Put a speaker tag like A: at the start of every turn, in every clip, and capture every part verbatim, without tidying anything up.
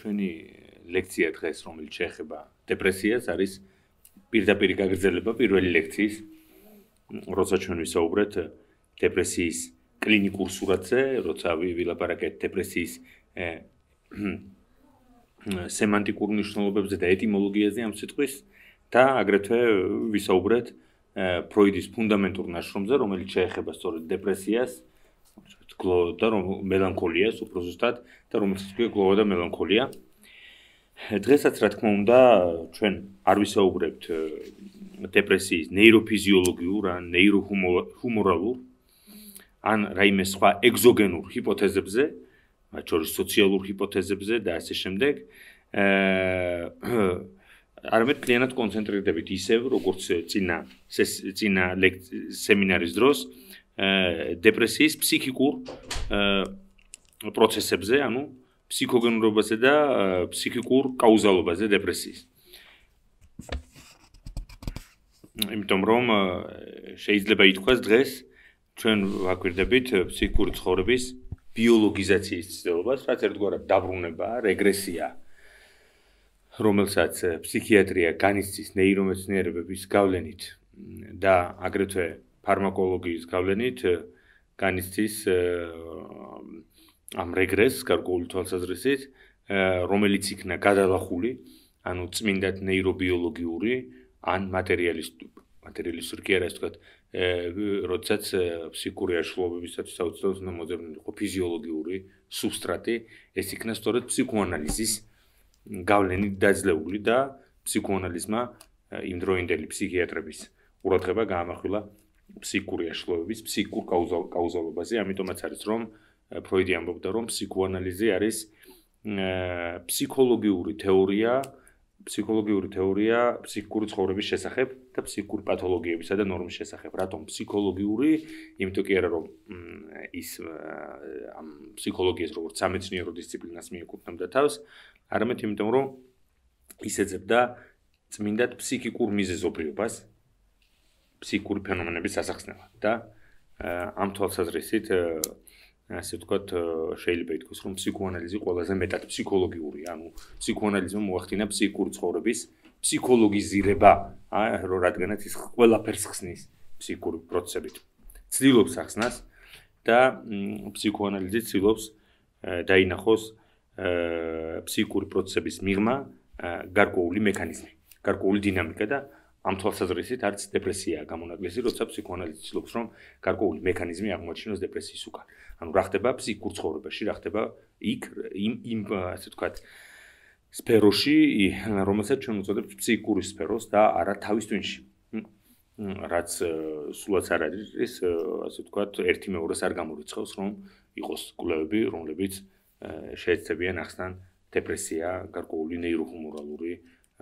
A: ჩვენი ლექცია დღეს, რომელიც შეეხება დეპრესიას, არის პირდაპირ გაგრძელება პირველი ლექციის, როცა ჩვენ ვისაუბრეთ დეპრესიის კლინიკურ სურათზე, როცა ვილაპარაკეთ დეპრესიის სემანტიკურ მნიშვნელობებზე და ეტიმოლოგიაზე ამ სიტყვის და აგრეთვე ვისაუბრეთ ფროიდის ფუნდამენტურ ნაშრომზე, რომელიც შეეხება სწორედ დეპრესიას და მელანქოლიას, უფრო ზუსტად, და რომელსაც ქვია გლოვა და მელანქოლია. დღესაც, რა თქმა უნდა, ჩვენ არ ვისაუბრებთ დეპრესიის ნეიროფიზიოლოგიურ ან ნეიროჰუმორალურ ან რაიმე სხვა ეგზოგენურ ჰიპოთეზებზე, მათ შორის სოციალურ ჰიპოთეზებზე და ასე შემდეგ. არამედ კლიანად კონცენტრირდებით ისევ, როგორც წინა წინა სემინარის დროს დეპრესიის ფსიქიკურ პროცესებზე, ანუ ფსიქოგენურობაზე და ფსიქიკურ კაუზალობაზე დეპრესიის. იმიტომ რომ შეიძლება ითქვას დღეს ჩვენ ვაკვირდებით ფსიქიკური ცხოვრების ბიოლოგიზაციის ცდილობას, რაც ერთგვარად დაბრუნებაა, რეგრესია, რომელსაც ფსიქიატრია განიცდის ნეირომეცნიერებების გავლენით და აგრეთვე ფარმაკოლოგიის გავლენით განიცდის ამ რეგრესს გარკვეული თვალსაზრისით, რომელიც იქნა გადალახული, ანუ წმინდად ნეირობიოლოგიური ან მატერიალისტური, მატერიალისტური კი არა, ასე ვთქვათ, როდესაც ფსიქიკური აშლობებისათვის საოცრად უნდა მოძებნილი იყო ფიზიოლოგიური სუბსტრატი, ეს იქნა სწორედ ფსიქოანალიზის გავლენით დაძლეული და ფსიქოანალიზმა იმდროინდელი ფსიქიატრების ყურადღება გაამახვილა ფსიქიკური აშლობების ფსიქიკურ კაუზალობაზე, ამიტომაც არის რომ ფროიდი ამბობდა რომ ფსიქოანალიზი არის ფსიქოლოგიური თეორია, ფსიქოლოგიური თეორია ფსიქიკური ცხოვრების შესახებ და ფსიქიკური პათოლოგიებისა და ნორმის შესახებ. რატომ ფსიქოლოგიური? იმიტომ კი არა რომ ის ამ ფსიქოლოგიას როგორც სამეცნიერო დისციპლინას მიეკუთვნებდა თავს, არამედ იმიტომ რომ ის ეძებდა წმინდად ფსიქიკურ მიზეზობრიობას ფსიქიკური ფენომენების ასახსნელად და ამ თვალსაზრისით ასე ვთქვათ, შეიძლება ითქვას, რომ ფსიქოანალიზი ყველაზე მეტად ფსიქოლოგიურია, ანუ ფსიქოანალიზმა მოახდინა ფსიქიკური ცხოვრების ფსიქოლოგიზირება, რადგანაც ის ყველაფერს ხსნის ფსიქიკური პროცესებით. ცდილობს ახსნას და ფსიქოანალიზი ცდილობს დაინახოს ფსიქიკური პროცესების მიღმა გარკვეული მექანიზმი, გარკვეული დინამიკა და ამ თვალსაზრისით არც დეპრესიაა გამონაკლისი, როცა ფსიქოანალიზი ცდილობს რომ გარკვეული მექანიზმი აღმოაჩინოს დეპრესიის უკან. ანუ რა ხდება ფსიქიკურ ცხოვრებაში, რა ხდება იქ იმ იმ ასე ვთქვათ სფეროში, რომელსაც ჩვენ უწოდებთ ფსიქიკური სფეროს და არა თავის ტვინში. რაც სულაც არ არის, ასე ვთქვათ, ერთი მეორეს არ გამორიცხავს, რომ იყოს კვლევები, რომლებიც შეეცდებიან ახსნან დეპრესია გარკვეული ნეიროჰუმორალური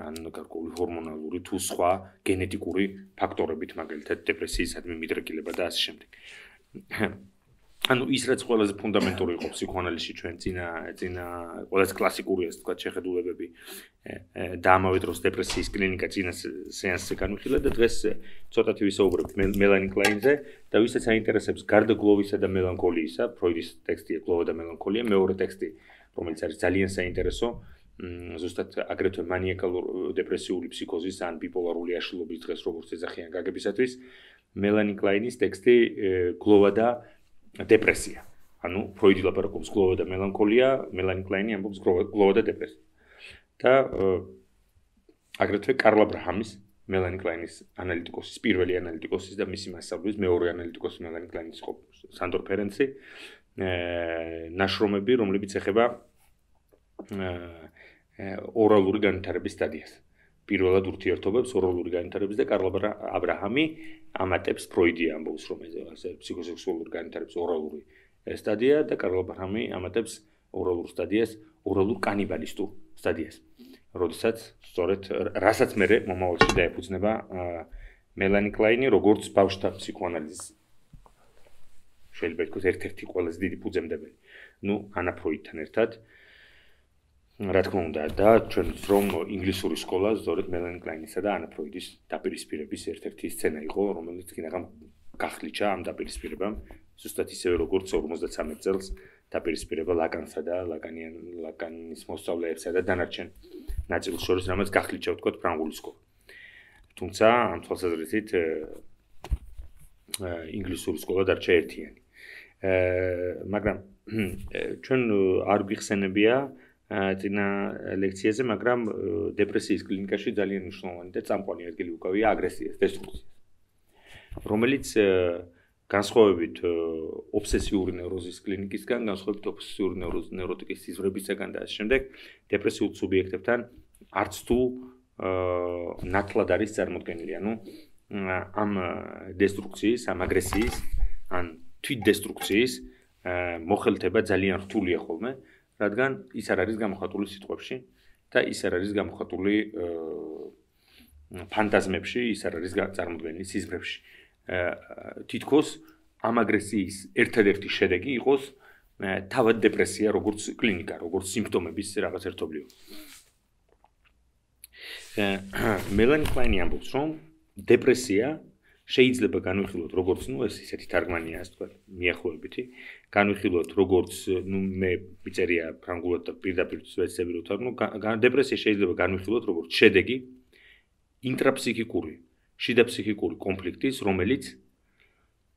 A: ან გარკვეული ჰორმონალური თუ სხვა გენეტიკური ფაქტორებით, მაგალითად დეპრესიისადმი მიდრეკილება და ასე შემდეგ. ანუ ის რაც ყველაზე ფუნდამენტური იყო ფსიქოანალიზში ჩვენ წინა წინა ყველაზე კლასიკური ასე ვთქვათ შეხედულებები და ამავე დროს დეპრესიის კლინიკა წინა სეანსზე განვიხილე და დღეს ცოტათი ვისაუბრებთ მელანი კლაინზე და ვისაც აინტერესებს გარდა გლოვისა და მელანქოლიისა, ფროიდის ტექსტია გლოვა და მელანქოლია, მეორე ტექსტი, რომელიც არის ძალიან საინტერესო, ზუსტად აგრეთვე მანიაკალურ დეპრესიული ფსიქოზის ან ბიპოლარული აშლილობის დღეს როგორც ეძახიან გაგებისათვის, მელანი კლაინის ტექსტი გლოვა და დეპრესია. ანუ ფროიდი ლაპარაკობს გლოვა და მელანქოლია, მელანი კლაინი ამბობს გლოვა და დეპრესია. და აგრეთვე კარლ აბრაჰამის, მელანი კლაინის ანალიტიკოსის, პირველი ანალიტიკოსის და მისი მასწავლებლის მეორე ანალიტიკოსის მელანი კლაინის იყო სანდორ ფერენცი, ნაშრომები, რომლებიც ეხება ორალური განვითარების სტადიას. პირველად ურთიერთობებს ორალური განვითარების და კარლ აბრაჰამი ამატებს ფროიდი ამბობს, რომ ეს ფსიქოსექსუალური განვითარების ორალური სტადია და კარლ აბრაჰამი ამატებს ორალურ სტადიას, ორალურ კანიბალისტურ სტადიას. როდესაც სწორედ რასაც მე მომავალში დაეფუძნება მელანი კლაინი, როგორც ბავშვთა ფსიქოანალიზის შეიძლება ითქვას ერთ-ერთი ყველაზე დიდი ფუძემდებელი. ნუ ანა ფროიდთან ერთად რა თქმა უნდა და ჩვენ რომ ინგლისური სკოლა სწორედ მელანი კლაინისა და ანა ფროიდის დაპირისპირების ერთ-ერთი სცენა იყო, რომელიც კინაღამ გახლიჩა ამ დაპირისპირებამ ზუსტად ისევე როგორც ორმოცდათრამეტ წელს დაპირისპირება ლაკანსა და ლაკანიან ლაკანის მოსწავლეებსა და დანარჩენ ნაწილს შორის, რამაც გახლით შევთქვათ ფრანგული სკოლა. თუმცა ამ თვალსაზრისით ინგლისური სკოლა დარჩა ერთიანი. მაგრამ ჩვენ არ გვიხსენებია წინა ლექციაზე, მაგრამ დეპრესიის კლინიკაში ძალიან მნიშვნელოვანი და წამყვანი ადგილი უკავია აგრესიას, დესტრუქციას. რომელიც განსხვავებით ობსესიური ნევროზის კლინიკისგან, განსხვავებით ობსესიური ნევროტიკის სიზვრებისგან და ამ შემდეგ დეპრესიულ სუბიექტებთან არც თუ ნათლად არის წარმოდგენილი, ანუ ამ დესტრუქციის, ამ აგრესიის, ან თვითდესტრუქციის მოხელთება ძალიან რთულია ხოლმე, რადგან ის არ არის გამოხატული სიტყვებში და ის არ არის გამოხატული ფანტაზმებში, ის არ არის წარმოდგენილი სიზმრებში. თითქოს ამ აგრესიის ერთადერთი შედეგი იყოს თავად დეპრესია, როგორც კლინიკა, როგორც სიმპტომების რაღაც ერთობლიობა. მელანი კლაინი ამბობს, რომ დეპრესია შეიძლება განვიხილოთ როგორც, ну, ეს ისეთი თარგმანია, ასე ვთქვათ, მიახლოებითი, განვიხილოთ როგორც, ну, მე მიწერია ფრანგულად და პირდაპირ ვეცდები რომ თარგმნო, დეპრესია შეიძლება განვიხილოთ როგორც შედეგი ინტრაფსიქიკური, შიდაფსიქიკური კონფლიქტის, რომელიც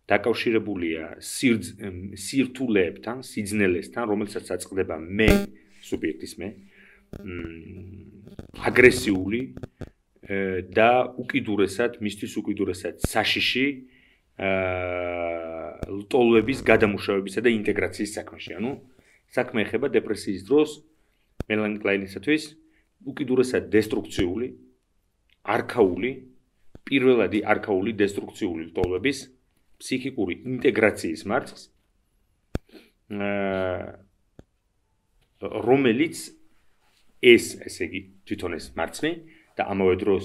A: დაკავშირებულია სირთულეებთან, სიძნელესთან, რომელსაც აწყდება მე, სუბიექტის მე, აგრესიული და უკიდურესად, მისთვის უკიდურესად საშიში ლტოლვების გადამუშავებისა და ინტეგრაციის საქმეში. ანუ საქმე ეხება დეპრესიის დროს მელანი კლაინისათვის უკიდურესად დესტრუქციული, არქაული, პირველადი არქაული დესტრუქციული ლტოლვების ფსიქიკური ინტეგრაციის მარცხს, რომელიც ეს, ესე იგი, თვითონ ეს მარცხი და ამავე დროს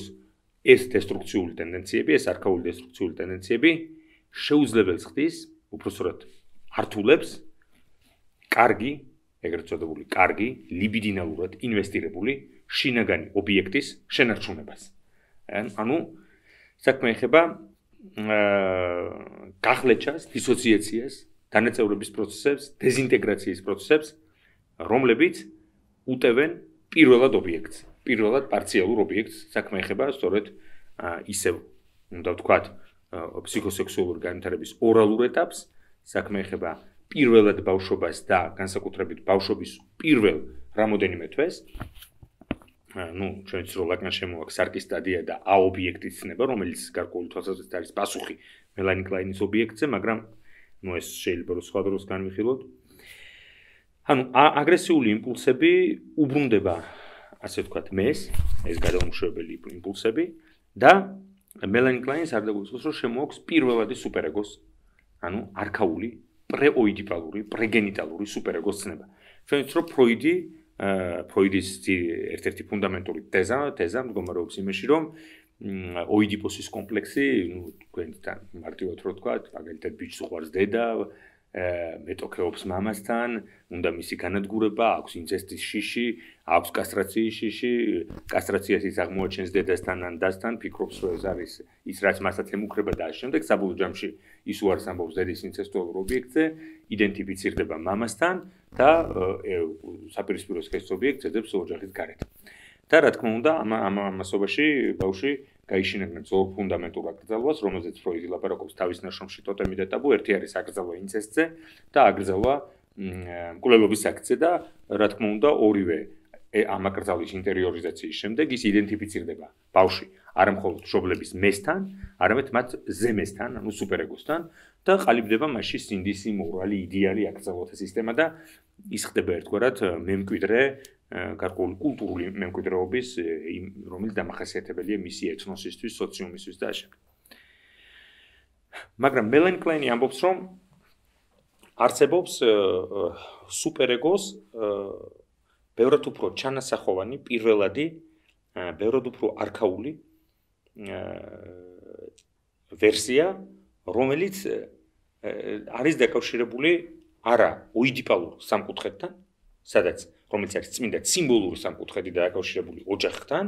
A: ეს დესტრუქციული ტენდენციები, ეს არქაული დესტრუქციული ტენდენციები შეუძლებელს ხდის, უпростоრად ართულებს კარგი, ეგრეთ წოდებული კარგი, ლიბიდინალურად ინვესტირებული შინაგანი ობიექტის შენარჩუნებას. ანუ საქმე ეხება გახლეჩას, დისოციაციას, დანაწევრების პროცესებს, დეზინტეგრაციის პროცესებს, რომლებიც უტევენ პირველად ობიექტს, პირველად პარციალურ ობიექტს, საქმე ეხება სწორედ ისევ, უნდა ვთქვათ, ფსიქოსექსუალური განვითარების ორალურ ეტაპს, საქმე ეხება პირველად ბავშვობას და განსაკუთრებით ბავშვობის პირველ რამოდენიმე თვეს. ну, ჩვენ ვიცით, რომ ლაკანს შემოაქვს სარკის სტადია და ა ობიექტის ცნება, რომელიც გარკვეული თვალსაზრისით არის პასუხი მელანი კლაინის ობიექტზე, მაგრამ ну, ეს შეიძლება რომ სხვა დროს განვიხილოთ. ანუ აგრესიული იმპულსები უბრუნდება, ასე ვთქვათ, მეს, ეს გადამუშავებელი იმპულსები და მელანი კლაინს არ დაგვიწყოს, რომ შემოაქვს პირველადი სუპერეგოს, ანუ არქაული, პრეოიდიპალური, პრეგენიტალური სუპერეგოს ცნება. ჩვენ ვიცით, რომ ფროიდი ფროიდის ერთ-ერთი ფუნდამენტური თეზა, თეზა მდგომარეობს იმაში, რომ ოიდიპოსის კომპლექსი, ну, თქვენთან მარტივად რო ვთქვათ, მაგალითად ბიჭს უყვარს დედა, მეტოქეობს მამასთან, უნდა მისი განადგურება, აქვს ინცესტის შიში, აქვს კასტრაციის შიში, კასტრაციას ის აღმოაჩენს დედასთან ან დასთან, ფიქრობს, რომ ეს არის ის, რაც მასაც ემუქრება და ამ შემდეგ საბოლოო ჯამში ის უარს ამბობს დედის ინცესტუალურ ობიექტზე, იდენტიფიცირდება მამასთან და საპირისპირო სქესის ობიექტს ეძებს ოჯახის გარეთ. და რა თქმა უნდა, ამ ამასობაში ბავშვი გაიშინებენ ძველ ფუნდამენტურ აკრძალვას, რომელზეც ფროიდი ლაპარაკობს თავის ნაშრომში ტოტემი და ტაბუ, ერთი არის აკრძალვა ინცესტზე და აკრძალვა მკვლელობის აქტზე და რა თქმა უნდა, ორივე ამ აკრძალვის ინტერიორიზაციის შემდეგ ის იდენტიფიცირდება ბავშვი არა მხოლოდ მშობლების მესთან, არამედ მათ ზემესთან, ანუ სუპერეგოსთან და ყალიბდება მასში სინდისი, მორალი, იდეალი აკრძალვათა სისტემა და ის ხდება ერთგვარად მემკვიდრე გარკვეული კულტურული მემკვიდრეობის, რომელიც დამახასიათებელია მისი ეთნოსისთვის, სოციუმისთვის და ასე. მაგრამ მელანი კლაინი ამბობს, რომ არსებობს სუპერეგოს ბევრად უფრო ჩანასახოვანი, პირველადი, ბევრად უფრო არქაული ვერსია, რომელიც არის დაკავშირებული არა ოიდიპალურ სამკუთხედთან, სადაც რომელიც არის წმინდა სიმბოლური სამკუთხედი და დაკავშირებული ოჯახთან,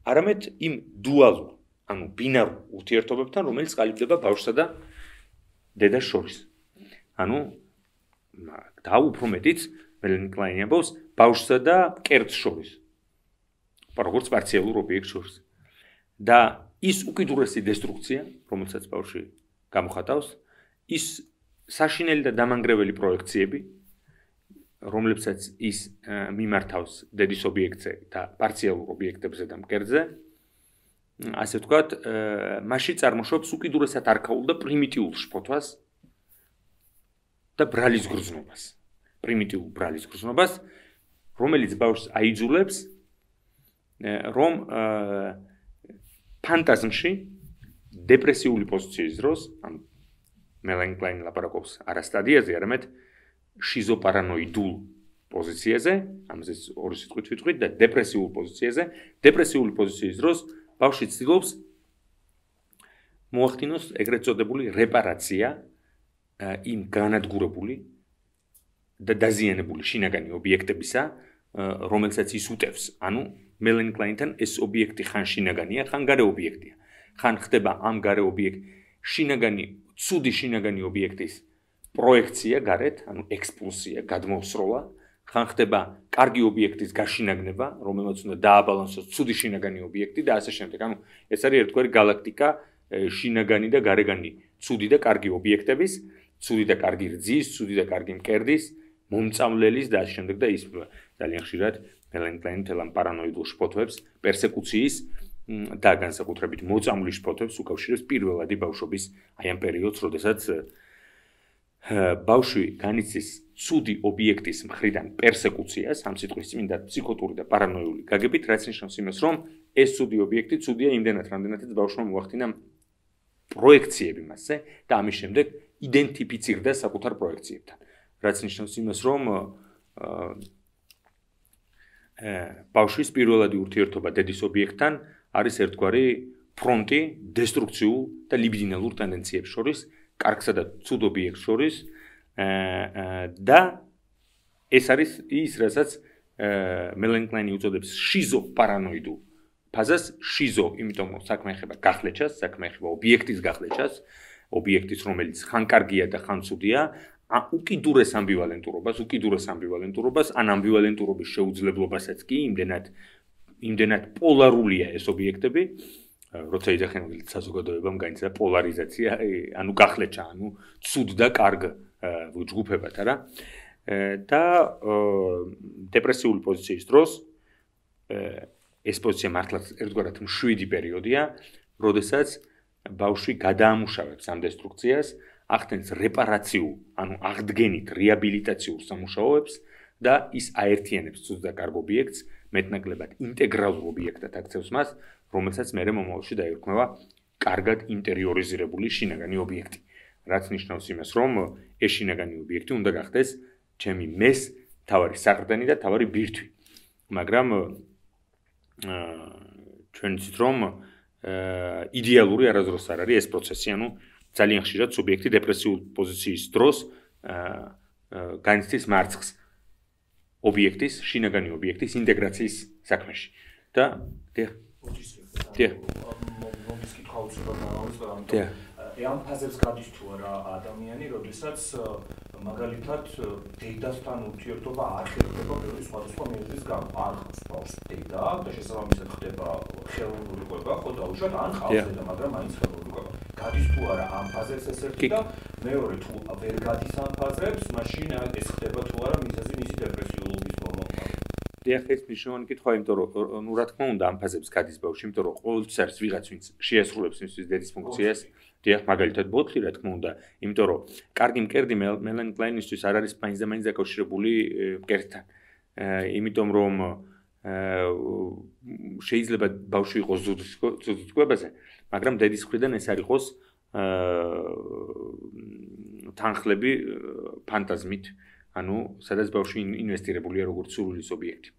A: არამედ იმ დუალურ, ანუ ბინარულ ურთიერთობებთან, რომელიც ყალიბდება ბავშვსა და დედას შორის. ანუ და უფრო მეტიც მელანი კლაინი ამბობს ბავშვსა და კერძს შორის. როგორც პარციალურ ობიექტს შორის. და ის უკიდურესი დესტრუქცია, რომელსაც ბავშვი გამოხატავს, ის საშინელი და დამანგრეველი პროექციები, რომლებსაც ის მიმართავს დედის ობიექტზე და პარციალურ ობიექტებზე და მკერდზე, ასე ვთქვათ, მასში წარმოშობს უკიდურესად არქაულ და პრიმიტიულ შფოთვას და ბრალის გრძნობას. პრიმიტიულ ბრალის გრძნობას, რომელიც ბავშვს აიძულებს, რომ ფანტაზმში დეპრესიული პოზიციის დროს, ან მელანი კლაინი ლაპარაკობს არა სტადიაზე, არამედ შიზოპარანოიდულ პოზიციაზე, ამაზე ორი სიტყვით ვიტყვით და დეპრესიულ პოზიციაზე, დეპრესიული პოზიციის დროს ბავშვი ცდილობს მოახდინოს ეგრეთ წოდებული რეპარაცია იმ განადგურებული და დაზიანებული შინაგანი ობიექტებისა, რომელსაც ის უტევს. ანუ მელანი კლაინთან ეს ობიექტი ხან შინაგანია, ხან გარე ობიექტია. ხან ხდება ამ გარე ობიექტ შინაგანი, ცუდი შინაგანი ობიექტის პროექცია გარეთ, ანუ ექსპულსია, გადმოსროლა, ხან ხდება კარგი ობიექტის გაშინაგნება, რომელმაც უნდა დააბალანსოს ცუდი შინაგანი ობიექტი და ასე შემდეგ. ანუ ეს არის ერთგვარი galaktika შინაგანი და გარეგანი, ცუდი და კარგი ობიექტების, ცუდი და კარგი რძის, ცუდი და კარგი მკერდის, მომწამლელის და ასე შემდეგ და ის ძალიან ხშირად მელანი კლაინი თელამ პარანოიდულ შფოთვებს, პერსეკუციის და განსაკუთრებით მოწამვლის შფოთვებს უკავშირებს პირველადი ბავშვობის აი ამ პერიოდს, როდესაც ბავშვი განიცდის ცუდი ობიექტის მხრიდან პერსეკუციას, ამ სიტყვის წმინდა ფსიქოტური და პარანოიული გაგებით, რაც ნიშნავს იმას, რომ ეს ცუდი ობიექტი ცუდია იმდენად, რამდენადაც ბავშვმა მოახდინა პროექციები მასზე და ამის შემდეგ იდენტიფიცირდა საკუთარ პროექციებთან. რაც ნიშნავს იმას, რომ ბავშვის პირველადი ურთიერთობა დედის ობიექტთან არის ერთგვარი ფრონტი დესტრუქციულ და ლიბიდინალურ ტენდენციებს შორის, კარგსა და ცუდ ობიექტს შორის და ეს არის ის, რასაც მელანი კლაინი უწოდებს შიზოპარანოიდულ ფაზას, შიზო, იმიტომ რომ საქმე ეხება გახლეჩას, საქმე ეხება ობიექტის გახლეჩას, ობიექტის, რომელიც ხან კარგია და ხან ცუდია, უკიდურეს ამბივალენტურობას, უკიდურეს ამბივალენტურობას, ან ამბივალენტურობის შეუძლებლობასაც კი, იმდენად იმდენად პოლარულია ეს ობიექტები, როცა იძახენ საზოგადოებამ განიცადა პოლარიზაცია, ანუ გახლეჩა, ანუ ცუდ და კარგ ჯგუფებად, არა? და დეპრესიული პოზიციის დროს ეს პოზიცია მართლაც ერთგვარად მშვიდი პერიოდია, როდესაც ბავშვი გადაამუშავებს ამ დესტრუქციას, ახდენს რეპარაციულ, ანუ აღდგენით რეაბილიტაციურ სამუშაოებს და ის აერთიანებს ცუდ და კარგ ობიექტს, მეტნაკლებად ინტეგრალურ ობიექტად აქცევს მას, რომელსაც მერე მომავალში დაირქმევა კარგად ინტერიორიზირებული შინაგანი ობიექტი. რაც ნიშნავს იმას, რომ ეს შინაგანი ობიექტი უნდა გახდეს ჩემი მეს, თავარი საყრდენი და თავარი ბირთვი. მაგრამ ჩვენ ვიცით, რომ იდეალური არასდროს არ არის ეს პროცესი, ანუ ძალიან ხშირად სუბიექტი დეპრესიულ პოზიციის დროს განიცდის მარცხს ობიექტის, შინაგანი ობიექტის ინტეგრაციის საქმეში. და დიახ. დიახ. დიახ.
B: ამ ფაზებს გადის თუ არა ადამიანი, როდესაც მაგალითად დედასთან ურთიერთობა არ ხერხდება ბევრი სხვადასხვა მიზეზის გამო. არ ხავს ბავშვს დედა და შესაბამისად ხდება ხელოვნური ყვება, ხო დაუშვათ, ან ხავს დედა, მაგრამ მაინც ხელოვნური ყვება. გადის თუ არა ამ ფაზებს ეს ერთი და მეორე თუ ვერ გადის ამ ფაზებს, მაშინ ეს ხდება თუ არა მიზეზი მისი დეპრესიულობის მომავალ.
A: დიახ, ეს მნიშვნელოვანი კითხვა, იმიტომ რომ ნუ რა თქმა უნდა ამ ფაზებს გადის ბავშვი, იმიტომ რომ ყოველთვის არის ვიღაც ვინც შეასრულებს მისთვის დედის ფუნქციას. დიახ, მაგალითად ბოთლი, რა თქმა უნდა, იმიტომ რომ კარგი მკერდი მელანი კლაინისთვის არ არის მაინც და მაინც დაკავშირებული მკერდთან. იმიტომ რომ შეიძლება ბავშვი იყოს ზუძთქვებაზე, მაგრამ დედის მხრიდან ეს არ იყოს თანხლები ფანტაზმით, ანუ სადაც ბავშვი ინვესტირებულია როგორც სურვილის ობიექტი.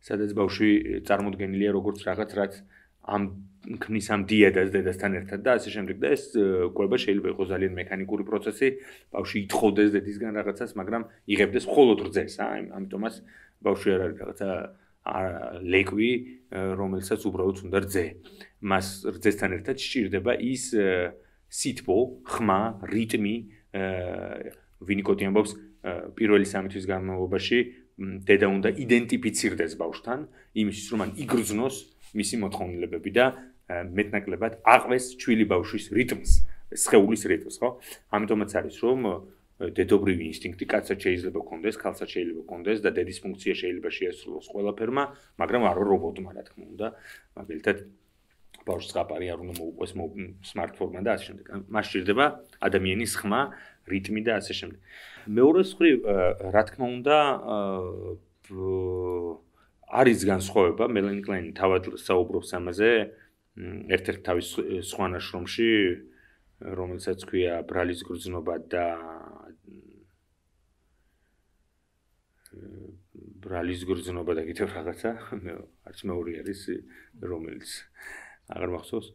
A: სადაც ბავშვი წარმოდგენილია როგორც რაღაც, რაც ამ ქმნის ამ დიადას დედასთან ერთად და ასე შემდეგ და ეს კვება შეიძლება იყოს ძალიან მექანიკური პროცესი, ბავშვი ითხოვდეს დედისგან რაღაცას, მაგრამ იღებდეს მხოლოდ რძეს, ამიტომაც ბავშვი არ არის რაღაცა ლეკვი, რომელსაც უბრალოდ უნდა რძე. მას რძესთან ერთად სჭირდება ის სითბო, ხმა, რიტმი, ვინიკოტი ამბობს პირველი სამი თვის განმავლობაში დედა უნდა იდენტიფიცირდეს ბავშვთან იმისთვის რომ მან იგრძნოს მისი მოთხოვნილებები და მეტნაკლებად აყვეს ჩვილი ბავშვის რიტმს, სხეულის რიტმს, ხო? ამიტომაც არის რომ დედობრივი ინსტინქტი კაცსაც შეიძლება ჰქონდეს, ქალსაც შეიძლება ჰქონდეს და დედის ფუნქცია შეიძლება შეასრულოს ყველაფერმა, მაგრამ არა რობოტმა, რა თქმა უნდა, მაგალითად ბავშვს ზღაპარი არ უნდა მოუყვეს სმარტფონმა და ასე შემდეგ. მას სჭირდება ადამიანის ხმა, რიტმი და ასე შემდეგ. მეორე მხრივ, რა თქმა უნდა, არის განსხვავება, მელანი კლაინი თავად საუბრობს ამაზე, ერთ-ერთ თავის სხვა ნაშრომში, რომელსაც ქვია ბრალის გრძნობა და ბრალის გრძნობა და კიდევ რაღაცა, არც მეორე არის, რომელიც აღარ მახსოვს.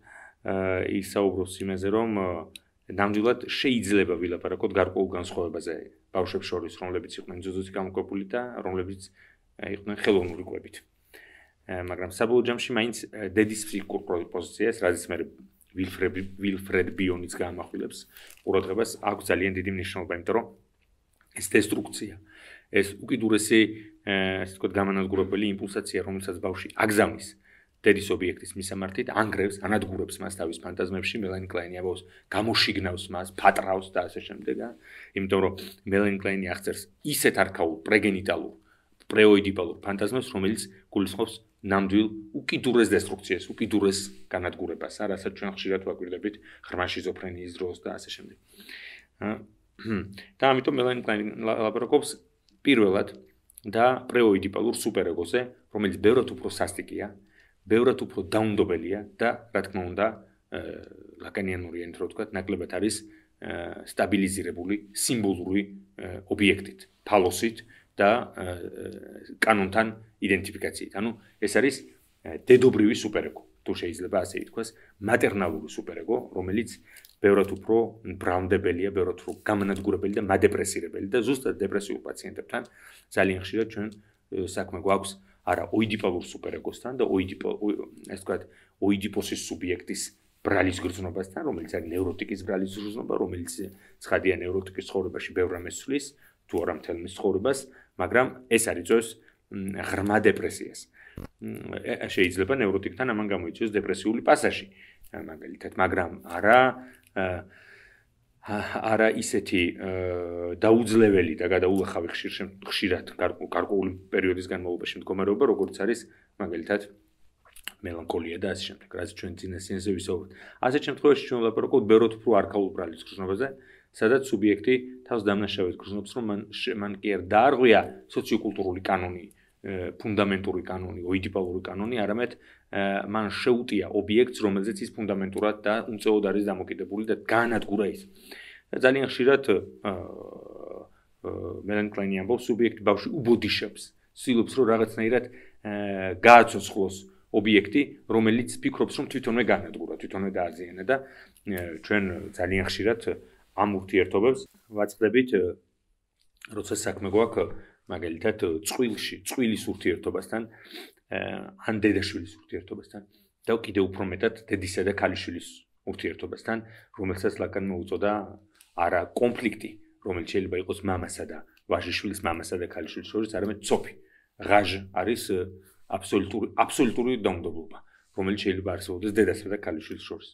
A: ის საუბრობს იმაზე, რომ ნამდვილად შეიძლება ვილაპარაკოთ გარკვეულ განსხვავებაზე ბავშვებს შორის, რომლებიც იყვნენ ძუძუცი გამოკვებული და რომლებიც იყვნენ ხელოვნური კვებით. მაგრამ საბოლოო ჯამში მაინც დედის ფსიქიკურ პოზიციას, რაზეც მე ვილფრედ ბიონიც გაამახვილებს, ყურადღებას აქვს ძალიან დიდი მნიშვნელობა, იმიტომ რომ ეს დესტრუქცია, ეს უკიდურესი, ასე ვთქვათ, გამანადგურებელი იმპულსაცია, რომელსაც ბავშვი აგზავნის დედის ობიექტის მისამართით, ანგრევს, ანადგურებს მას თავის ფანტაზმებში, მელანი კლაინი ამბობს, გამოშიგნავს მას, ფატრავს და ასე შემდეგ, იმიტომ რომ მელანი კლაინი აღწერს ისეთ არქაულ პრეგენიტალურ, პრეოიდიპალურ ფანტაზმებს, რომელიც გულისხმობს ნამდვილ უკიდურეს დესტრუქციას, უკიდურეს განადგურებას, რასაც ჩვენ ხშირად ვაკვირდებით ღრმა შიზოფრენიის დროს და ასე შემდეგ. და ამიტომ მელანი კლაინი ლაპარაკობს პირველად და პრეოიდიპალურ სუპერეგოზე, რომელიც ბევრად უფრო სასტიკია, ბევრად უფრო დაუნდობელია და რა თქმა უნდა, ლაკანიანური ენით რო ვთქვათ, ნაკლებად არის სტაბილიზირებული სიმბოლური ობიექტით, ფალოსით და კანონთან იდენტიფიკაციით. ანუ ეს არის დედობრივი სუპერეგო, თუ შეიძლება ასე ითქვას, მატერნალური სუპერეგო, რომელიც ბევრად უფრო ბრალმდებელია, ბევრად უფრო გამანადგურებელი და მადეპრესირებელი და ზუსტად დეპრესიულ პაციენტებთან ძალიან ხშირად ჩვენ საქმე გვაქვს არა ოიდიპალურ სუპერეგოსთან და ოიდიპო ასე ვთქვათ, ოიდიპოსის სუბიექტის ბრალის გრძნობასთან, რომელიც არის ნევროტიკის ბრალის გრძნობა, რომელიც ცხადია ნევროტიკის ცხოვრებაში ბევრ რამეს ცვლის, თუ არა მთელ მის ცხოვრებას, მაგრამ ეს არ იწვევს ღრმა დეპრესიას. შეიძლება ნევროტიკთან ამან გამოიწვიოს დეპრესიული პასაჟი, მაგალითად, მაგრამ არა არა ისეთი დაუძლეველი და გადაულახავი ხშირად გარკვეული პერიოდის განმავლობაში მდგომარეობა, როგორც არის მაგალითად მელანქოლია და ასე შემდეგ, რაც ჩვენ წინა სიენზე ვისაუბრეთ. ასეთ შემთხვევაში ჩვენ ვლაპარაკობთ ბევრად უფრო არქაულ ბრალის გრძნობაზე, სადაც სუბიექტი თავს დამნაშავედ გრძნობს, რომ მან მან კი არ დაარღვია სოციოკულტურული კანონი, ფუნდამენტური კანონი, ოიდიპალური კანონი, არამედ მან შეუტია ობიექტს, რომელზეც ის ფუნდამენტურად და უმწეოდ არის დამოკიდებული და გაანადგურა ის. ძალიან ხშირად მელანი კლაინი ამბობს, სუბიექტი ბავშვი უბოდიშებს, ცდილობს რომ რაღაცნაირად გააცოცხლოს ობიექტი, რომელიც ფიქრობს, რომ თვითონვე გაანადგურა, თვითონვე დააზიანა და ჩვენ ძალიან ხშირად ამ ურთიერთობებს ვაწყდებით, როცა საქმე გვაქვს მაგალითად წყვილში, წყვილის ურთიერთობასთან, ან დედაშვილის ურთიერთობასთან და კიდევ უფრო მეტად დედისა და ქალიშვილის ურთიერთობასთან, რომელსაც ლაკანმა უწოდა არა კონფლიქტი, რომელიც შეიძლება იყოს მამასა და ვაჟიშვილის, მამასა და ქალიშვილის შორის, არამედ ცოფი. ღაჟ არის აბსოლუტური აბსოლუტური დაუნდობლობა, რომელიც შეიძლება არსებობდეს დედასა და ქალიშვილის შორის.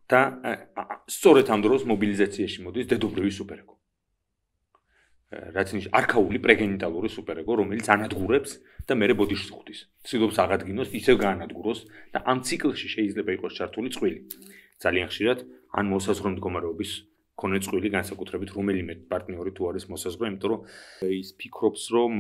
A: და სწორედ ამ დროს მობილიზაციაში მოდის დედობრივი სუპერეგო. რაც ნიშნავს არქაული პრეგენიტალური სუპერეგო, რომელიც ანადგურებს და მერე ბოდიშს ხვდის. ცდილობს აღადგინოს, ისევ გაანადგუროს და ამ ციკლში შეიძლება იყოს ჩართული წყვილი. ძალიან ხშირად ან მოსაზღვრე მდგომარეობის მქონე წყვილი, განსაკუთრებით რომელიმე პარტნიორი თუ არის მოსაზღვრე, იმიტომ რომ ის ფიქრობს, რომ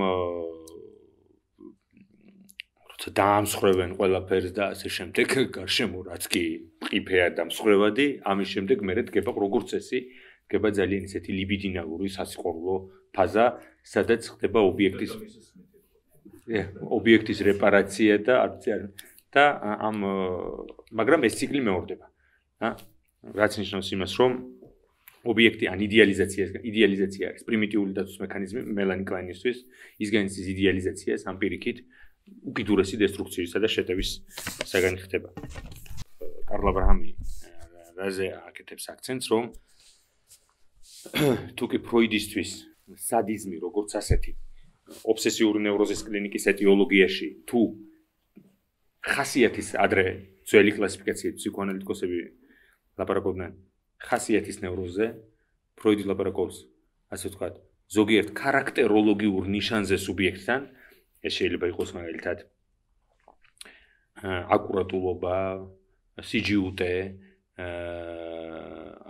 A: როცა დაამსხვრევენ ყველაფერს და ასე შემდეგ, გარშემო რაც კი მყიფეა და მსხვერვადი, ამის შემდეგ მერე დგება როგორც წესი, დგება ძალიან ისეთი ლიბიდინალური სასიყვარულო ფაზა, სადაც ხდება ობიექტის ობიექტის რეპარაცია და და ამ მაგრამ ეს ციკლი მეორდება. რაც ნიშნავს იმას, რომ ობიექტი ან იდეალიზაცია იდეალიზაცია არის პრიმიტიული დაცვის მექანიზმი მელანი კლაინისთვის, ის განიცდის იდეალიზაციას ამ პირიქით უკიდურესი დესტრუქციისა და შეტევის საგანი ხდება. კარლ აბრაჰამი რაზე აკეთებს აქცენტს, რომ თუკი ფროიდისთვის სადიზმი როგორც ასეთი ობსესიური ნევროზის კლინიკის ეტიოლოგიაში თუ ხასიათის ადრე ძველი კლასიფიკაციით ფსიქოანალიტიკოსები ლაპარაკობდნენ ხასიათის ნევროზზე, ფროიდი ლაპარაკობს, ასე ვთქვათ, ზოგიერთ ქარაქტეროლოგიურ ნიშანზე სუბიექტთან, ეს შეიძლება იყოს მაგალითად აკურატულობა, სიჯიუტე,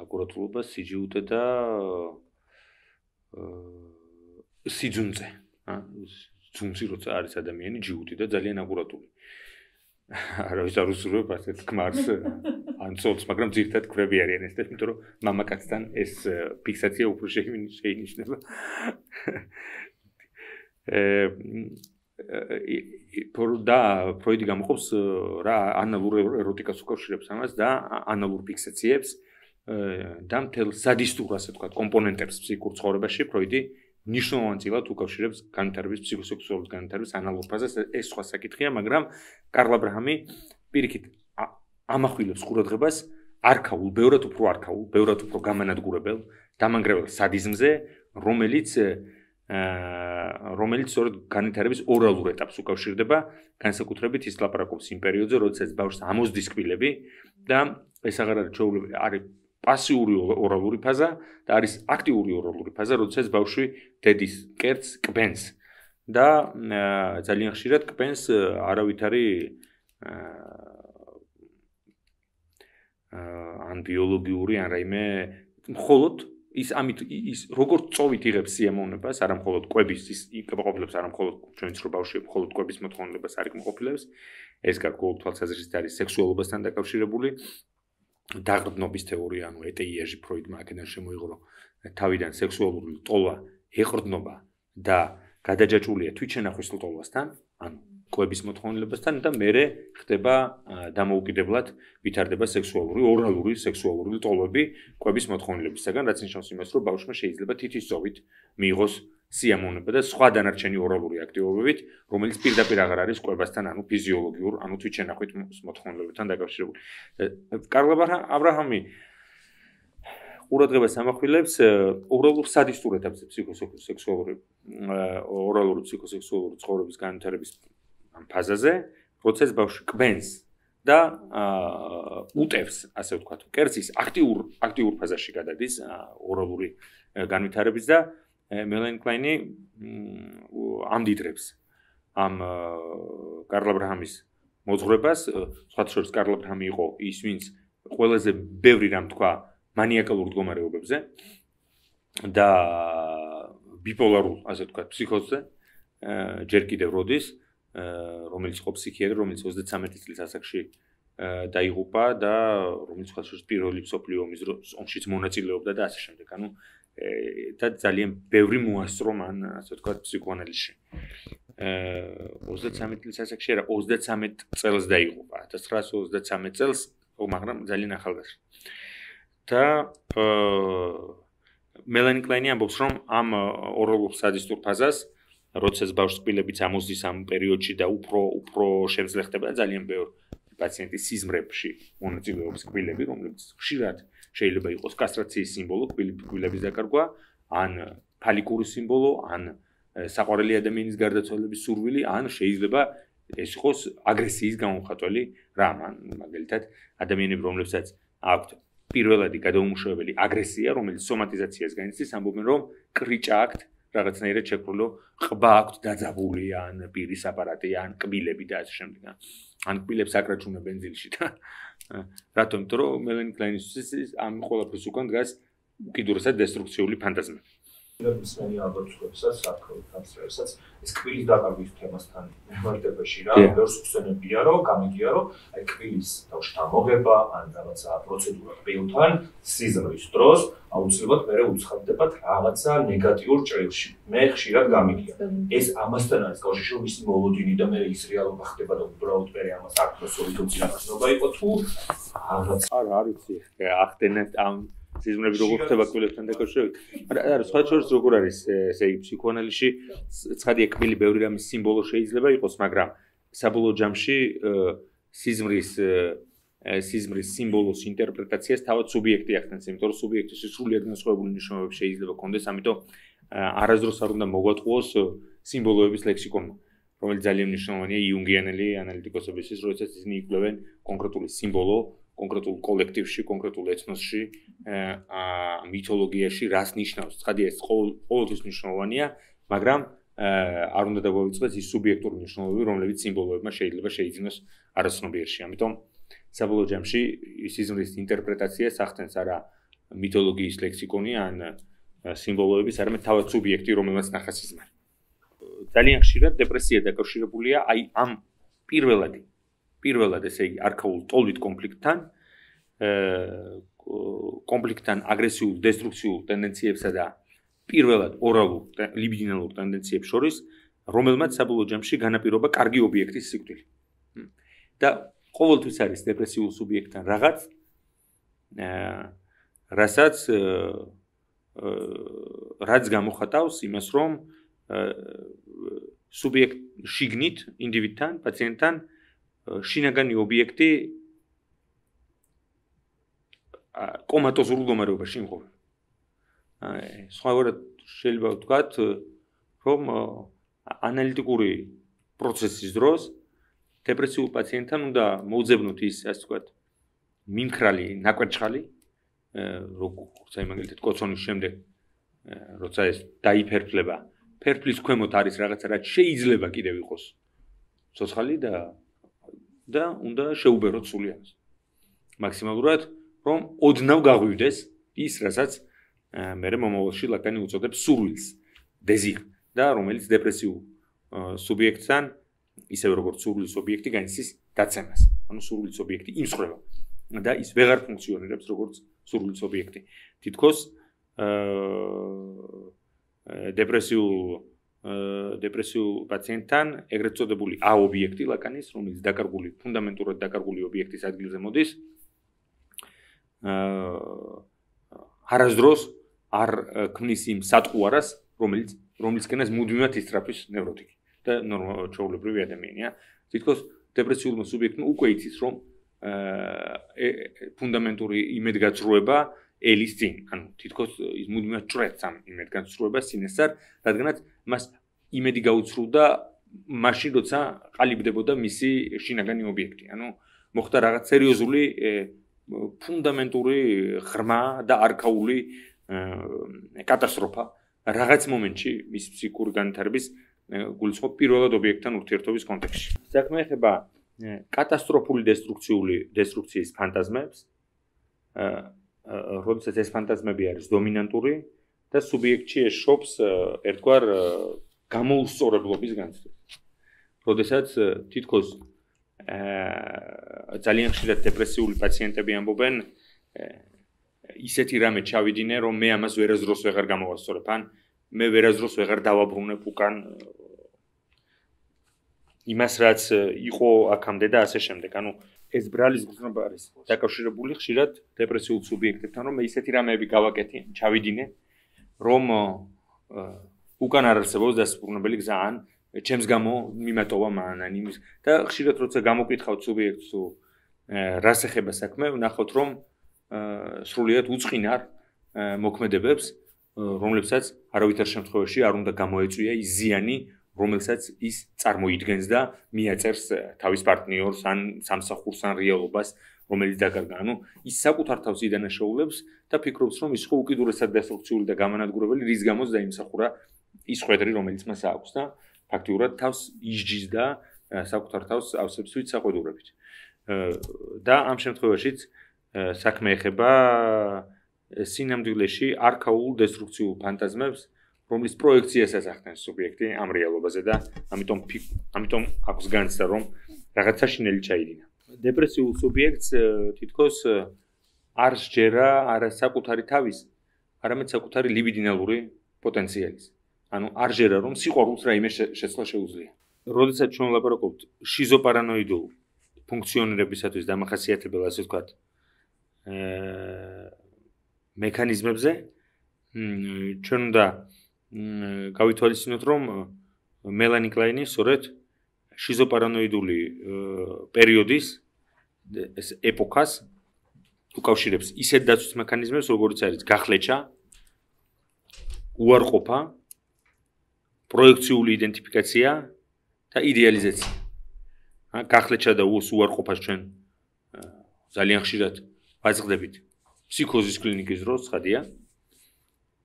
A: აკურატულობა, სიჯიუტე და სიძუნწე, ძუნწი როცა არის ადამიანი ჯიუტი და ძალიან აკურატული. არა ის არ უსურვებ ასეთ ქმარს ან ცოლს, მაგრამ ძირთად ქმრები არიან ეს, იმიტომ რომ მამაკაცთან ეს ფიქსაცია უფრო შეინიშნება. და ფროიდი გამოყოფს რა ანალურ ეროტიკას უკავშირებს ამას და ანალურ ფიქსაციებს და მთელ სადისტურ ასე ვთქვათ კომპონენტებს ფსიქიკურ ცხოვრებაში ფროიდი ნიშნულოვანწილად უკავშირებს განვითარების ფსიქოსექსუალურ განვითარების ანალურ ფაზას. ეს სხვა საკითხია, მაგრამ კარლ აბრაჰამი პირიქით ამახვილებს ყურადღებას არქაულ, ბევრად უფრო არქაულ, ბევრად უფრო გამანადგურებელ, დამანგრეველ სადიზმზე, რომელიც რომელიც სწორედ განვითარების ორალურ ეტაპს უკავშირდება, განსაკუთრებით ის ლაპარაკობს იმ პერიოდზე, როდესაც ბავშვს ამოსდის კბილები და ეს აღარ არის ჩვეულებრივი, არის პასიური ორალური ფაზა და არის აქტიური ორალური ფაზა, როდესაც ბავშვი დედის კერძს კბენს და ძალიან ხშირად კბენს არავითარი ან ბიოლოგიური ან რაიმე მხოლოდ ის ამით ის როგორც წოვით იღებს სიამოვნებას, არა მხოლოდ კვების ის ყოფილებს, არა მხოლოდ ჩვენც რო ბავშვი მხოლოდ კვების მოთხოვნილებას არ იკმყოფილებს, ეს გარკვეულ თვალსაზრისით არის სექსუალობასთან დაკავშირებული. დაღრდნობის თეორია, ანუ ეტეიაჟი ფროიდმა აქედან შემოიღო თავიდან სექსუალური ტოლვა, ეყრდნობა და გადაჯაჭვულია თვითშენახვის ტოლვასთან, ანუ კვების მოთხოვნილებასთან და მერე ხდება დამოუკიდებლად ვითარდება სექსუალური, ორალური სექსუალური ტოლვები კვების მოთხოვნილებისგან, რაც ნიშნავს იმას, რომ ბავშვმა შეიძლება თითისტობით მიიღოს სიამოვნება და სხვა დანარჩენი ორალური აქტივობებით, რომელიც პირდაპირ აღარ არის კვებასთან, ანუ ფიზიოლოგიურ, ანუ თვითშენახვით მოთხოვნილებებთან დაკავშირებული. კარლ აბრაჰამი ყურადღებას ამახვილებს ორალურ სადისტურ ეტაპზე ფსიქოსექსუალური ორალური ფსიქოსექსუალური ცხოვრების განვითარების ფაზაზე, როდესაც ბავშვი კბენს და უტევს, ასე ვთქვათ, კერძის აქტიურ აქტიურ ფაზაში გადადის ორალური განვითარების და მელანი კლაინი ამდიდრებს ამ კარლ აბრაჰამის მოძღვრებას, სხვათა შორის კარლ აბრაჰამი იყო ის, ვინც ყველაზე ბევრი რამ თქვა მანიაკალურ მდგომარეობებზე და ბიპოლარულ, ასე ვთქვათ, ფსიქოზზე, ჯერ კიდევ როდის, რომელიც იყო ფსიქიატრი, რომელიც ოცდათსამეტი წლის ასაკში დაიღუპა და რომელიც სხვათა შორის პირველი მსოფლიო ომშიც მონაწილეობდა და ასე შემდეგ. ანუ და ძალიან ბევრი მოასწრო მან, ასე ვთქვათ, ფსიქოანალიზში. ოცდათსამეტი წლის ასაკში არა, ოცდათსამეტ წელს დაიღუპა, ათას ცხრაასი ოცდათსამეტ წელს, მაგრამ ძალიან ახალგაზრდა. და მელანი კლაინი ამბობს, რომ ამ ორალურ სადისტურ ფაზას, როდესაც ბავშვს კბილებიც ამოსდის ამ პერიოდში და უფრო უფრო შემძლე ხდება და ძალიან ბევრი პაციენტის სიზმრებში მონაწილეობს კბილები, რომლებიც ხშირად შეიძლება იყოს კასტრაციის სიმბოლო, კბილების დაკარგვა, ან ფალიკური სიმბოლო, ან საყვარელი ადამიანის გარდაცვალების სურვილი, ან შეიძლება ეს იყოს აგრესიის გამომხატველი რამ, ან მაგალითად ადამიანები, რომლებსაც აქვთ პირველადი გადაუმუშავებელი აგრესია, რომელიც სომატიზაციას განიცდის, ამბობენ, რომ კრიჭა აქვთ, რაღაცნაირად შექმნილო ყბა აქვთ დაძაბული, ან პირის აპარატი, ან კბილები და ასე შემდეგ. ან კბილებს აკრაჭუნა ბენზინში და რატომ? იმიტომ რომ მელანი კლაინისთვის ამ ყველაფრის უკან დგას უკიდურესად დესტრუქციული ფანტაზმა.
B: მსმენი ალბათობებსაც საკროთაც რასაც ეს კბილის დაკარგვის თემასთან მიმართებაში რა ბევრს ხსენებია რომ გამიგია რომ აი კბილის თავში ამოღება ან რაღაცა პროცედურა კბილთან სიზმრის დროს აუცილებლად მე უცხადდება რაღაცა ნეგატიურ ჭრილში მე ხშირად გამიგია ეს ამასთან არის კავშირში რომ ისი მოლოდინი და მე ის რეალობა ხდება და უბრალოდ მე ამას აკროსოვი თუ ძინაყნობა იყო თუ რაღაც
A: არა არ ვიცი ახდენეთ ამ სიზმრები როგორ ხდება კბილებთან დაკავშირებით. არა, სხვა შორის როგორ არის ესე იგი ფსიქოანალიზში ცხადია კბილი ბევრი რამის სიმბოლო შეიძლება იყოს, მაგრამ საბოლოო ჯამში სიზმრის სიზმრის სიმბოლოს ინტერპრეტაციას თავად სუბიექტი ახდენს, იმიტომ რომ სუბიექტის სრულიად განსხვავებული ნიშნულობები შეიძლება ჰქონდეს, ამიტომ არასდროს არ უნდა მოგვატყუოს სიმბოლოების ლექსიკონმა, რომელიც ძალიან მნიშვნელოვანია იუნგიანელი ანალიტიკოსებისთვის, როდესაც ისინი იკვლევენ კონკრეტული სიმბოლო, კონკრეტულ კოლექტივში, კონკრეტულ ეთნოსში, მითოლოგიაში რას ნიშნავს. ცხადია, ეს ყოველთვის მნიშვნელოვანია, მაგრამ არ უნდა დაგვავიწყდეს ის სუბიექტური მნიშვნელობები, რომლებიც სიმბოლოებმა შეიძლება შეიძინოს არაცნობიერში. ამიტომ საბოლოო ჯამში სიზმრის ინტერპრეტაციას ახდენს არა მითოლოგიის ლექსიკონი ან სიმბოლოების, არამედ თავად სუბიექტი, რომელსაც ნახა სიზმარი. ძალიან ხშირად დეპრესია დაკავშირებულია აი ამ პირველად პირველად ესე იგი არქაულ ტოლვით კონფლიქტთან, კონფლიქტთან აგრესიულ დესტრუქციულ ტენდენციებსა და პირველად ორალურ ლიბიდინალურ ტენდენციებს შორის, რომელმაც საბოლოო ჯამში განაპირობა კარგი ობიექტის სიკვდილი. და ყოველთვის არის დეპრესიულ სუბიექტთან რაღაც, რასაც რაც გამოხატავს იმას, რომ სუბიექტ შიგნით ინდივიდთან, პაციენტთან შინაგანი ობიექტი კომატოზურ მდგომარეობაში იმყოფება. სხვაგვარად შეიძლება ვთქვათ, რომ ანალიტიკური პროცესის დროს დეპრესიულ პაციენტთან უნდა მოუძებნოთ ის, ასე ვთქვათ, მიმხრალი ნაკვერჩხალი, როგორც აი მაგალითად კოცონის შემდეგ, როცა ეს დაიფერფლება, ფერფლის ქვემოთ არის რაღაცა, რაც შეიძლება კიდევ იყოს ცოცხალი და და უნდა შეუბეროთ სულიანს. მაქსიმალურად, რომ ოდნავ გაღვივდეს ის, რასაც მერე მომავალში ლაკანი უწოდებს სურვილს, დეზირ და რომელიც დეპრესიულ სუბიექტთან ისევე როგორც სურვილის ობიექტი განიცდის დაცემას. ანუ სურვილის ობიექტი იმსხვრება და ის ვეღარ ფუნქციონირებს როგორც სურვილის ობიექტი. თითქოს დეპრესიულ დეპრესიულ პაციენტთან ეგრეთ წოდებული A ობიექტი ლაკანის, რომელიც დაკარგული, ფუნდამენტურად დაკარგული ობიექტის ადგილზე მოდის, არასდროს არ ქმნის იმ სატყუარას, რომელიც რომლისკენაც მუდმივად ისწრაფვის ნევროტიკი და ჩვეულებრივი ადამიანია. თითქოს დეპრესიულმა სუბიექტმა უკვე იცის, რომ ფუნდამენტური იმედგაცრუება ელის წინ, ანუ თითქოს ის მუდმივად ჭრეთს ამ იმედგაცრუებას წინასწარ, რადგანაც მას იმედი გაუცრუდა მაშინ, როცა ყალიბდებოდა მისი შინაგანი ობიექტი. ანუ მოხდა რაღაც სერიოზული ფუნდამენტური ღრმა და არქაული კატასტროფა რაღაც მომენტში მის ფსიქიკური განვითარების გულისხმობ პირველად ობიექტთან ურთიერთობის კონტექსტში. საქმე ეხება კატასტროფული დესტრუქციული დესტრუქციის ფანტაზმებს, როდესაც ეს ფანტაზმები არის დომინანტური და სუბიექტში ეშობს ერთგვარ გამოუსწორებლობის განცდას. როდესაც თითქოს ძალიან ხშირად დეპრესიული პაციენტები ამბობენ, ისეთი რამე ჩავიდინე, რომ მე ამას ვერასდროს ვეღარ გამოვასწორებ, ან მე ვერასდროს ვეღარ დავაბრუნებ უკან იმას, რაც იყო აქამდე და ასე შემდეგ. ანუ ეს ბრალის გრძნობა არის დაკავშირებული ხშირად დეპრესიულ სუბიექტებთან, რომ მე ისეთი რამეები გავაკეთე, ჩავიდინე, რომ უკან არ არსებობს დასაბრუნებელი გზა, ან ჩემს გამო მიმატოვა მან, ან იმის და ხშირად როცა გამოკითხავთ სუბიექტს თუ რას ეხება საქმე, ვნახოთ, რომ სრულიად უწყინარ მოქმედებებს, რომლებსაც არავითარ შემთხვევაში არ უნდა გამოეწვია ის ზიანი, რომელსაც ის წარმოიდგენს და მიაწერს თავის პარტნიორს ან სამსახურს ან რეალობას, რომელიც დაკარგა. ანუ ის საკუთარ თავს იდანაშაულებს და ფიქრობს, რომ ის ხო უკიდურესად დასტრუქციული და გამანადგურებელი, რის გამოც დაიმსახურა ის ხვედრი, რომელიც მას აქვს და ფაქტიურად თავს ისჯის და საკუთარ თავს ავსებს ვით საყვედურებით. და ამ შემთხვევაშიც საქმე ეხება სინამდვილეში არქაულ დესტრუქციულ ფანტაზმებს, რომლის პროექციასაც ახდენს სუბიექტი ამ რეალობაზე და ამიტომ ამიტომ აქვს განცდა, რომ რაღაცა შინელი ჩაიდინა. დეპრესიულ სუბიექტს თითქოს არ სჯერა არა საკუთარი თავის, არამედ საკუთარი ლიბიდინალური პოტენციალის. ანუ არ ჟერა, რომ სიყვარულს რაიმე შეცვლა შეუძლია. როდესაც ჩვენ ვლაპარაკობთ შიზოპარანოიდულ ფუნქციონირებისათვის დამახასიათებელ, ასე ვთქვათ, მექანიზმებზე, ჩვენ უნდა გავითვალისწინოთ, რომ მელანი კლაინი სწორედ შიზოპარანოიდული პერიოდის ეს ეპოქას უკავშირებს ისეთ დაცვის მექანიზმებს, როგორც არის გახლეჩა, უარყოფა, პროექციული იდენტიფიკაცია და იდეალიზაცია. გახლეჩა და უარყოფას ჩვენ ძალიან ხშირად ვაწყდებით ფსიქოზის კლინიკის დროს, ხადია.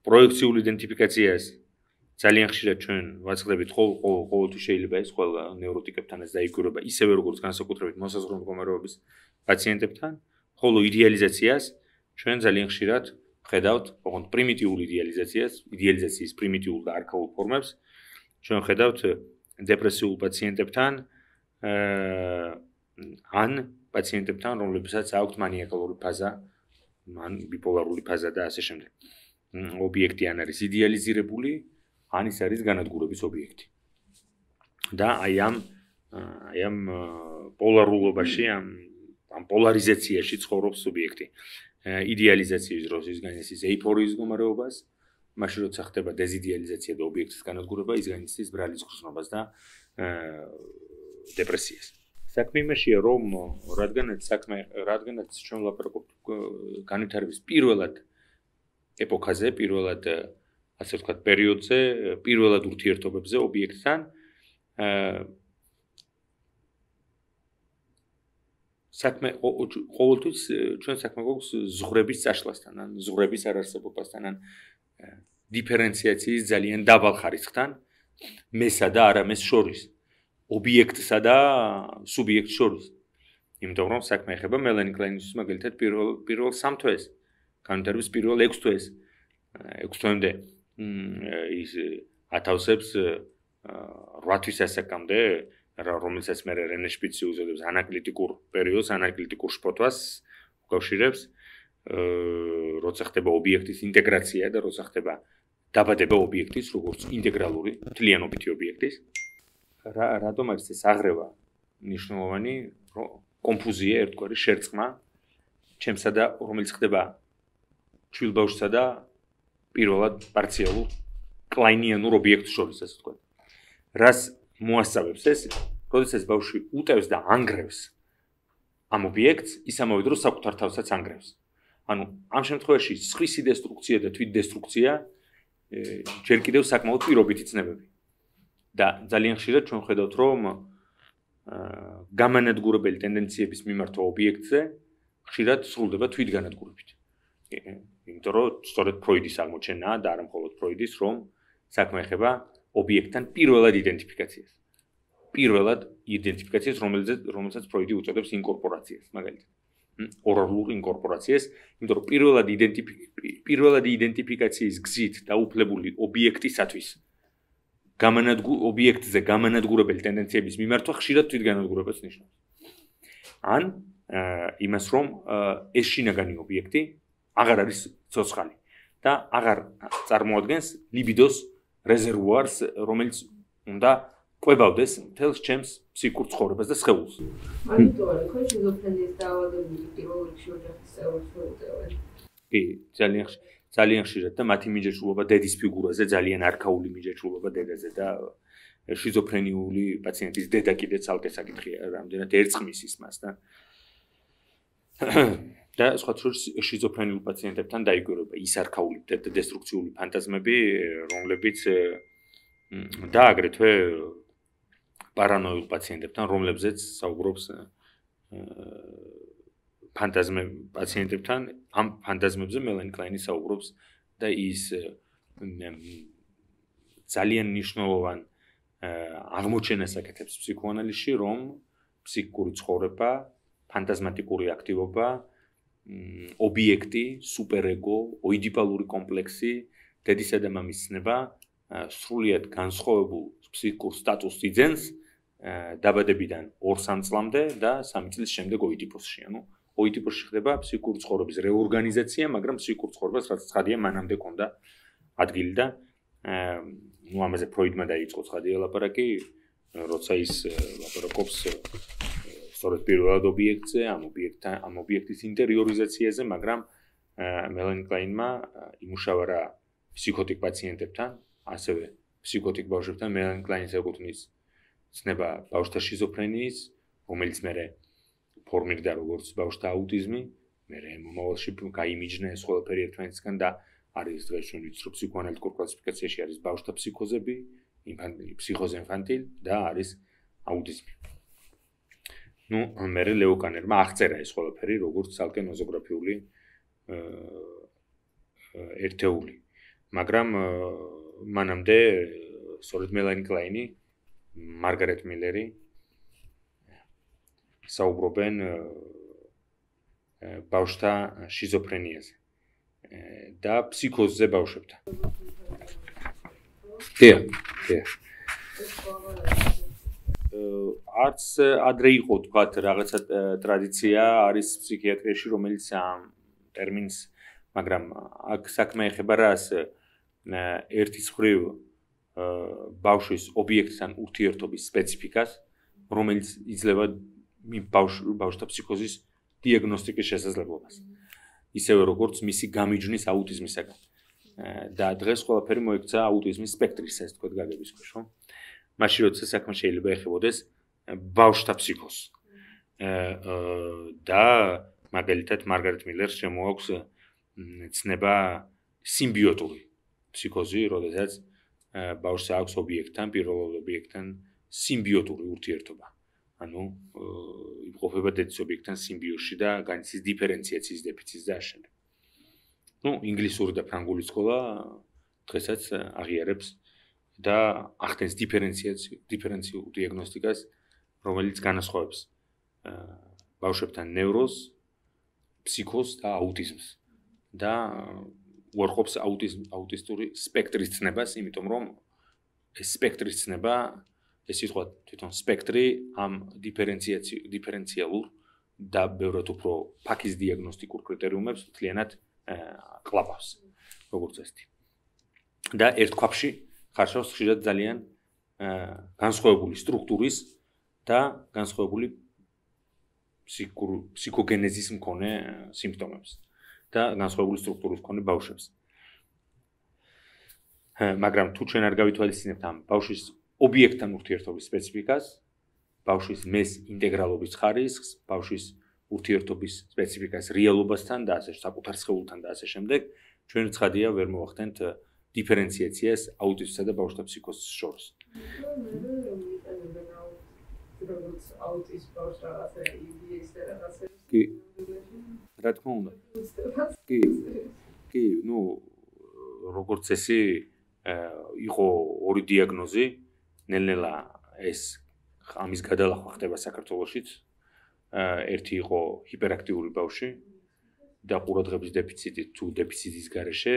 A: პროექციული იდენტიფიკაციას ძალიან ხშირად ჩვენ ვაწყდებით ყოველთვის შეიძლება ეს ყველა ნევროტიკებთანაც დაიკვირება ისევე როგორც განსაკუთრებით მოსაზღვრე მდგომარეობის პაციენტებთან, ხოლო იდეალიზაციას ჩვენ ძალიან ხშირად ხედავთ, ოღონდ პრიმიტიული იდეალიზაციას, იდეალიზაციის პრიმიტიულ და არქაულ ფორმებს ჩვენ ხედავთ დეპრესიულ პაციენტებთან ან პაციენტებთან, რომლებსაც აქვთ მანიაკალური ფაზა, ან ბიპოლარული ფაზა და ასე შემდეგ. ობიექტი ან არის იდეალიზირებული, ან ის არის განადგურების ობიექტი. და აი ამ აი ამ პოლარულობაში, ამ ამ პოლარიზაციაში ცხოვრობს სუბიექტი. იდეალიზაციის დროს ის განიცდის ეიფორიის მდგომარეობას, მაშინ როცა ხდება დეზიდეალიზაცია და ობიექტის განადგურება, ის განიცდის ბრალის გრძნობას და დეპრესიას. საქმე იმაშია, რომ რადგანაც საქმე, რადგანაც ჩვენ ვლაპარაკობთ განვითარების პირველად ეპოქაზე, პირველად ასე ვთქვათ, პერიოდზე, პირველად ურთიერთობებზე ობიექტთან, საქმე ყოველთვის ჩვენ საქმე გვაქვს ზღვრების წაშლასთან, ან ზღვრების არარსებობასთან, ან დიფერენციაციის ძალიან დაბალ ხარისხთან, მესა და არამეს შორის, ობიექტსა და სუბიექტს შორის. იმიტომ რომ საქმე ეხება მელანი კლაინისთვის მაგალითად პირველ პირველ სამ თვეს, განვითარების პირველ ექვს თვეს, ექვს თვემდე ის ათავსებს რვა თვის ასაკამდე, რომელსაც მე რენე შპიცი უწოდებს ანაკლიტიკურ პერიოდს, ანაკლიტიკურ შფოთვას უკავშირებს, როცა ხდება ობიექტის ინტეგრაცია და როცა ხდება დაბადება ობიექტის, როგორც ინტეგრალური, მთლიანობითი ობიექტის. რატომ არის ეს აღრევა მნიშვნელოვანი, კონფუზია, ერთგვარი შერწყმა, ჩემსა და რომელიც ხდება ჩვილ ბავშვსა და პირველად პარციალურ კლაინიანურ ობიექტს შორის, ასე ვთქვათ. რას მოასწავებს ეს, როდესაც ბავშვი უტევს და ანგრევს ამ ობიექტს, ის ამავე დროს საკუთარ თავსაც ანგრევს. ანუ ამ შემთხვევაში სხვისი დესტრუქცია და თვითდესტრუქცია ჯერ კიდევ საკმაოდ პირობითი ცნებები. და ძალიან ხშირად ჩვენ ხედავთ, რომ გამანადგურებელი ტენდენციების მიმართვა ობიექტზე ხშირად სრულდება თვითგანადგურებით. იმიტომ რომ სწორედ ფროიდის აღმოჩენაა და არა მხოლოდ ფროიდის, რომ საქმე ეხება ობიექტთან პირველად იდენტიფიკაციას. პირველად იდენტიფიკაციას, რომელზეც რომელსაც ფროიდი უწოდებს ინკორპორაციას, მაგალითად. ორალურ ინკორპორაციას, იმიტომ რომ პირველად პირველად იდენტიფიკაციის გზით დაუფლებული ობიექტისათვის გამანადგურ ობიექტზე გამანადგურებელი ტენდენციების მიმართვა ხშირად თვითგანადგურებას ნიშნავს. ან იმას, რომ ეს შინაგანი ობიექტი აღარ არის ცოცხალი და აღარ წარმოადგენს ლიბიდოს რეზერვუარს, რომელიც უნდა ყვებავდეს მთელს ჩემს ფსიქურ ცხოვრებას და სხეულს.
C: ამიტომ არა, ხო შიზოფრენიის დაავადებული პირველ რიგში ოჯახის წევრებს მოუტევენ.
A: კი, ძალიან ძალიან ხშირად და მათი მიჯაჭვულობა დედის ფიგურაზე, ძალიან არქაული მიჯაჭვულობა დედაზე და შიზოფრენიული პაციენტის დედა კიდე ცალკე საკითხია, რამდენად ერწყმის ის მას და და სხვა შორის შიზოფრენიულ პაციენტებთან დაიკვირება ის არქაული და დესტრუქციული ფანტაზმები, რომლებიც და აგრეთვე პარანოიულ პაციენტებთან, რომლებზეც საუბრობს ფანტაზმები პაციენტებთან, ამ ფანტაზმებზე მელანი კლაინი საუბრობს და ის ძალიან მნიშვნელოვან აღმოჩენას აკეთებს ფსიქოანალიზში, რომ ფსიქიკური ცხოვრება, ფანტაზმატიკური აქტივობა, ობიექტი, სუპერეგო, ოიდიპალური კომპლექსი, დედისა და მამის ცნება სრულიად განსხვავებულ ფსიქიკურ სტატუსს იძენს დაბადებიდან ორ სამ წლამდე და სამი წლის შემდეგ ოიდიპოსში. ანუ ოიდიპოსში ხდება ფსიქიკური ცხოვრების რეორგანიზაცია, მაგრამ ფსიქიკურ ცხოვრებას რაც ცხადია მანამდე ქონდა ადგილი და ნუ ამაზე ფროიდმა დაიწყო ცხადია ლაპარაკი, როცა ის ლაპარაკობს სწორედ პირველად ობიექტზე, ამ ობიექტთან, ამ ობიექტის ინტერიორიზაციაზე, მაგრამ მელანი კლაინმა იმუშავა რა ფსიქოტიკ პაციენტებთან, ასევე ფსიქოტიკ ბავშვებთან, მელანი კლაინის ეკუთვნის ცნება ბავშვთა შიზოფრენიის, რომელიც მერე ფორმირდა როგორც ბავშვთა აუტიზმი, მერე მომავალში გაიმიჯნა ეს ყველაფერი ერთმანეთისგან და არის დღეს ჩვენ ვიცით რომ ფსიქოანალიტიკურ კლასიფიკაციაში არის ბავშვთა ფსიქოზები, ფსიქოზა ინფანტილ და არის აუტიზმი. ნუ მერე ლეო კანერმა აღწერა ეს ყველაფერი როგორც ცალკე ნოზოგრაფიული ერთეული. მაგრამ მანამდე სწორედ მელანი კლაინი, მარგარეტ მილერი საუბრობენ ბავშვთა შიზოფრენიაზე და ფსიქოზზე ბავშვებთან. დიახ, დიახ. არც ადრე იყო თქვათ რაღაცა ტრადიცია არის ფსიქიატრიაში, რომელიც ამ ტერმინს, მაგრამ აქ საქმე ეხება რას ერთის მხრივ ბავშვის ობიექტთან ურთიერთობის სპეციფიკას, რომელიც იძლევა ბავშვთა ფსიქოზის დიაგნოსტიკის შესაძლებლობას. ისევე როგორც მისი გამიჯვნის აუტიზმისაგან. და დღეს ყველაფერი მოექცა აუტიზმის სპექტრის, ეს თქვა გაგების ქვეშ, ხო? მაშინ როცა საქმე შეიძლება ეხებოდეს ბავშვთა ფსიქოზს. და მაგალითად მარგარეტ მილერს შემოაქვს ცნება სიმბიოტური ფსიქოზი, როდესაც ბავშვს აქვს ობიექტთან, პირველ ობიექტთან სიმბიოტური ურთიერთობა. ანუ იმყოფება დედის ობიექტთან სიმბიოზში და განიცდის დიფერენციაციის დეფიციტს და ამავდროულად. ნუ ინგლისური და ფრანგული სკოლა დღესაც აღიარებს და ახდენს დიფერენციაციულ დიფერენციულ დიაგნოსტიკას, რომელიც განასხვავებს ბავშვებთან ნევროზს, ფსიქოზს და აუტიზმს და უარყოფს აუტიზმ აუტისტური სპექტრის ცნებას, იმიტომ რომ ეს სპექტრის ცნება, ეს სიტყვა თვითონ სპექტრი ამ დიფერენციაცი დიფერენციალურ და ბევრად უფრო ფაქის დიაგნოსტიკურ კრიტერიუმებს მთლიანად ყლაპავს, როგორც ესეთი. და ერთ ქვაბში ხარშავს ხშირად ძალიან განსხვავებული სტრუქტურის და განსხვავებული ფსიქოგენეზის მქონე სიმპტომებს და განსხვავებული სტრუქტურის მქონე ბავშვებს. მაგრამ თუ ჩვენ არ გავითვალისწინებთ ამ ბავშვის ობიექტთან ურთიერთობის სპეციფიკას, ბავშვის მეს ინტეგრალობის ხარისხს, ბავშვის ურთიერთობის სპეციფიკას რეალობასთან და ასე საკუთარ სხეულთან და ასე შემდეგ, ჩვენ ცხადია ვერ მოვახდენთ დიფერენციაციას აუტიზმსა და ბავშვთა ფსიქოზის შორის. კი, რა თქმა უნდა. კი, კი, ნუ როგორც ესე იყო ორი დიაგნოზი, ნელ-ნელა ეს ამის გადალახვა ხდება საქართველოშიც. ერთი იყო ჰიპერაქტიული ბავშვი და ყურადღების დეფიციტი თუ დეფიციტის გარეშე,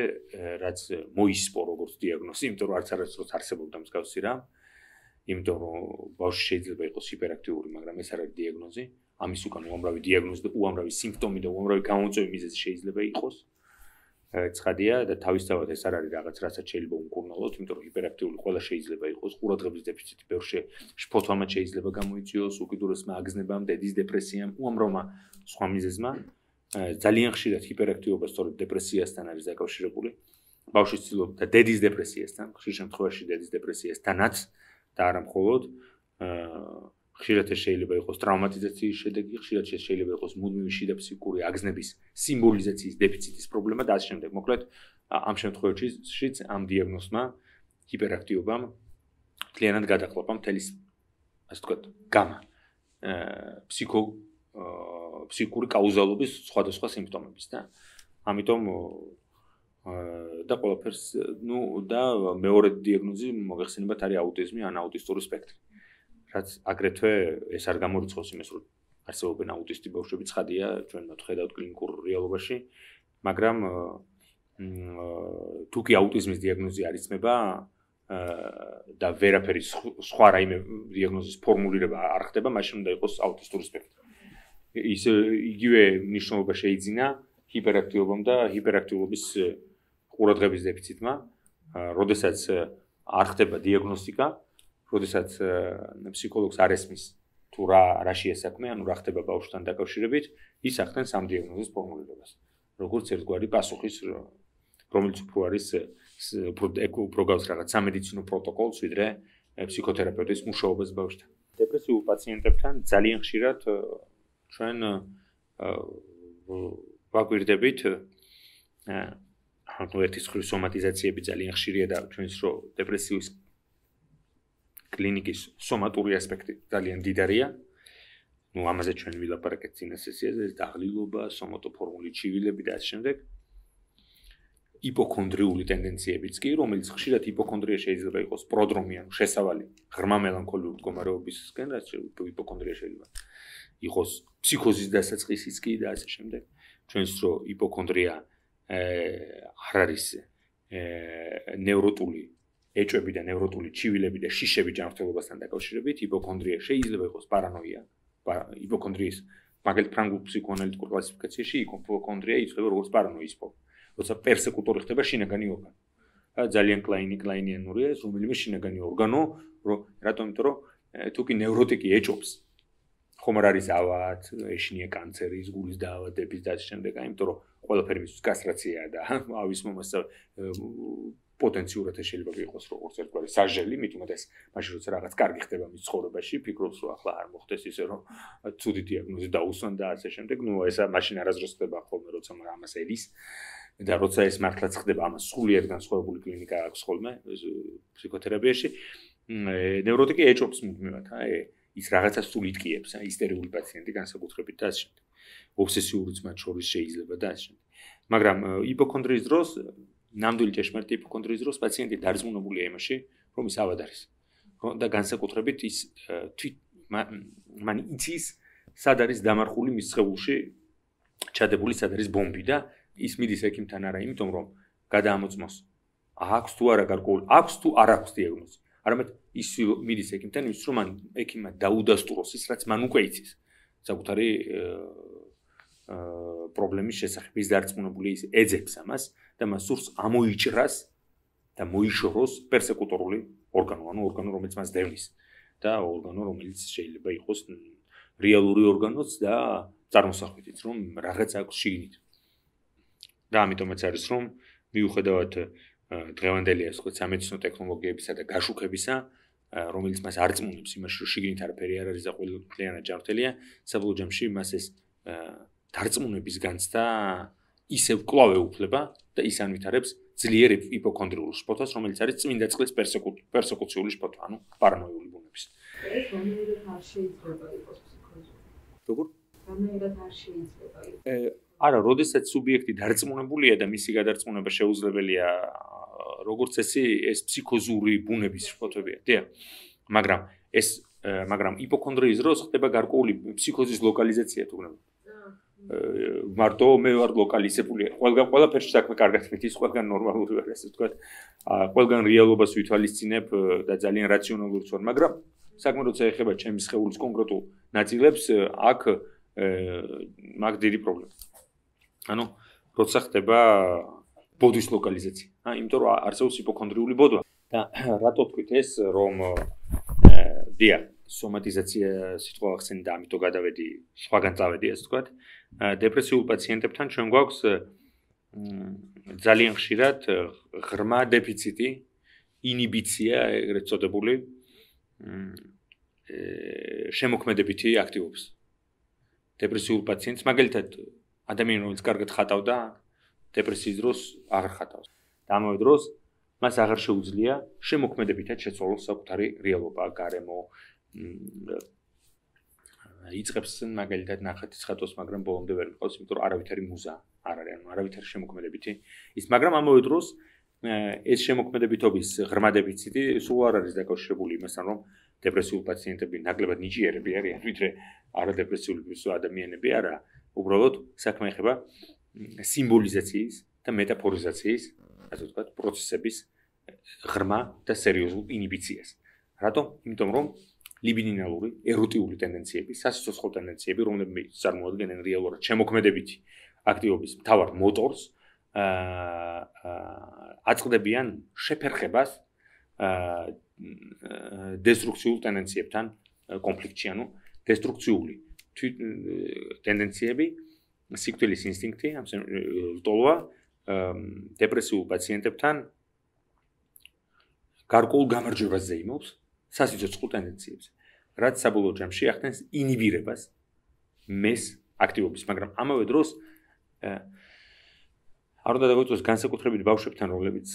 A: რაც მოისპო როგორც დიაგნოზი, იმიტომ რომ არც არასდროს არსებობდა მსგავსი რამ. იმიტომ რომ ბავშვი შეიძლება იყოს ჰიპერაქტიული, მაგრამ ეს არ არის დიაგნოზი. ამის უკან უამრავი დიაგნოზი და უამრავი სიმპტომი და უამრავი გამოწვევის მიზეზი შეიძლება იყოს. ცხადია და თავისთავად ეს არ არის რაღაც, რასაც შეიძლება უმკურნალოთ, იმიტომ რომ ჰიპერაქტიული ყველა შეიძლება იყოს, ყურადღების დეფიციტი ბევრში შფოთვამაც შეიძლება გამოიწვიოს, უკიდურესმა აგზნებამ, დედის დეპრესიამ, უამრავმა სხვა მიზეზმა. ძალიან ხშირად ჰიპერაქტიობა სწორედ დეპრესიასთან არის დაკავშირებული. ბავშვის ცდილობა და დედის დეპრესიასთან, ხშირ შემთხვევაში დედის დეპრესიასთანაც და არა მხოლოდ ხშირად ეს შეიძლება იყოს ტრავმატიზაციის შედეგი, ხშირად შეიძლება იყოს მუდმივი შიდა ფსიქიკური აგზნების სიმბოლიზაციის დეფიციტის პრობლემა და ასე შემდეგ. მოკლედ, ამ შემთხვევაშიც ამ დიაგნოზმა ჰიპერაქტიობამ მთლიანად გადაყლაპა მთელი, ასე ვთქვათ, გამა ფსიქო ფსიქიკური კაუზალობის სხვადასხვა სიმპტომების და ამიტომ და ყველაფერს, ნუ და მეორე დიაგნოზი მოგეხსენებათ არის აუტიზმი ან აუტისტური სპექტრი. რაც აგრეთვე ეს არ გამორიცხავს იმას, რომ არსებობენ აუტისტი ბავშვები, ცხადია, ჩვენ მათ ხედავთ კლინიკურ რეალობაში, მაგრამ თუ კი აუტიზმის დიაგნოზი არ იცმება და ვერაფერი სხვა რაიმე დიაგნოზის ფორმულირება არ ხდება, მაშინ უნდა იყოს აუტისტური სპექტრი. ის იგივე მნიშვნელობა შეიძინა ჰიპერაქტიობამ და ჰიპერაქტიულობის ყურადღების დეფიციტმა, როდესაც არ ხდება დიაგნოსტიკა, როდესაც ფსიქოლოგს არ ესმის თუ რა რაშია საქმე, ანუ რა ხდება ბავშვთან დაკავშირებით, ის ახდენს ამ დიაგნოზის ფორმულირებას. როგორც ერთგვარი პასუხის, რომელიც უფრო არის უფრო გავს რაღაც სამედიცინო პროტოკოლს, ვიდრე ფსიქოთერაპევტის მუშაობას ბავშვთან. დეპრესიულ პაციენტებთან ძალიან ხშირად ჩვენ ვაგვირდებით ანუ ერთის ხრი სომატიზაციები ძალიან ხშირია და ჩვენს რო დეპრესიის კლინიკის სომატური ასპექტი ძალიან დიდარია. ნუ ამაზე ჩვენ ვილაპარაკეთ წინა სესიაზე, დაღლილობა, სომატოფორმული ჩივილები და ასე შემდეგ. იპოქონდრიული ტენდენციებიც კი, რომელიც ხშირად იპოქონდრია შეიძლება იყოს პროდრომი, ანუ შესავალი ღრმა მელანქოლიური მდგომარეობისკენ, რაც იპოქონდრია შეიძლება იყოს ფსიქოზის დასაწყისიც კი და ასე შემდეგ. ჩვენს რო იპოქონდრია არ არის ნევროტული ეჭვები და ნევროტული ჩივილები და შიშები ჯანმრთელობასთან დაკავშირებით, იპოქონდრია შეიძლება იყოს პარანოია. იპოქონდრიის მაგალითად ფრანგულ ფსიქოანალიტიკურ კლასიფიკაციაში იპოქონდრია იწვება როგორც პარანოის ფორმა. როცა პერსეკუტორი ხდება შინაგანი ორგანო. ძალიან კლაინი კლაინიანურია ეს რომელიმე შინაგანი ორგანო, რომ რატომ იმიტომ რომ თუ კი ნევროტიკი ეჭობს ხომ არ არის ავად, ეშინია კანცერის, გულის დაავადების და ასე შემდეგ, იმიტომ რომ ყველაფერი მისთვის კასტრაციაა და ავის მომასწავლე პოტენციურად შეიძლება იყოს როგორც ერთგვარი საჟელი, მით უმეტეს მაშინ როცა რაღაც კარგი ხდება მის ცხოვრებაში, ფიქრობს რომ ახლა არ მოხდეს ისე რომ ცუდი დიაგნოზი დაუსვან და ასე შემდეგ. ნუ ესა მაშინ არასდროს ხდება ხოლმე როცა ამას ელის და როცა ეს მართლაც ხდება, ამას სრულიად განსხვავებული კლინიკა აქვს ხოლმე ფსიქოთერაპიაში. ნევროტიკი ეჭობს მუდმივად, აი ის რაღაცას სულ იტკიებს, აი ისტერიული პაციენტი განსაკუთრებით და ასე შემდეგ. ობსესიურიც მათ შორის შეიძლება და ასე შემდეგ. მაგრამ იპოქონდრიის დროს ნამდვილი ჭეშმარიტი იპოქონდრიის დროს პაციენტი დარწმუნებულია იმაში, რომ ის ავად არის. და განსაკუთრებით ის თვით მან იცის, სად არის დამარხული მის სხეულში ჩადებული, სად არის ბომბი და ის მიდის ექიმთან არა იმიტომ რომ გადაამოწმოს აქვს თუ არა გარკვეული აქვს თუ არ აქვს დიაგნოზი. არამედ ის მიდის ექიმთან იმის რომ მან ექიმმა დაუდასტუროს ის რაც მან უკვე იცის. საკუთარი პრობლემის შესახებ ის დარწმუნებული ის ეძებს ამას და მას სურს ამოიჭრას და მოიშოროს პერსეკუტორული ორგანო, ანუ ორგანო რომელიც მას დევნის და ორგანო რომელიც შეიძლება იყოს რეალური ორგანოც და წარმოსახვითიც რომ რაღაც აქვს შიგნით. და ამიტომაც არის რომ მიუხედავად დღევანდელი ასე ვთქვათ სამედიცინო ტექნოლოგიებისა და გაშუქებისა, რომელიც მას არწმუნებს იმაში რომ შიგნით არაფერი არ არის და ყველგან ჯანმრთელია, საბოლოო ჯამში მას ეს დარწმუნების განცდა ისევ კლავ ეუფლება და ის ანვითარებს ძლიერ იპოქონდრიულ შფოთას, რომელიც არის წმინდა წყლის პერსეკუციული შფოთვა, ანუ პარანოიული ბუნების.
C: ეს რომელი არ შეიძლება იყოს ფსიქოზი.
A: როგორ?
C: რომელი არ შეიძლება იყოს.
A: არა, როდესაც სუბიექტი დარწმუნებულია და მისი გადარწმუნება შეუძლებელია, როგორც წესი, ეს ფსიქოზური ბუნების შფოთვებია, დიახ. მაგრამ ეს მაგრამ იპოქონდრიის დროს ხდება გარკვეული ფსიქოზის ლოკალიზაცია თუ გნებ. მარტო მე ვარ ლოკალიზებული. ყველგან ყველაფერში საქმე კარგად მიდის, ყველგან ნორმალური ვარ, ასე ვთქვათ. ყველგან რეალობას ვითვალისწინებ და ძალიან რაციონალურიც ვარ, მაგრამ საქმე როცა ეხება ჩემი სხეულის კონკრეტულ ნაწილებს, აქ მაგ დიდი პრობლემა. ანუ როცა ხდება ბოდვის ლოკალიზაცია. ა იმიტომ რომ არსებობს იპოქონდრიული ბოდვა და რატო თქვით ეს რომ დია სომატიზაცია სიტყვა ახსენე და ამიტომ გადავედი სხვაგან წავედი ასე ვთქვათ. დეპრესიულ პაციენტებთან ჩვენ გვაქვს ძალიან ხშირად ღრმა დეფიციტი, ინიბიცია, ეგრეთ წოდებული შემოქმედებითი აქტივობის. დეპრესიულ პაციენტს მაგალითად ადამიანი რომელიც კარგად ხატავდა დეპრესიის დროს აღარ ხატავს. და ამავე დროს მას აღარ შეუძლია შემოქმედებითად შეცვალოს საკუთარი რეალობა, გარემო. იწყებს მაგალითად ნახატის ხატვას, მაგრამ ბოლომდე ვერ მიყავს, იმიტომ რომ არავითარი მუზა არ არის, ანუ არავითარი შემოქმედებითი ის, მაგრამ ამავე დროს ეს შემოქმედებითობის ღრმა დეფიციტი სულ არ არის დაკავშირებული იმასთან, რომ დეპრესიულ პაციენტები ნაკლებად ნიჭიერები არიან, ვიდრე არადეპრესიული ადამიანები არა. უბრალოდ საქმე ეხება სიმბოლიზაციის და მეტაფორიზაციის, ასე ვთქვათ, პროცესების ღრმა და სერიოზულ ინიბიციას. რატომ? იმიტომ რომ ლიბიდინალური, ეროტიული ტენდენციები, სასიცოცხლო ტენდენციები, რომლებიც წარმოადგენენ რეალურად შემოქმედებითი აქტივობის მთავარ მოტორს, აწყდებიან შეფერხებას დესტრუქციულ ტენდენციებთან კონფლიქტში, ანუ დესტრუქციული ტენდენციები, სიკვდილის ინსტინქტი, ლტოლვა დეპრესიულ პაციენტებთან გარკვეულ გამარჯვებას ზეიმობს სასიცოცხლო ტენდენციებზე, რაც საბოლოო ჯამში ახდენს ინიბირებას მეს აქტივობის, მაგრამ ამავე დროს არ უნდა დაგვიწოს განსაკუთრებით ბავშვებთან, რომლებიც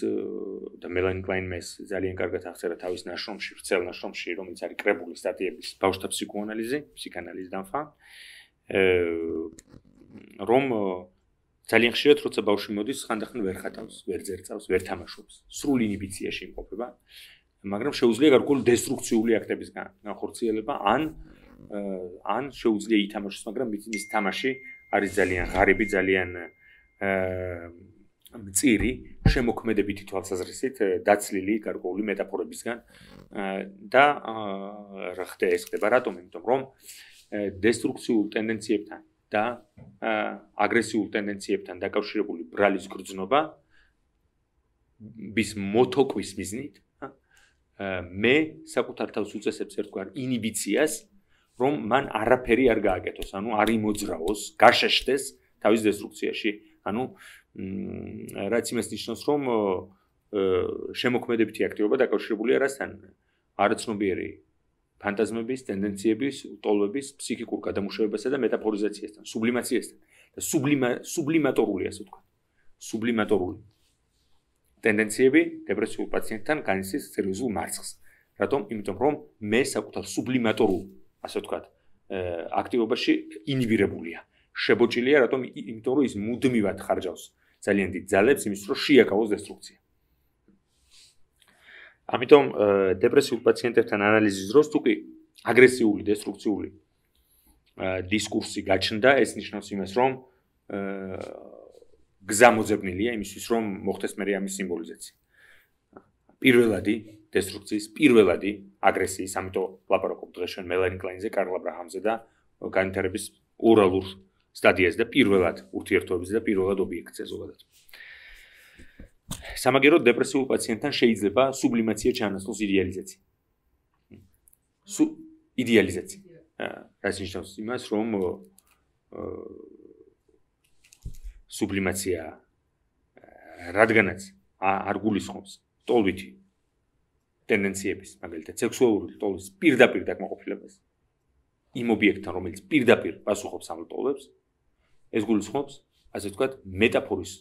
A: და მელანი კლაინ მეს ძალიან კარგად აღწერა თავის ნაშრომში, ვრცელ ნაშრომში, რომელიც არის კრებული სტატიების ბავშვთა ფსიქოანალიზი, ფსიქანალიზი დამხა, რომ ძალიან ხშირად როცა ბავშვი მოდის, ხანდახან ვერ ხატავს, ვერ ძერწავს, ვერ თამაშობს, სრულ ინიბიციაში იმყოფება, მაგრამ შეუძლია გარკვეული დესტრუქციული აქტების განხორციელება, ან ან შეუძლია ითამაშოს, მაგრამ მის თამაში არის ძალიან ღარიბი, ძალიან მწირი, შემოქმედებითი თვალსაზრისით დაცლილი გარკვეული მეტაფორებისგან და რა ხდება ეს ხდება რატომ? იმიტომ რომ დესტრუქციულ ტენდენციებთან და აგრესიულ ტენდენციებთან დაკავშირებული ბრალის გრძნობა bis მოთოკვის მიზნით მე საკუთარ თავს უწესებს ერთგვარ ინიბიციას, რომ მან არაფერი არ გააკეთოს, ანუ არ იმოძრაოს, გაშეშდეს თავის დესტრუქციაში. ანუ რაც იმას ნიშნავს, რომ შემოქმედებითი აქტივობა დაკავშირებულია რასთან? არაცნობიერი ფანტაზმების, ტენდენციების, ტოლვების, ფსიქიკურ გადამუშავებასა და მეტაფორიზაციასთან, სუბლიმაციასთან და სუბლიმატორული, ასე ვთქვათ. სუბლიმატორული ტენდენციები დეპრესიულ პაციენტთან განიცდის სერიოზულ მარცხს. რატომ? იმიტომ რომ მე საკუთარ სუბლიმატორულ, ასე ვთქვათ, აქტივობაში ინიბირებულია. შებოჭილია, რატომ? იმიტომ რომ ის მუდმივად ხარჯავს ძალიან დიდ ძალებს იმის რომ შეაკავოს დესტრუქცია. ამიტომ დეპრესიულ პაციენტებთან ანალიზის დროს თუკი აგრესიული, დესტრუქციული დისკურსი გაჩნდა, ეს ნიშნავს იმას, რომ გზა მოძებნილია იმისთვის, რომ მოხდეს მერე ამის სიმბოლიზაცია. პირველადი დესტრუქციის, პირველადი აგრესიის, ამიტომ ლაპარაკობ დღეს ჩვენ მელანი კლაინზე, კარლ აბრაჰამზე და განვითარების ორალურ სტადიაზე და პირველად ურთიერთობებზე და პირველად ობიექტზე ზოგადად. სამაგეროდ დეპრესიულ პაციენტთან შეიძლება სუბლიმაცია ჩაანაცვლოს იდეალიზაცია. სუ იდეალიზაცია. რაც ნიშნავს იმას, რომ სუბლიმაცია რადგანაც არ გულისხმობს ტოლვითი ტენდენციების, მაგალითად სექსუალური ტოლვის პირდაპირ დაკმაყოფილებას იმ ობიექტთან, რომელიც პირდაპირ პასუხობს ამ ტოლვებს, ეს გულისხმობს, ასე ვთქვათ, მეტაფორის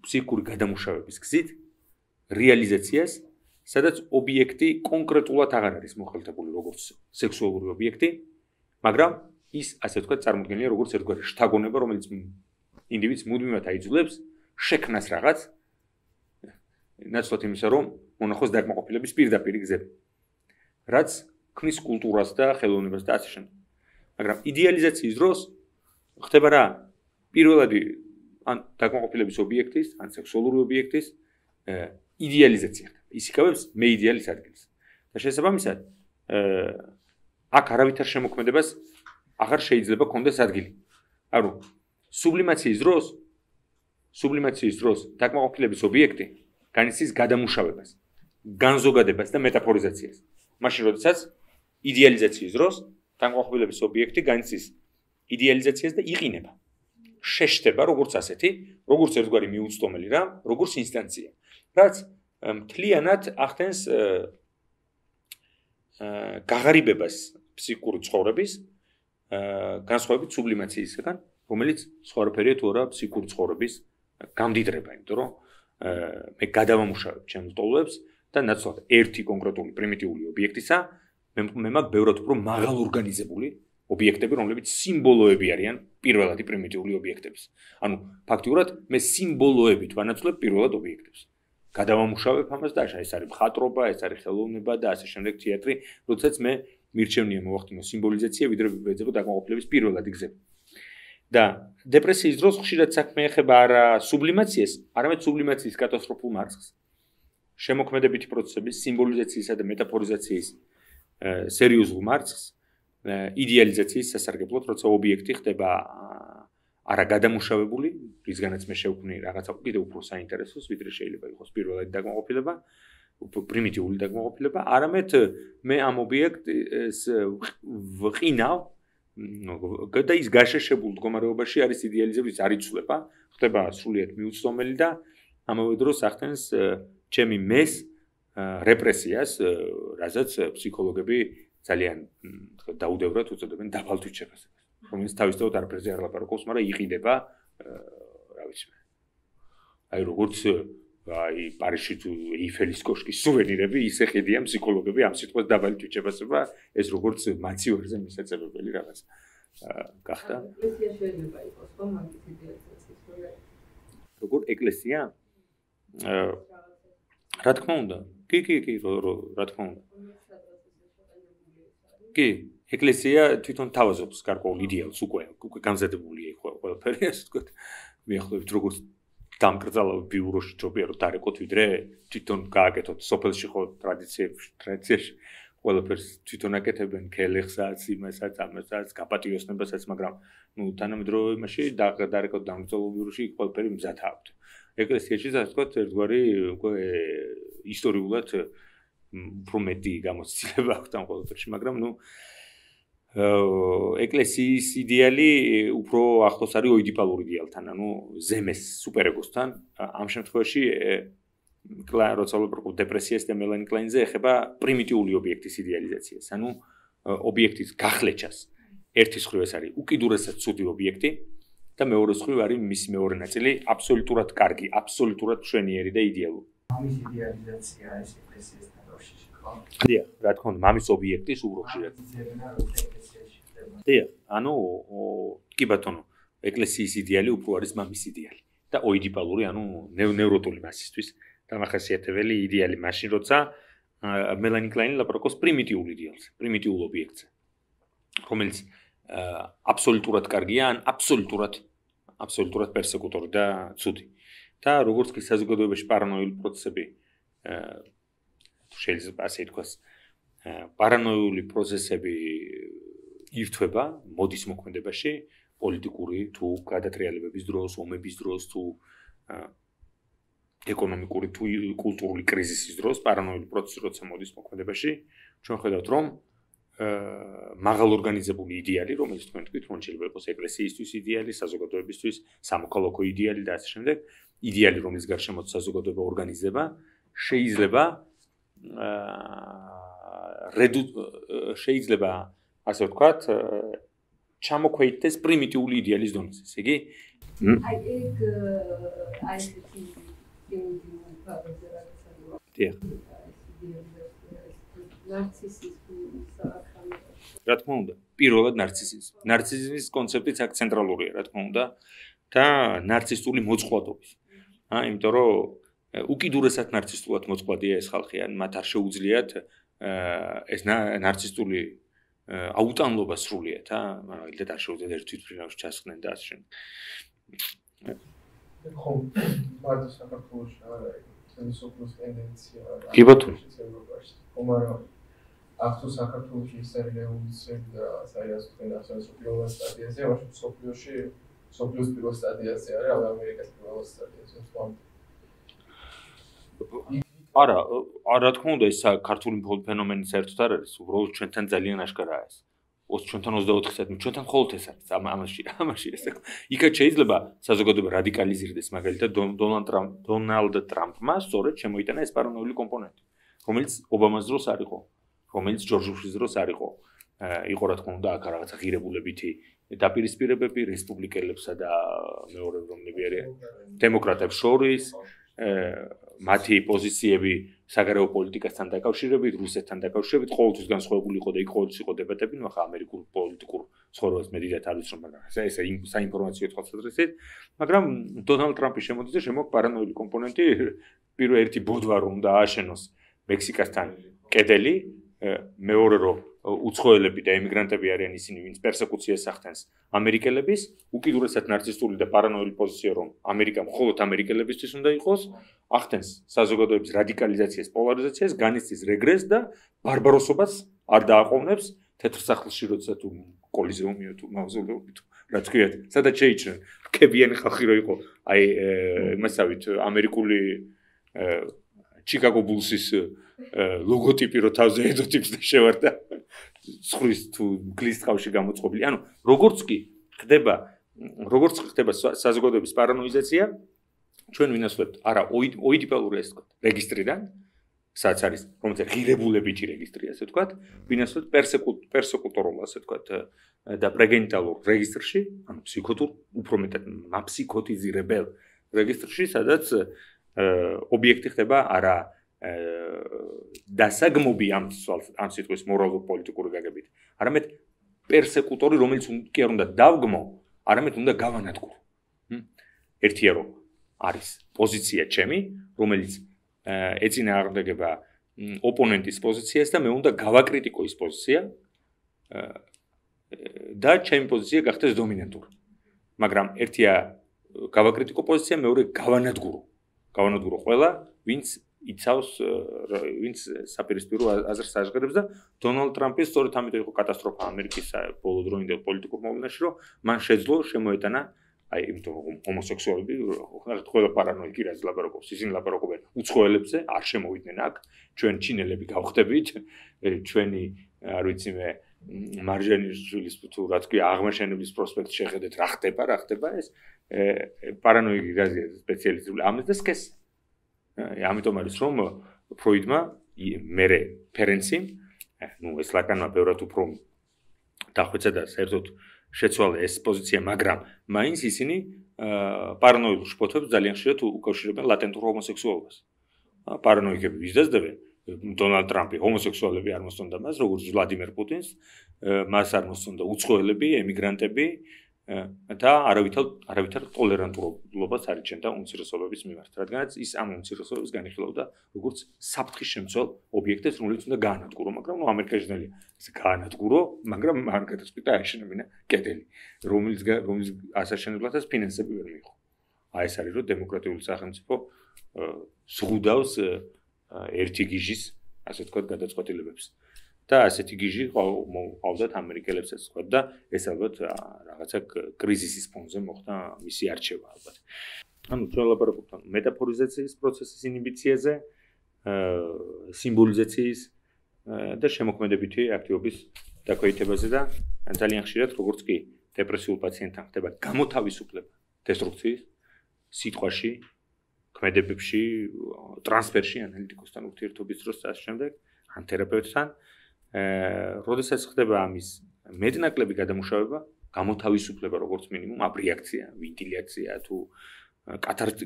A: ფსიქიკური გადამუშავების გზით რეალიზაციას, სადაც ობიექტი კონკრეტულად აღარ არის მოხელთებული როგორც სექსუალური ობიექტი, მაგრამ ის, ასე ვთქვათ, წარმოქმნილია როგორც ერთგვარი შთაგონება, რომელიც ინდივიდს მუდმივად აიძულებს შექმნას რაღაც, ნაცვლად იმისა, რომ მონახოს დაკმაყოფილების პირდაპირი გზები, რაც ქმნის კულტურას და ხელოვნებას და ასე შემდეგ. მაგრამ იდეალიზაციის დროს ხდება რა? პირველადი ან დაკმაყოფილების ობიექტის, ან სექსუალური ობიექტის იდეალიზაცია ხდება. ის იკავებს მე იდეალის ადგილს. და შესაბამისად, აქ არავითარ შემოქმედებას აღარ შეიძლება კონდეს ადგილი. ანუ სუბლიმაციის დროს, სუბლიმაციის დროს დაკმაყოფილების ობიექტი განიცდის გადამუშავებას, განზოგადებას და მეტაფორიზაციას. მაშინ, როდესაც იდეალიზაციის დროს დაკმაყოფილების ობიექტი განიცდის იდეალიზაციას და იყინება. შეშდება როგორც ასეთი, როგორც ერთგვარი მიუწვდომელი რამ, როგორც ინსტანცია, რაც მთლიანად ახდენს გაღარიბებას ფსიქიკური ცხოვრების, განსხვავებით სუბლიმაციისგან, რომელიც სხვადასხვაერია თუ არა ფსიქიკური ცხოვრების გამდიდრება, იმიტომ რომ მე გადავამუშავებ ჩემს ტოლვებს და ნაცვლად ერთი კონკრეტული პრიმიტიული ობიექტისა, მე მაქვს ბევრად უფრო მაღალ ორგანიზებული ობიექტები, რომლებიც სიმბოლოები არიან პირველადი პრიმიტიული ობიექტების. ანუ ფაქტიურად მე სიმბოლოებით ვანაცვლებ პირველად ობიექტებს. გადავამუშავებ ამას და ეს არის მხატვრობა, ეს არის ხელოვნება და ასე შემდეგ თეატრი, როდესაც მე მირჩევნია მოვახდინო სიმბოლიზაცია, ვიდრე ვეძებო დაკმაყოფილების პირველადი გზები. და დეპრესიის დროს ხშირად საქმე ეხება არა სუბლიმაციას, არამედ სუბლიმაციის კატასტროფულ მარცხს. შემოქმედებითი პროცესების, სიმბოლიზაციისა და მეტაფორიზაციის სერიოზულ მარცხს, იდეალიზაციის სასარგებლოდ, როცა ობიექტი ხდება არა გადამუშავებული, რისგანაც მე შევქმნი რაღაცა კიდევ უფრო საინტერესოს, ვიდრე შეიძლება იყოს პირველადი დაკმაყოფილება, უფრო პრიმიტიული დაკმაყოფილება, არამედ მე ამ ობიექტს ვყინავ და ის გაშეშებულ მდგომარეობაში არის იდეალიზების არ იცვლება, ხდება სრულიად მიუწვდომელი და ამავე დროს ახდენს ჩემი მეს რეპრესიას, რაზეც ფსიქოლოგები ძალიან დაუდევრად უწოდებენ დაფალტვით შეფასებას. რომელიც თავისთავად არაფერზე არ ლაპარაკობს, მაგრამ იყიდება, რა ვიცი მე. აი როგორც აი პარიზში თუ ეიფელის კოშკის სუვენირები, ისე ხედიან ფსიქოლოგები ამ სიტყვას დაბალი თვითშეფასება, ეს როგორც მაცივარზე მისაწებებელი რაღაც გახდა.
C: ეკლესია შეიძლება იყოს ხო მაგის იდეალიზაციის პროექტი.
A: როგორ ეკლესია? რა თქმა უნდა. კი, კი, კი, რა თქმა უნდა. კი, ეკლესია თვითონ თავაზობს გარკვეულ იდეალს უკვე, უკვე გამზადებულია იქ ყველაფერი, ასე ვთქვათ. მიახლოებით როგორც დამკრძალავ ბიუროში ჯობია რომ დარეკოთ ვიდრე თვითონ გააკეთოთ სოფელში ხო ტრადიციებში ტრადიციაში ყველაფერს თვითონ აკეთებენ ქელეხსაც იმასაც ამასაც გაპატიოსნებასაც მაგრამ ნუ თანამედროვე იმაში დარეკოთ დამკრძალავ ბიუროში ყველაფერი მზად აქვთ ეკლესიაში ასე ვთქვათ ერთგვარი უკვე ისტორიულად უფრო მეტი გამოცდილება აქვთ ამ ყველაფერში მაგრამ ნუ ეკლესიის იდეალი უფრო ახლოს არის ოიდიპალურ იდეალთან, ანუ ზემეს სუპერეგოსთან. ამ შემთხვევაში კლაინ როცა ვფიქრობ დეპრესიას და მელანი კლაინზე ეხება პრიმიტიული ობიექტის იდეალიზაციას, ანუ ობიექტის გახლეჩას. ერთის მხრივ ეს არის უკიდურესად ცუდი ობიექტი და მეორეს მხრივ არის მისი მეორე ნაწილი აბსოლუტურად კარგი, აბსოლუტურად მშვენიერი და იდეალური.
D: ამის იდეალიზაცია ეს ეკლესიასთან როშიში ხო?
A: დიახ, რა თქმა უნდა, მამის ობიექტის უბრალოდ. დიახ, ანუ კი ბატონო, ეკლესიის იდეალი უფრო არის მამის იდეალი და ოიდიპალური, ანუ ნევროტული მასისთვის დამახასიათებელი იდეალი მაშინ როცა მელანი კლაინი ლაპარაკობს პრიმიტიულ იდეალზე, პრიმიტიულ ობიექტზე, რომელიც აბსოლუტურად კარგია, ან აბსოლუტურად აბსოლუტურად პერსეკუტორი და ცუდი. და როგორც კი საზოგადოებაში პარანოიული პროცესები შეიძლება ასე ითქვას, პარანოიული პროცესები ირთვება მოდის მოქმედებაში პოლიტიკური თუ გადატრიალებების დროს, ომების დროს თუ ეკონომიკური თუ კულტურული კრიზისის დროს, პარანოიული პროცესი როცა მოდის მოქმედებაში, ჩვენ ხედავთ რომ მაღალ ორგანიზებული იდეალი, რომელიც თქვენ თქვით, რომ შეიძლება იყოს ეკლესიისთვის იდეალი, საზოგადოებისთვის, სამოქალაქო იდეალი და ასე შემდეგ, იდეალი, რომლის გარშემო საზოგადოება ორგანიზდება, შეიძლება რედუ შეიძლება ასე ვთქვათ, ჩამოქვეითდეს პრიმიტიული იდეალის დონეზე, ესე იგი?
C: აი ეგ აი ეს პრიმიტიული ფაზაზე რაღაცა.
A: დიახ.
C: ნარცისიზმის
A: რა თქმა უნდა, პირველად ნარცისიზმი. ნარცისიზმის კონცეფციც აქ ცენტრალურია, რა თქმა უნდა, და ნარცისტული მოწყვლადობის. აა, იმიტომ რომ უკიდურესად ნარცისტულად მოწყვლადია ეს ხალხი, ან მათ არ შეუძლიათ ეს ნარცისტული აუტანლობა სრულიად, აა, მაგალითად არ შეუძლიათ ერთ თვითმფრინავში ჩასხდნენ და ასე შემდეგ.
D: ხო, მარტო საქართველოში არ არის სოციალური ტენდენცია.
A: კი ბატონო.
D: მაგრამ აქ თუ საქართველოში ის არის რევოლუციები და საერთოდ თქვენ ახსენეთ პირველ სტადიაზე, მაშინ სოფლიოში სოფლიოს პირველ სტადიაზე არის, αλλά ამერიკას პირველ სტადიაზე თქვა.
A: არა, რა თქმა უნდა, ეს ქართული ფენომენი საერთოდ არ არის, უბრალოდ ჩვენთან ძალიან აშკარაა ეს. ჩვენთან ოცდაოთხი საათი, ჩვენთან მხოლოდ ეს არის, ამაში, ამაში ეს. იქაც შეიძლება საზოგადოება რადიკალიზირდეს, მაგალითად დონალდ ტრამპ, დონალდ ტრამპმა სწორედ შემოიტანა ეს პარანოიული კომპონენტი, რომელიც ობამას დროს არ იყო, რომელიც ჯორჯ ბუშის დროს არ იყო. იყო რა თქმა უნდა, აქ რაღაცა ღირებულებითი დაპირისპირებები რესპუბლიკელებსა და მეორე რომნები არიან დემოკრატებს შორის, მათი პოზიციები საგარეო პოლიტიკასთან დაკავშირებით, რუსეთთან დაკავშირებით, ყოველთვის განსხვავებული იყო და იქ ყოველთვის იყო დებატები, ნუ ახლა ამერიკულ პოლიტიკურ ცხოვრებას მე დიდათ არ ვიცნობ, მაგრამ ეს საინფორმაციო თვალსაზრისით, მაგრამ დონალდ ტრამპის შემოდიძე შემოაქვს პარანოიული კომპონენტი, პირველ ერთი ბოდვა რომ უნდა ააშენოს მექსიკასთან კედელი, მეორე რომ უცხოელები და ემიგრანტები არიან ისინი, ვინც პერსეკუციას ახდენს ამერიკელების, უკიდურესად ნარცისტული და პარანოიული პოზიცია, რომ ამერიკა მხოლოდ ამერიკელებისთვის უნდა იყოს, ახდენს საზოგადოების რადიკალიზაციას, პოლარიზაციას, განიცდის რეგრესს და ბარბაროსობას არ დააყოვნებს თეთრ სახლში, როცა თუ კოლიზეუმია თუ მავზოლეუმი თუ რა თქვიათ, სადაც შეიჭრნენ რქებიანი ხალხი რო იყო, აი იმასავით ამერიკული ჩიკაგო ბულსის ლოგოტიპი რო თავზე ედოტიპს და შევარდა ცხვრის თუ გლის ტყავში გამოწყობილი. ანუ როგორც კი ხდება, როგორც ხდება საზოგადოების პარანოიზაცია, ჩვენ ვინასვლებთ არა ოიდიპალური ეს თქო, რეგისტრიდან სადაც არის რომელიც ღირებულებითი რეგისტრი, ასე ვთქვათ, ვინასაც პერსეკუტორულ, ასე ვთქვათ, და პრეგენიტალურ რეგისტრში, ანუ ფსიქოთურ, უფრო მეტად მაფსიქოტიზირებელ რეგისტრში, სადაც ობიექტი ხდება არა დასაგმობი ამ ამ სიტყვის მორალურ-პოლიტიკური გაგებით, არამედ პერსეკუტორი, რომელიც კი არ უნდა დავგმო, არამედ უნდა გავანადგურო. ერთია რომ არის პოზიცია ჩემი, რომელიც ეწინააღმდეგება ოპონენტის პოზიციას და მე უნდა გავაკრიტიკო ის პოზიცია და ჩემი პოზიცია გახდეს დომინანტური. მაგრამ ერთია გავაკრიტიკო პოზიცია, მეორე გავანადგურო. გავანადგურო ყველა, ვინც იცავს, ვინც საპირისპირო აზრს აღგებს და დონალდ ტრამპის სწორედ ამიტომ იყო კატასტროფა ამერიკის ბოლოდროინდელ პოლიტიკურ მოვლენაში, რომ მან შეძლო შემოეტანა აი იმიტომ რომ ჰომოსექსუალები ყველა პარანოიკი რაც ლაპარაკობს, ისინი ლაპარაკობენ უცხოელებზე, არ შემოვიდნენ აქ, ჩვენ ჩინელები გავხდებით, ჩვენი არ ვიცი მე მარჯანიშვილის თუ რა თქვი აღმაშენების პროსპექტ შეხედეთ რა ხდება, რა ხდება ეს პარანოიკი გაზია სპეციალისტური ამის და სქეს. ამიტომ არის რომ ფროიდმა მერე ფერენციმ, ნუ ეს ლაკანმა ბევრად უფრო დახვეცა და საერთოდ შეცვალა ეს პოზიცია, მაგრამ მაინც ისინი პარანოიულ შფოთებს ძალიან ხშირად უკავშირებენ ლატენტურ ჰომოსექსუალობას. პარანოიკები ვიზდასდებენ დონალდ ტრამპი ჰომოსექსუალები არ მოსწონდა მას, როგორც ვლადიმერ პუტინს, მას არ მოსწონდა უცხოელები, ემიგრანტები და არავითარ არავითარ ტოლერანტულობას არ იჩენდა უმცირესობების მიმართ, რადგანაც ის ამ უმცირესობებს განიხილავდა როგორც საფრთხის შემცველ ობიექტებს, რომელიც უნდა გაანადგურო, მაგრამ ნუ ამერიკაში ძალიან ეს გაანადგურო, მაგრამ არ გადაწყვიტა აეშენებინა კედელი, რომელიც რომელიც ასაშენებლადაც ფინანსები ვერ მიიღო. აი ეს არის რომ დემოკრატიული სახელმწიფო ზღუდავს ერთი გიჟის, ასე ვთქვათ, გადაწყვეტილებებს. და ასეთი გიჟი ყავდათ ამერიკელებსაც თქვა და ეს ალბათ რაღაცა კრიზისის ფონზე მოხდა მისი არჩევა ალბათ. ანუ ჩვენ ლაპარაკობთ მეტაფორიზაციის პროცესის ინიბიციაზე, სიმბოლიზაციის და შემოქმედებითი აქტივობის დაქვეითებაზე და ძალიან ხშირად როგორც კი დეპრესიულ პაციენტთან ხდება გამოთავისუფლება დესტრუქციის სიტყვაში, ქმედებებში, ტრანსფერში ანალიტიკოსთან ურთიერთობის დროს და ამ შემდეგ ან თერაპევტთან როდესაც ხდება ამის მეტნაკლები გადამუშავება, გამოთავისუფლება როგორც მინიმუმ, აბრიაქცია, ვენტილაცია თუ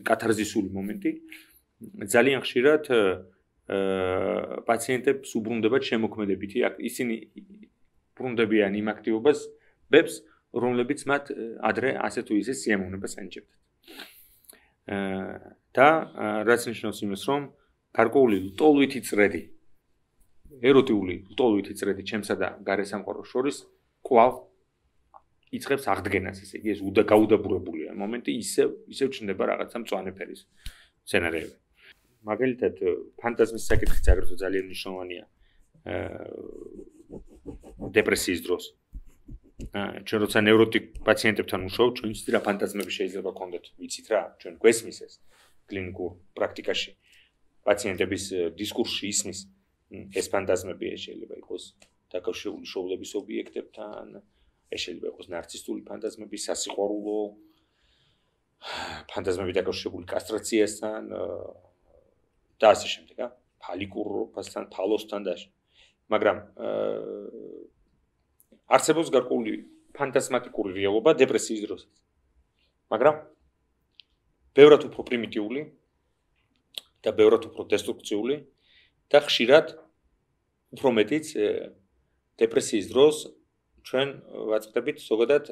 A: კათარზისული მომენტი, ძალიან ხშირად პაციენტებს უბრუნდებათ შემოქმედებითი, ისინი ბრუნდებიან იმ აქტივობას, ბებს, რომლებიც მათ ადრე ასე თუ ისე სიამოვნებას ანიჭებდათ. და რაც ნიშნავს იმას, რომ გარკვეული ლტოლვითი წრედი ეროტიული ლტოლვითი წრედი ჩემსა და გარესამყაროს შორის კვლავ იწყებს აღდგენას, ესე იგი ეს უდა გაუდაბურებულია მომენტი ისევ ისევ ჩნდება რაღაცა მწვანე ფერის სცენარები. მაგალითად ფანტაზმის საკითხიც აგრეთვე ძალიან მნიშვნელოვანია დეპრესიის დროს. ჩვენ როცა ნევროტიკ პაციენტებთან ვმუშაობთ, ჩვენ ვიცით რა ფანტაზმები შეიძლება გქონდეთ, ვიცით რა, ჩვენ გვესმის ეს კლინიკურ პრაქტიკაში პაციენტების დისკურსში ისმის ეს ფანტაზმები შეიძლება იყოს დაკავშირებული შოულების ობიექტებთან, ეს შეიძლება იყოს ნარცისტული ფანტაზმები, სასიყვარულო ფანტაზმები დაკავშირებული კასტრაციასთან და ასე შემდეგ, ა ფალიკურობასთან, ფალოსთან და მაგრამ არსებობს გარკვეული ფანტაზმატიკური რეალობა დეპრესიის დროსაც. მაგრამ ბევრად უფრო პრიმიტიული და ბევრად უფრო დესტრუქციული და ხშირად უფრო მეტიც დეპრესიის დროს ჩვენ ვაწყდებით ზოგადად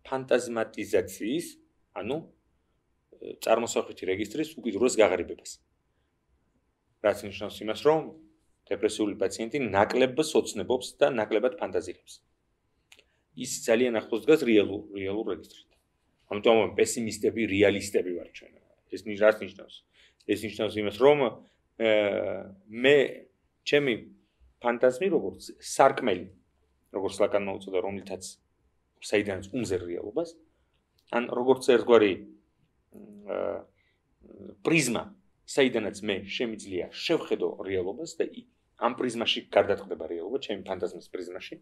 A: ფანტაზმატიზაციის, ანუ წარმოსახვითი რეგისტრის უკიდურეს გაღრიბებას. რაც ნიშნავს იმას, რომ დეპრესიული პაციენტი ნაკლებად ოცნებობს და ნაკლებად ფანტაზირებს. ის ძალიან ახლოს დგას რეალურ რეალურ რეგისტრთან. ამიტომ პესიმისტები, რეალისტები ვართ ჩვენ. ეს რაც ნიშნავს? ეს ნიშნავს იმას, რომ მე ჩემი ფანტაზმი როგორც სარკმელი, როგორც ლაკანმა უწოდა, რომლითაც საიდანაც უმზერ რეალობას, ან როგორც ერთგვარი პრიზმა, საიდანაც მე შემიძლია შევხედო რეალობას და ამ პრიზმაში გარდატყდება რეალობა, ჩემი ფანტაზმის პრიზმაში,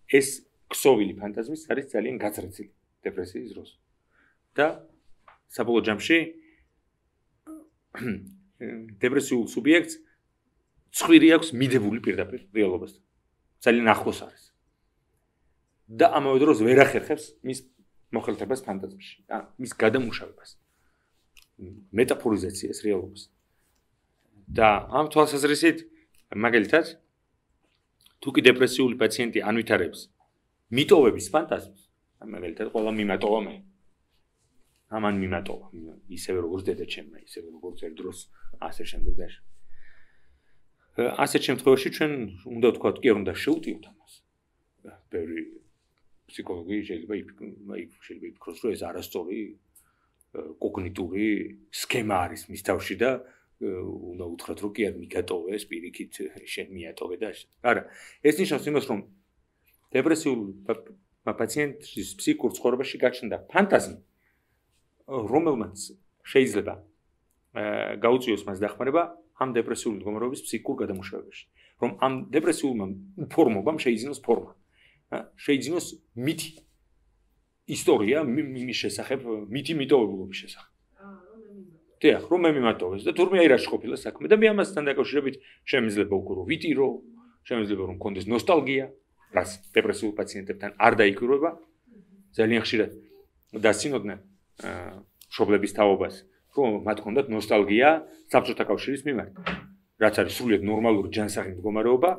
A: ეს ქსოვილი ფანტაზმის არის ძალიან გაზრდილი დეპრესიის დროს. და საბოლოო ჯამში დეპრესიულ სუბიექტს ცხვირი აქვს მიდებული პირდაპირ რეალობასთან. ძალიან ახლოს არის. და ამავე დროს ვერ ახერხებს მის მოხელთებას ფანტაზმში, ან მის გადამუშავებას. მეტაფორიზაციას რეალობას. და ამ თვალსაზრისით მაგალითად თუ კი დეპრესიული პაციენტი ანვითარებს მიტოვების ფანტაზმს, მაგალითად ყველა მიმატოვა მე. ამან მიმატოვა, ისევე როგორც დედაჩემმა, ისევე როგორც ერთ დროს ასე შემდეგ და ასეთ შემთხვევაში ჩვენ უნდა ვთქვათ, კი არ უნდა შევტიოთ ამას. ბევრი ფსიქოლოგი შეიძლება შეიძლება იფიქროს, რომ ეს არასწორი კოგნიტური სქემა არის მის თავში და უნდა უთხრათ, რომ კი არ მიგატოვეს, პირიქით შენ მიატოვე და ასე. არა, ეს ნიშნავს იმას, რომ დეპრესიულ პაციენტის ფსიქიკურ ცხოვრებაში გაჩნდა ფანტაზმი, რომელმაც შეიძლება გაუწიოს მას დახმარება ამ დეპრესიული მდგომარეობის ფსიქიკურ გადამუშავებაში. რომ ამ დეპრესიულმა ფორმობამ შეიძინოს ფორმა. შეიძინოს მითი ისტორია იმის შესახებ, მითი მიტოვებულობის შესახებ. დიახ, რომ მე მიმატოვეს და თურმე აი რა შეყოფილა საქმე და მე ამასთან დაკავშირებით შემიძლია უკვე რომ ვიტირო, შემიძლია რომ მქონდეს ნოსტალგია, რაც დეპრესიულ პაციენტებთან არ დაიკვირვება. ძალიან ხშირად დასცინოდნენ მშობლების თაობას, რომ მათ ჰქონდათ ნოსტალგია საბჭოთა კავშირის მიმართ. რაც არის სრულიად ნორმალური ჯანსაღი მდგომარეობა,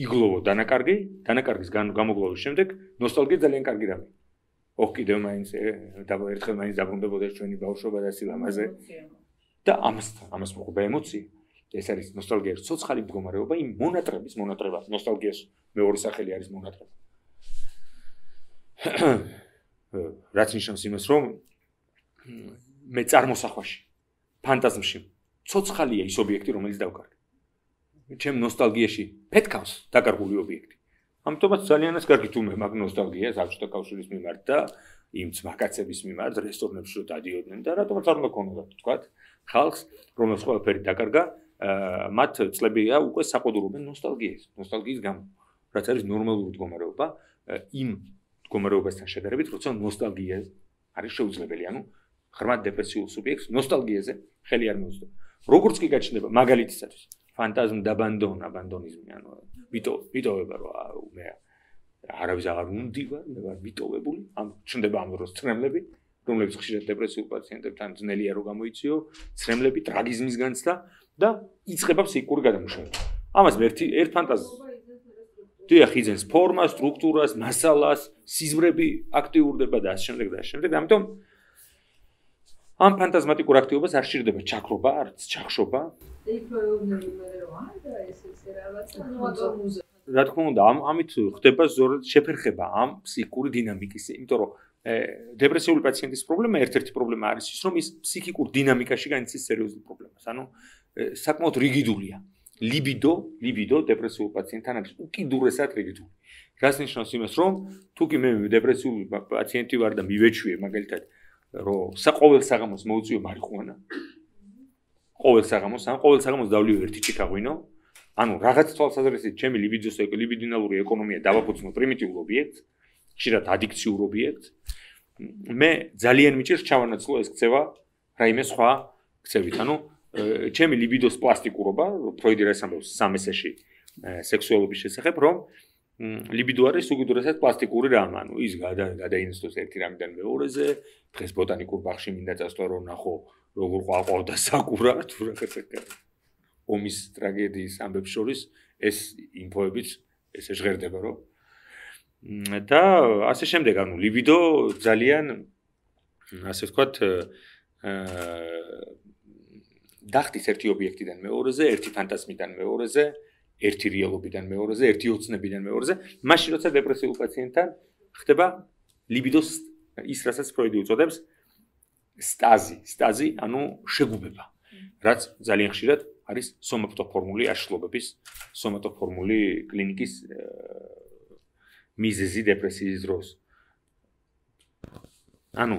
A: იგლოვო დანაკარგი, დანაკარგის გამოგლოვის შემდეგ ნოსტალგია ძალიან კარგი რამე. ოხ კიდევ მაინც ერთხელ მაინც დაბრუნდებოდა ჩვენი ბავშვობა და სილამაზე. და ამას ამას მოყვება ემოცია. ეს არის ნოსტალგია, ცოცხალი მდგომარეობა, იმ მონატრების მონატრება. ნოსტალგიას მეორე სახელი არის მონატრება. რაც ნიშნავს იმას, რომ მე წარმოსახვაში, ფანტაზმში ცოცხალია ის ობიექტი, რომელიც დავკარგე. ჩემ ნოსტალგიაში ფეთქავს დაკარგული ობიექტი. ამიტომაც ძალიანაც კარგი თუ მე მაგ ნოსტალგიას საბჭოთა კავშირის მიმართ და იმ ძმაკაცების მიმართ რესტორნებში რო დადიოდნენ და რატომაც არ უნდა ქონოდათ თქვათ ხალხს, რომელს ყველაფერი დაკარგა, მათ წლებია უკვე საყოდურობენ ნოსტალგიას, ნოსტალგიის გამო, რაც არის ნორმალური მდგომარეობა იმ მდგომარეობასთან შედარებით, როცა ნოსტალგია არის შეუძლებელი, ანუ ღრმად დეპრესიულ სუბიექტს ნოსტალგიაზე ხელი არ მოუწევს. როგორც კი გაჩნდება მაგალითისათვის ფანტაზმ დაბანდონ, აბანდონიზმი, ანუ ვიტო ვიტოვება რომ მე არავის აღარ უნდივარ, მე ვარ ვიტოვებული, ამ ჩნდება ამ დროს ცრემლები, რომლებიც ხშირად დეპრესიულ პაციენტებთან ძნელია რომ გამოიწიო, ცრემლები, ტრაგიზმის განცდა და იწყება ფსიქიკური გადამუშავება. ამას ერთი ერთ ფანტაზმს დიახ, იძენს ფორმას, სტრუქტურას, მასალას, სიზმრები აქტიურდება და ასე შემდეგ და ასე შემდეგ. ამიტომ ამ ფანტაზმატიკურ აქტივობას არ სჭირდება ჩაქრობა, არც ჩახშობა. რა თქმა უნდა, ამ ამით ხდება ზოგადად შეფერხება ამ ფსიქიკური დინამიკის, იმიტომ რომ დეპრესიული პაციენტის პრობლემა ერთ-ერთი პრობლემა არის ის, რომ ის ფსიქიკურ დინამიკაში განიცდის სერიოზულ პრობლემას. ანუ საკმაოდ რიგიდულია. ლიბიდო, ლიბიდო დეპრესიულ პაციენტთან არის უკიდურესად რიგიდული. რაც ნიშნავს იმას, რომ თუ კი მე დეპრესიული პაციენტი ვარ და მივეჩვიე მაგალითად რომ საყოველ საღამოს მოუწიო მარიხუანა. ყოველ საღამოს, ან ყოველ საღამოს დავლივ ერთი ჩიკაღვინო. ანუ რაღაც თვალსაზრისით ჩემი ლიბიდოს ლიბიდინალური ეკონომია დავაფუძნო პრიმიტიულ ობიექტს, ხშირად ადიქციურ ობიექტს. მე ძალიან მიჭირს ჩავანაცვლო ეს ქცევა რაიმე სხვა ქცევით. ანუ ჩემი ლიბიდოს პლასტიკურობა, ფროიდი რას ამბობს სამ ესეში სექსუალობის შესახებ, რომ ლიბიდო არის უკიდურესად პლასტიკური რამ, ანუ ის გადაინაცვლოს ერთი რამიდან მეორეზე, დღეს ბოტანიკურ ბაღში მინდა წასვლა რომ ნახო როგორ ყვაყავდა საკურა, თუ რაღაცა. ომის ტრაგედიის ამბებს შორის ეს ინფოებიც ესე ჟღერდება, რომ და ასე შემდეგ, ანუ ლიბიდო ძალიან ასე ვთქვათ დახტის ერთი ობიექტიდან მეორეზე, ერთი ფანტაზმიდან მეორეზე, ერთი რეალობიდან მეორეზე, ერთი ოცნებიდან მეორეზე, მაშინ როცა დეპრესიულ პაციენტთან ხდება ლიბიდოს ის, რასაც ფროიდი უწოდებს სტაზი, სტაზი, ანუ შეგუბება, რაც ძალიან ხშირად არის სომატოფორმული აშლობების, სომატოფორმული კლინიკის მიზეზი დეპრესიის დროს. ანუ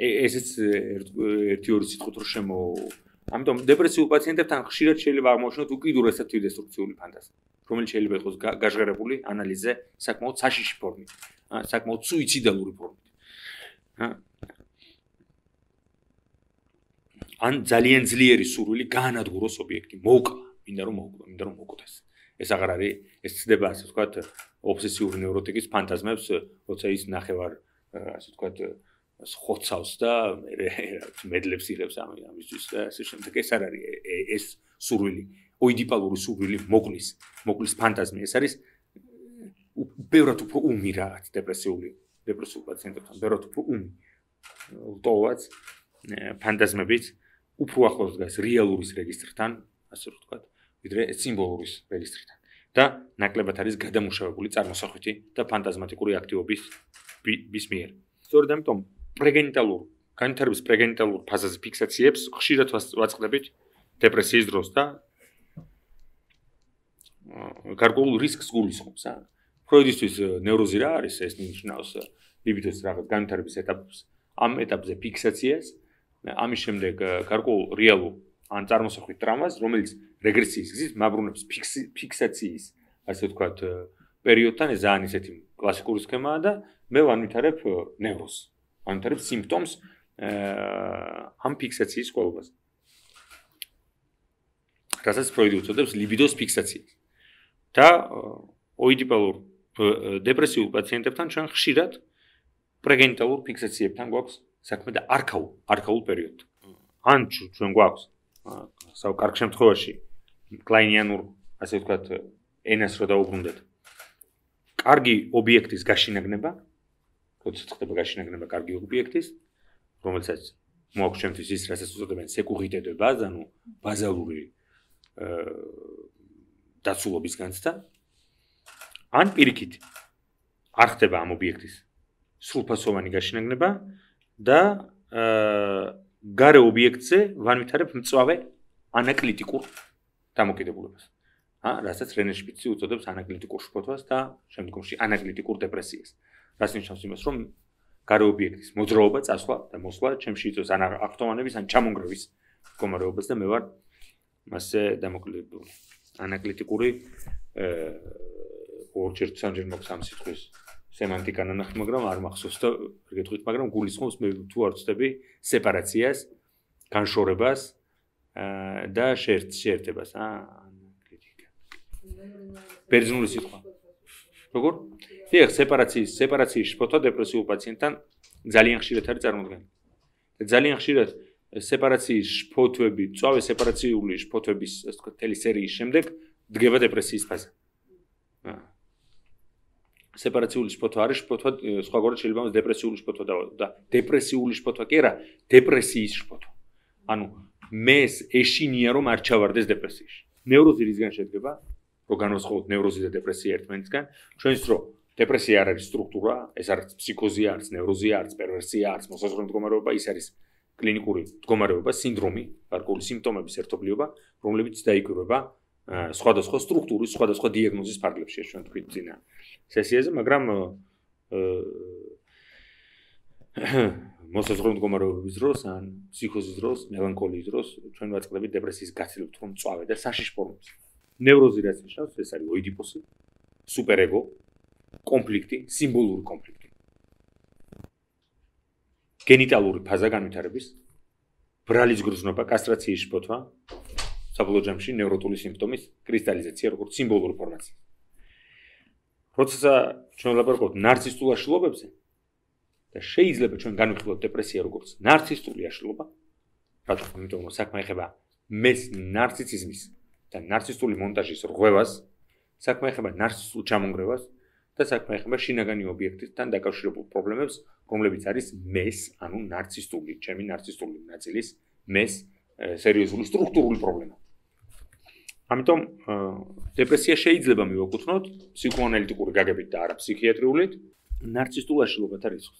A: ესეც ერთი ორი სიტყვით რო შემო ამიტომ დეპრესიულ პაციენტებთან ხშირად შეიძლება აღმოჩნდეთ უკიდურესად თვითდესტრუქციული ფანტაზმი, რომელიც შეიძლება იყოს გაჟღერებული ანალიზზე საკმაოდ საშიში ფორმით, საკმაოდ სუიციდალური ფორმით. ან ძალიან ძლიერი სურვილი გაანადგუროს ობიექტი, მოკლა, მინდა რომ მოვკვდა, მინდა რომ მოვკვდეს. ეს აღარ არის, ეს ცდება ასე ვთქვათ, ობსესიური ნევროტიკის ფანტაზმებს, როცა ის ნახევარ ასე ვთქვათ ხოცავს და მედლებს იღებს ამისთვის და ასე შემდეგ. ეს არ არის ეს სურვილი, ოიდიპალური სურვილი მოკლის, მოკლის ფანტაზმი. ეს არის ბევრად უფრო უმი რაღაც დეპრესიული, დეპრესიულ პაციენტებთან, ბევრად უფრო უმი. ლტოვაც ფანტაზმებით უფრო ახლოს დგას რეალურის რეგისტრთან, ასე ვთქვათ, ვიდრე სიმბოლურის რეგისტრთან. და ნაკლებად არის გადამუშავებული წარმოსახვითი და ფანტაზმატიკური აქტივობის bis მიერ. სწორედ ამიტომ პრეგენიტალურ, განვითარების პრეგენიტალურ ფაზაზე ფიქსაციებს ხშირად ვაწყდებით დეპრესიის დროს და გარკვეულ რისკს გულისხმობს. ფროიდისთვის ნევროზი რა არის, ეს ნიშნავს ლიბიდოს რაღაც განვითარების ეტაპს, ამ ეტაპზე ფიქსაციას, ამის შემდეგ გარკვეულ რეალურ ან წარმოსახვით ტრამვას, რომელიც რეგრესიის გზით მაბრუნებს ფიქსაციის, ასე ვთქვათ, პერიოდთან, ეს ძალიან ისეთი კლასიკური სქემაა და მე ვანვითარებ ნევროზს, ვანვითარებ სიმპტომს ამ ფიქსაციის ყოლობას. რასაც ფროიდი უწოდებს ლიბიდოს ფიქსაციას. და ოიდიპალურ დეპრესიულ პაციენტებთან ჩვენ ხშირად პრეგენიტალურ ფიქსაციებთან გვაქვს საქმე და არქაულ, არქაულ პერიოდთან. ან ჩვენ გვაქვს საუ კარგ შემთხვევაში კლაინიანურ, ასე ვთქვათ, ენას რო დაუბრუნდეთ. კარგი ობიექტის გაშინაგნება, როდესაც ხდება გაშინაგნება კარგი ობიექტის, რომელსაც მოაქვს ჩვენთვის ის, რასაც უწოდებენ სეკურიტეტე ბაზა, ანუ ბაზალური დაცულობის განცდა, ან პირიქით არ ხდება ამ ობიექტის სრულფასოვანი გაშინაგნება და გარე ობიექტზე ვანვითარებ მწვავე ანაკლიტიკურ დამოკიდებულებას. რასაც რენე შპიცი უწოდებს ანაკლიტიკურ შფოთვას და შემდგომში ანაკლიტიკურ დეპრესიას. რაც ნიშნავს იმას, რომ გარე ობიექტის მოძრაობა, წასვლა და მოსვლა ჩემში იწვევს ან აქტოვანების, ან ჩამონგრევის მდგომარეობას და მე ვარ მასზე დამოკიდებული. ანაკლიტიკური ორჯერ სამჯერ მოქვს ამ სიტყვის სემანტიკა ნანახი, მაგრამ არ მახსოვს და გეტყვით, მაგრამ გულისხმობს მე თუ არ ვწდები სეპარაციას, განშორებას და შეერთებას, ანაკლიტიკა. ბერძნული სიტყვა. როგორ? დიახ, სეპარაციის, სეპარაციის შფოთვა დეპრესიულ პაციენტთან ძალიან ხშირად არის წარმოდგენილი. და ძალიან ხშირად სეპარაციის შფოთვები, წვავე სეპარაციული შფოთვების, ასე ვთქვათ, თელი სერიის შემდეგ დგება დეპრესიის ფაზა. სეპარაციული შფოთვა არის შფოთვა, სხვაგვარად შეიძლება დეპრესიული შფოთვა და დეპრესიული შფოთვა კი არა, დეპრესიის შფოთვა. ანუ მეს ეშინია რომ არ ჩავარდეს დეპრესიაში. ნევროზი რისგან შედგება? რო განვასხვაოთ ნევროზი და დეპრესია ერთმანეთისგან, ჩვენს დრო დეპრესია არ არის სტრუქტურა, ეს არის ფსიქოზია, არის ნევროზია, არის პერვერსია, არის მოსაზღვრე მდგომარეობა, ის არის კლინიკური მდგომარეობა, სინდრომი, გარკვეული სიმპტომების ერთობლიობა, რომლებიც დაიკვირვება სხვადასხვა სტრუქტურის, სხვადასხვა დიაგნოზის ფარგლებში, ჩვენ თქვით წინა სესიაზე, მაგრამ მოსაზღვრე მდგომარეობების დროს, ან ფსიქოზის დროს, მელანქოლიის დროს, ჩვენ ვაწყდებით დეპრესიის გაცილებით რომ მწვავე და საშიშ ფორმებს. ნევროზი რაც ნიშნავს, ეს არის ოიდიპოსი, სუპერეგო, კონფლიქტი, სიმბოლური კონფლიქტი. გენიტალური ფაზა განვითარების, ბრალის გრძნობა, კასტრაციის შფოთვა, საბოლოო ჯამში ნევროტული სიმპტომის კრისტალიზაცია, როგორც სიმბოლური ფორმაცია. როცა ჩვენ ვლაპარაკობთ ნარცისტულ აშლილობებზე და შეიძლება ჩვენ განვიხილოთ დეპრესია როგორც ნარცისტული აშლილობა, რატომ? იმიტომ რომ საქმე ეხება მეს ნარციციზმის და ნარცისტული მონტაჟის რღვევას, საქმე ეხება ნარცისტულ ჩამონგრევას და საქმე ეხება შინაგანი ობიექტთან დაკავშირებულ პრობლემებს, რომლებიც არის მეს, ანუ ნარცისტული, ჩემი ნარცისტული ნაწილის მეს სერიოზული სტრუქტურული პრობლემა. ამიტომ დეპრესია შეიძლება მივაკუთვნოთ ფსიქოანალიტიკური გაგებით და არა ფსიქიატრიულით ნარცისტულ აშლილობათა რისკს.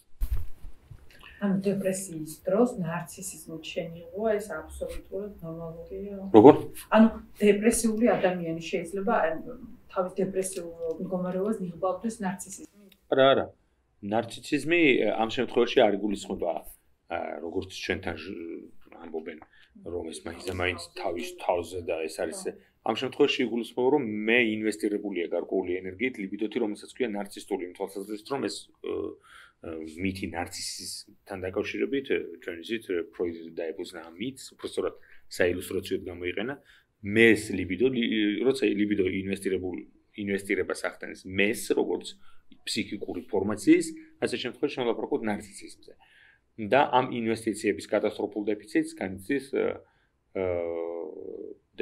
E: ანუ დეპრესიის დროს ნარცისიზმით შეიღო ეს აბსოლუტურად ნორმალურია.
A: როგორ?
E: ანუ დეპრესიული ადამიანი შეიძლება თავის დეპრესიულ მდგომარეობას მიიღბავდეს ნარცისიზმით?
A: არა, არა. ნარცისიზმი ამ შემთხვევაში არ იგულისხმება როგორც ჩვენთან ამბობენ რომ ეს მაინც თავის თავზე და ეს არის ამ შემთხვევაში იგულისხმება რომ მე ინვესტირებულია გარკვეული ენერგიით ლიბიდოთი რომელსაც ქვია ნარცისტული თვალსაზრისით რომ ეს მითი ნარცისიზმთან დაკავშირებით ჩვენ იზით ფროიდი დაებუზნა ამ მითს უბრალოდ საილუსტრაციოდ გამოიყენა მეს ლიბიდო, როცა ლიბიდო ინვესტირებულ ინვესტირებას ახდენის მეს, როგორც ფსიქიკური ფორმაციის, ასე შემთხვევაში შემოლაპარაკოთ ნარცისიზმზე. და ამ ინვესტიციების კატასტროფულ დეფიციტს განიცდის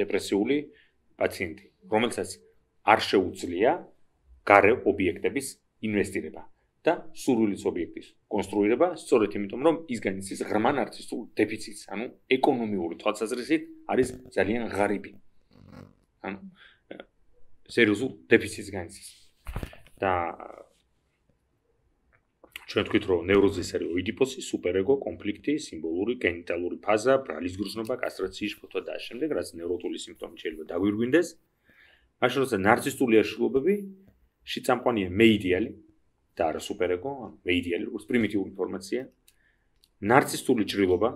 A: დეპრესიული პაციენტი, რომელსაც არ შეუძლია გარე ობიექტების ინვესტირება და სურვილის ობიექტის კონსტრუირება, სწორედ იმიტომ, რომ ის განიცდის ღრმა ნარცისტულ დეფიციტს, ანუ ეკონომიური თვალსაზრისით არის ძალიან ღარიბი. ანუ სერიოზულ დეფიციტს განიცდის. და ჩვენ თქვით, რომ ნევროზის არის ოიდიპოსი, სუპერეგო, კონფლიქტი, სიმბოლური, გენიტალური ფაზა, ბრალის გრძნობა, კასტრაციის შფოთვა და ამ შემდეგ, რაც ნევროტული სიმპტომი შეიძლება დაგვირგვინდეს. მაშინ როცა ნარცისტული აშლილობები შეწამყვანია მეიდიალი და არა სუპერეგო, ანუ მეიდიალი როგორც პრიმიტიული ინფორმაცია, ნარცისტული ჭრილობა,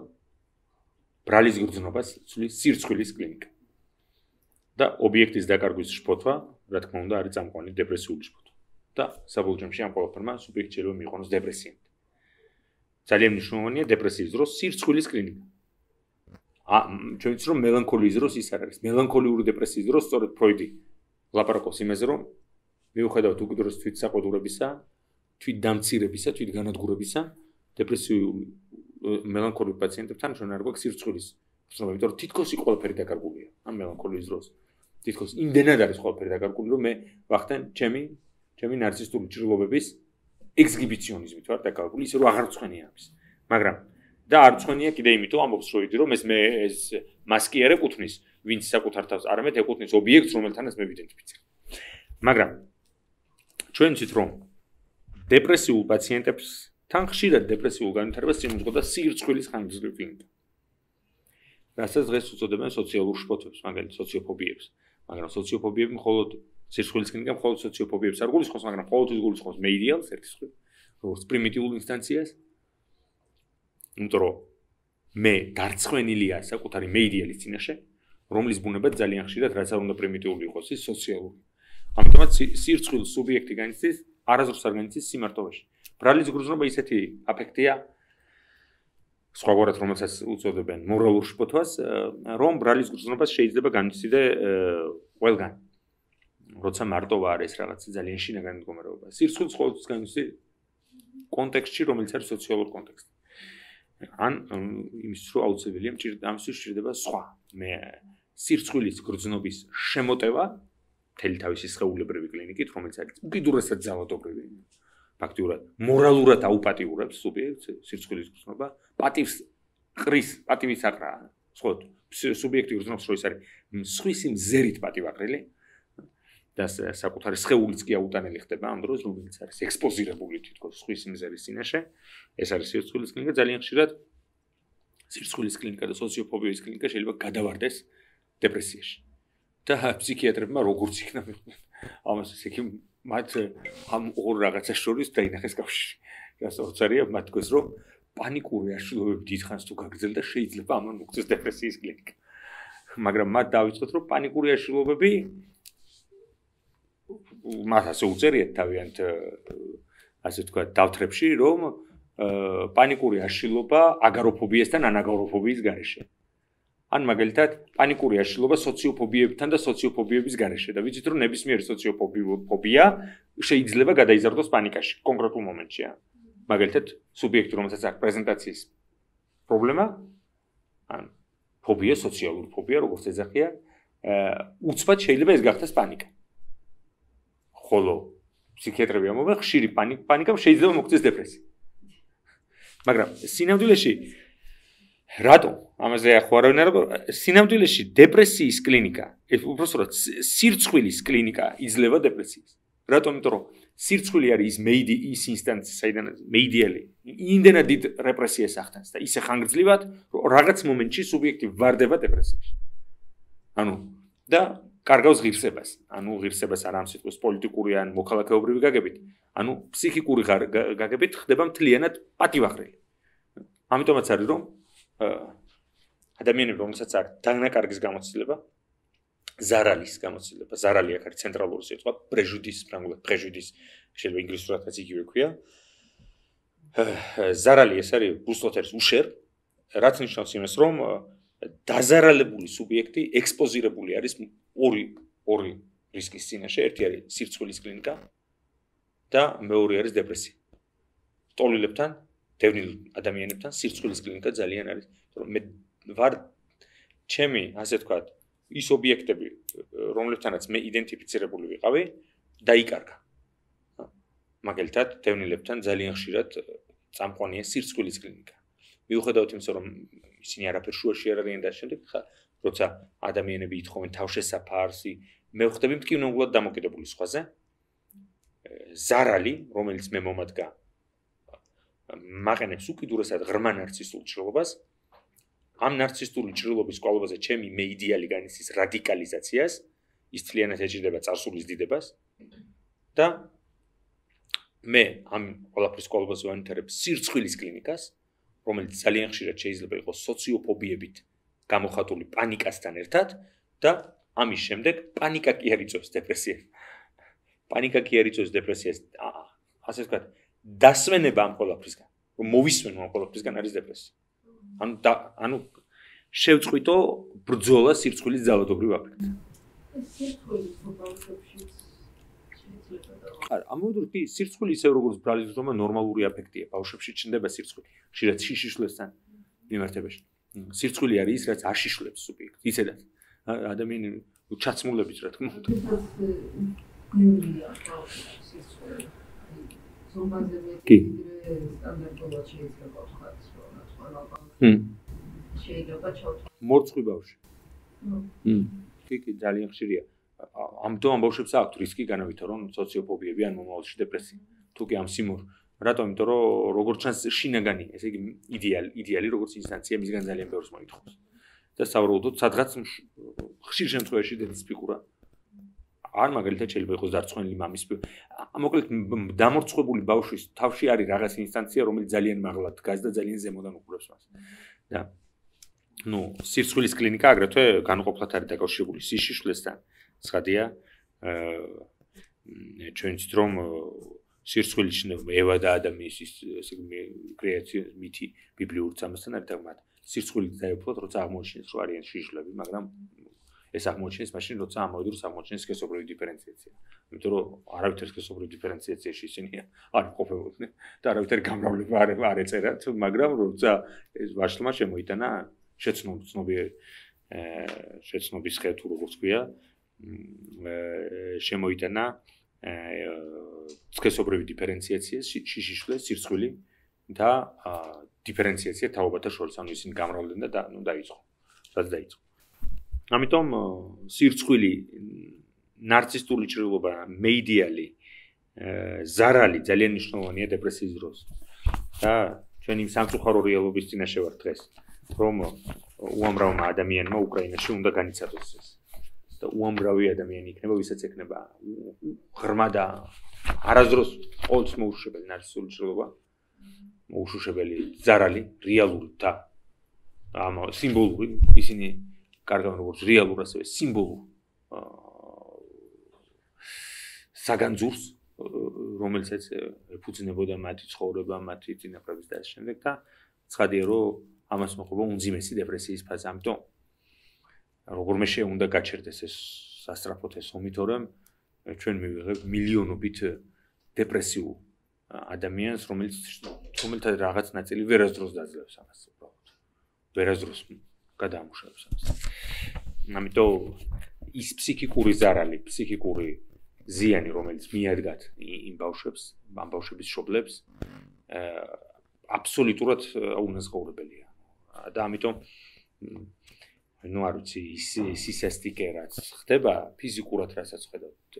A: ბრალის გრძნობას ცვლის სირცხვილის კლინიკა. და ობიექტის დაკარგვის შფოთვა, რა თქმა უნდა, არის წამყვანი დეპრესიული შფოთვა. და საბოლოო ჯამში ამ ყველაფერმა სუბიექტი შეიძლება მიიღოს დეპრესიამდე. ძალიან მნიშვნელოვანია დეპრესიის დროს სირცხვილის კლინიკა. ა ჩვენ ვიცით რომ მელანქოლიის დროს ის არ არის. მელანქოლიური დეპრესიის დროს სწორედ ფროიდი ლაპარაკობს იმაზე, რომ მიუხედავად უკიდურეს თვითსაყოლებისა, თვითდამცირებისა, თვითგანადგურებისა, დეპრესიული მელანქოლიური პაციენტებთან ჩვენ არ გვაქვს სირცხვილის გრძნობა, იმიტომ რომ თითქოს ყველაფერი დაკარგულია ამ მელანქოლიის დროს. თითქოს იმდენად არის ყველაფერი დაკარგული, რომ მე ვახტენ ჩემი ჩემი ნარცისტული ჭრილობების ექსგიბიციონიზმით ვარ დაკარგული, ისე რომ აღარ წვენია ამის. მაგრამ და არ წვენია კიდე იმიტომ ამბობს ფროიდი, რომ ეს მე ეს მასკი არ ეკუთვნის ვინც საკუთარ თავს, არამედ ეკუთვნის ობიექტს, რომელთანაც მე ვიდენტიფიცირებ. მაგრამ ჩვენ ვიცით, რომ დეპრესიულ პაციენტებთან ხშირად დეპრესიულ განვითარებას წინუძღოდა სირცხვილის ხანგრძლივი კლინიკა. რასაც დღეს უწოდებენ სოციალურ შფოთვებს, მაგალითად სოციოფობიებს. მაგრამ სოციოფობიები მხოლოდ სირცხვილის კლინიკა მხოლოდ სოციოფობიებს არ გულისხმობს, მაგრამ ყოველთვის გულისხმობს მეიდიალს, ერთის მხრივ, როგორც პრიმიტიულ ინსტანციას. იმიტომ რომ მე დარწმენილია საკუთარი მეიდიალის წინაშე, რომლის ბუნება ძალიან ხშირად რაც არ უნდა პრიმიტიული იყოს, ის სოციალური. ამიტომაც სირცხვილს სუბიექტი განიცდის, არასდროს არ განიცდის სიმარტოვეში. ბრალის გრძნობა ისეთი აფექტია, სხვაგვარად რომელსაც უწოდებენ მორალურ შფოთვას, რომ ბრალის გრძნობას შეიძლება განიცდიდე ყველგან. როცა მარტოვა არის რაღაცა ძალიან შინაგანი მდგომარეობა. სირცხვილს ყოველთვის განიცდის კონტექსტში, რომელიც არის სოციალური კონტექსტი. ან იმისთვის რომ აუცილებელია ამისთვის სჭირდება სხვა. მე სირცხვილის გრძნობის შემოტევა მთელი თავისი სხეულებრივი კლინიკით, რომელიც არის უკიდურესად ძალადობრივი. ფაქტიურად მორალურად აუპატიურებს სუბიექტს სირცხვილის გრძნობა, პატივს ყრის, პატივის აყრა. სხვა სუბიექტი გრძნობს, რომ ის არის სხვისი მზერით პატივაყრილი. და საკუთარი სხეულიც კი აუტანელი ხდება ამ დროს, რომელიც არის ექსპოზირებული თითქოს სხვის მზერის წინაშე. ეს არის სირცხვილის კლინიკა, ძალიან ხშირად სირცხვილის კლინიკა და სოციოფობიის კლინიკა შეიძლება გადავარდეს დეპრესიაში. და ფსიქიატრებმა როგორც იქნა მიხვდნენ. ამას ისე კი მათ ამ ორ რაღაცას შორის დაინახეს კავშირი. რასაც არია მათ თქოს, რომ პანიკური აშლილობები დიდხანს თუ გაგრძელდა, შეიძლება ამან მოგწეს დეპრესიის კლინიკა. მაგრამ მათ დავიწყოთ, რომ პანიკური აშლილობები მას ასე უწერიათ თავიანთ ასე ვთქვათ დავთრებში, რომ პანიკური აშლილობა აგაროფობიასთან ან აგაროფობიის გარეშე. ან მაგალითად პანიკური აშლილობა სოციოფობიებთან და სოციოფობიების გარეშე და ვიცით რომ ნებისმიერი სოციოფობია შეიძლება გადაიზარდოს პანიკაში კონკრეტულ მომენტში. მაგალითად სუბიექტი რომელსაც აქვს პრეზენტაციის პრობლემა, ან ფობია, სოციალური ფობია, როგორც ეძახიან, უცბად შეიძლება ეს გახდეს პანიკა. ხოლო ფსიქიატრები ამბობენ, ხშირი პანიკამ შეიძლება მოგწეს დეპრესია. მაგრამ სინამდვილეში რატო? ამაზე ახლა არავინ არ სინამდვილეში დეპრესიის კლინიკა, უბრალოდ სირცხვილის კლინიკა იძლევა დეპრესიას. რატომ? იმიტომ რომ სირცხვილი არის ის მეიდი ის ინსტანცია, საიდან მეიდიალი იმდენად დიდ რეპრესიას ახდენს და ისე ხანგრძლივად, რომ რაღაც მომენტში სუბიექტი ვარდება დეპრესიაში. ანუ და კარგავს ღირსებას. ანუ ღირსებას არ ამ სიტყვის პოლიტიკური ან მოქალაქეობრივი გაგებით, ანუ ფსიქიკური გაგებით ხდება მთლიანად პატივაყრელი. ამიტომაც არის რომ ადამიანები, რომელსაც არის დანაკარგის გამოცდილება, ზარალის გამოცდილება, ზარალი აქ არის ცენტრალური სიტყვა, პრეჟუდის, ფრანგულად პრეჟუდის, შეიძლება ინგლისურადაც იგივე ქვია. ზარალი ეს არის ბრუსლოთ არის უშერ, რაც ნიშნავს იმას, რომ დაზარალებული სუბიექტი ექსპოზირებული არის ორი ორი რისკის წინაშე, ერთი არის სირცხვილის კლინიკა და მეორე არის დეპრესია. ტოლილებთან, დევნილ ადამიანებთან სირცხვილის კლინიკა ძალიან არის, რომ მე ვარ ჩემი, ასე ვთქვათ, ის ობიექტები, რომლებთანაც მე იდენტიფიცირებული ვიყავი, დაიკარგა. მაგალითად, დევნილებთან ძალიან ხშირად წამყვანია სირცხვილის კლინიკა. მიუხედავად იმისა, რომ ისინი არაფერ შუაში არ არიან და შემდეგ, ხა, როცა ადამიანები ითხოვენ თავშესაფარს, მე ვხდები მტკივნეულად დამოკიდებული სხვაზე. ზარალი, რომელიც მე მომადგა, მაყენებს უკიდურესად ღრმა ნარცისტულ ჭრილობას. ამ ნარცისტული ჭრილობის კვალობაზე ჩემი მე იდეალი განიცდის რადიკალიზაციას, ის თლიანად ეჭირდება წარსულის დიდებას და მე ამ ყველაფრის კვალობაზე ვანვითარებ სირცხვილის კლინიკას, რომელიც ძალიან ხშირად შეიძლება იყოს სოციოფობიებით გამოხატული პანიკასთან ერთად და ამის შემდეგ პანიკა კი არ იწვევს დეპრესიას. პანიკა კი არ იწვევს დეპრესიას. ასე ვთქვათ, დასვენება ამ ყველაფრისგან, რომ მოვისვენო ამ ყველაფრისგან არის დეპრესია. ანუ ანუ შევწყვიტო ბრძოლა სირცხვილის ძალადობრივ აფექტზე.
C: სირცხვილის ბავშვებში
A: არა, ამოდროულად კი სირცხვილი ისევ როგორც ბრალის ძრომა ნორმალური აფექტია. ბავშვებში ჩნდება სირცხვილი, ხშირად შიშიშვლესთან მიმართებაში. სირცხვილი არის ის, რაც აშიშვლებს სუბიექტს, ისედაც ადამიანი ჩაცმულებით, რა თქმა უნდა. კი.
C: სტანდარტულად შეიძლება ვთქვათ, რომ ყველა შეიძლება ჩავთვალოთ.
A: მორცხვი ბავშვი. მმ. კი, კი, ძალიან ხშირია. ამიტომ ამ ბავშვებს აქვთ რისკი განავითარონ სოციოფობიები ან მომავალში დეპრესია. თუ კი ამ სიმორ, რატომ? იმიტომ რომ როგორც ჩანს შინაგანი, ესე იგი იდეალი, იდეალი როგორც ინსტანცია მისგან ძალიან ბევრს მოითხოვს. და საუბრობთ სადღაც ხშირ შემთხვევაში დედის ფიგურა. არ მაგალითად შეიძლება იყოს დარწმუნებული მამის ფიგურა. მოკლედ დამორცხვებული ბავშვის თავში არის რაღაც ინსტანცია, რომელიც ძალიან მაღლა დგას და ძალიან ზემოდან უყურებს მას. და ნუ სირცხვილის კლინიკა აგრეთვე განუყოფლად არის დაკავშირებული სიშიშვლესთან. ცხადია, აა ჩვენ ვთქვით რომ სირცხვილის შნევა ევა და ადამიანის ესე იგი კრეაციის მითი ბიბლიურ წამასთან არის დაგმად. სირცხვილით დაეუფლოთ, როცა აღმოჩნდეს რომ არიან შიშვლები, მაგრამ ეს აღმოჩნდეს მაშინ, როცა ამავდროულად აღმოჩნდეს სქესობრივი დიფერენციაცია. იმიტომ რომ არავითარ სქესობრივ დიფერენციაციაში ისინი არ ყოფებოდნენ და არავითარ გამრავლება არ არ ეწერათ, მაგრამ როცა ეს ვაშლმა შემოიტანა შეცნობი შეცნობის ხე თუ როგორც ქვია, შემოიტანა სქესობრივი დიფერენციაცია, შიშიშვლე, სირცხვილი და დიფერენციაცია თაობათა შორის, ანუ ისინი გამრავლდნენ და ნუ დაიწყო. რაც დაიწყო. ამიტომ სირცხვილი, ნარცისტული ჭრილობა, მეიდიალი, ზარალი ძალიან მნიშვნელოვანია დეპრესიის დროს. და ჩვენ იმ სამწუხარო რეალობის წინაშე ვართ დღეს, რომ უამრავმა ადამიანმა უკრაინაში უნდა განიცადოს ეს. და უამრავი ადამიანი იქნება, ვისაც ექნება ღრმა და არასდროს ყოველთვის მოუშვებელი ნარცისტული ჭრილობა, მოუშვებელი ზარალი, რეალური და ამ სიმბოლური, ისინი კარგავენ როგორც რეალურ ასევე სიმბოლურ საგანძურს, რომელსაც ეფუძნებოდა მათი ცხოვრება, მათი წინაპრების და ამ შემდეგ და ცხადია რომ ამას მოყვება უმძიმესი დეპრესიის ფაზა. ამიტომ როგორმე შეუნდა გაჩერდეს ეს სასწრაფოდ ეს ომი, თორემ ჩვენ მივიღებთ მილიონობით დეპრესიულ ადამიანს, რომელიც რომელთა რაღაც ნაწილი ვერასდროს დაძლევს ამას უბრალოდ. ვერასდროს გადაამუშავებს ამას. ამიტომ ის ფსიქიკური ზარალი, ფსიქიკური ზიანი, რომელიც მიადგათ იმ ბავშვებს, ამ ბავშვების შობლებს, აბსოლუტურად უნაზღაურებელია. და ამიტომ ნუ არ ვიცი, ის სისასტიკე რაც ხდება ფიზიკურად, რასაც ხედავთ,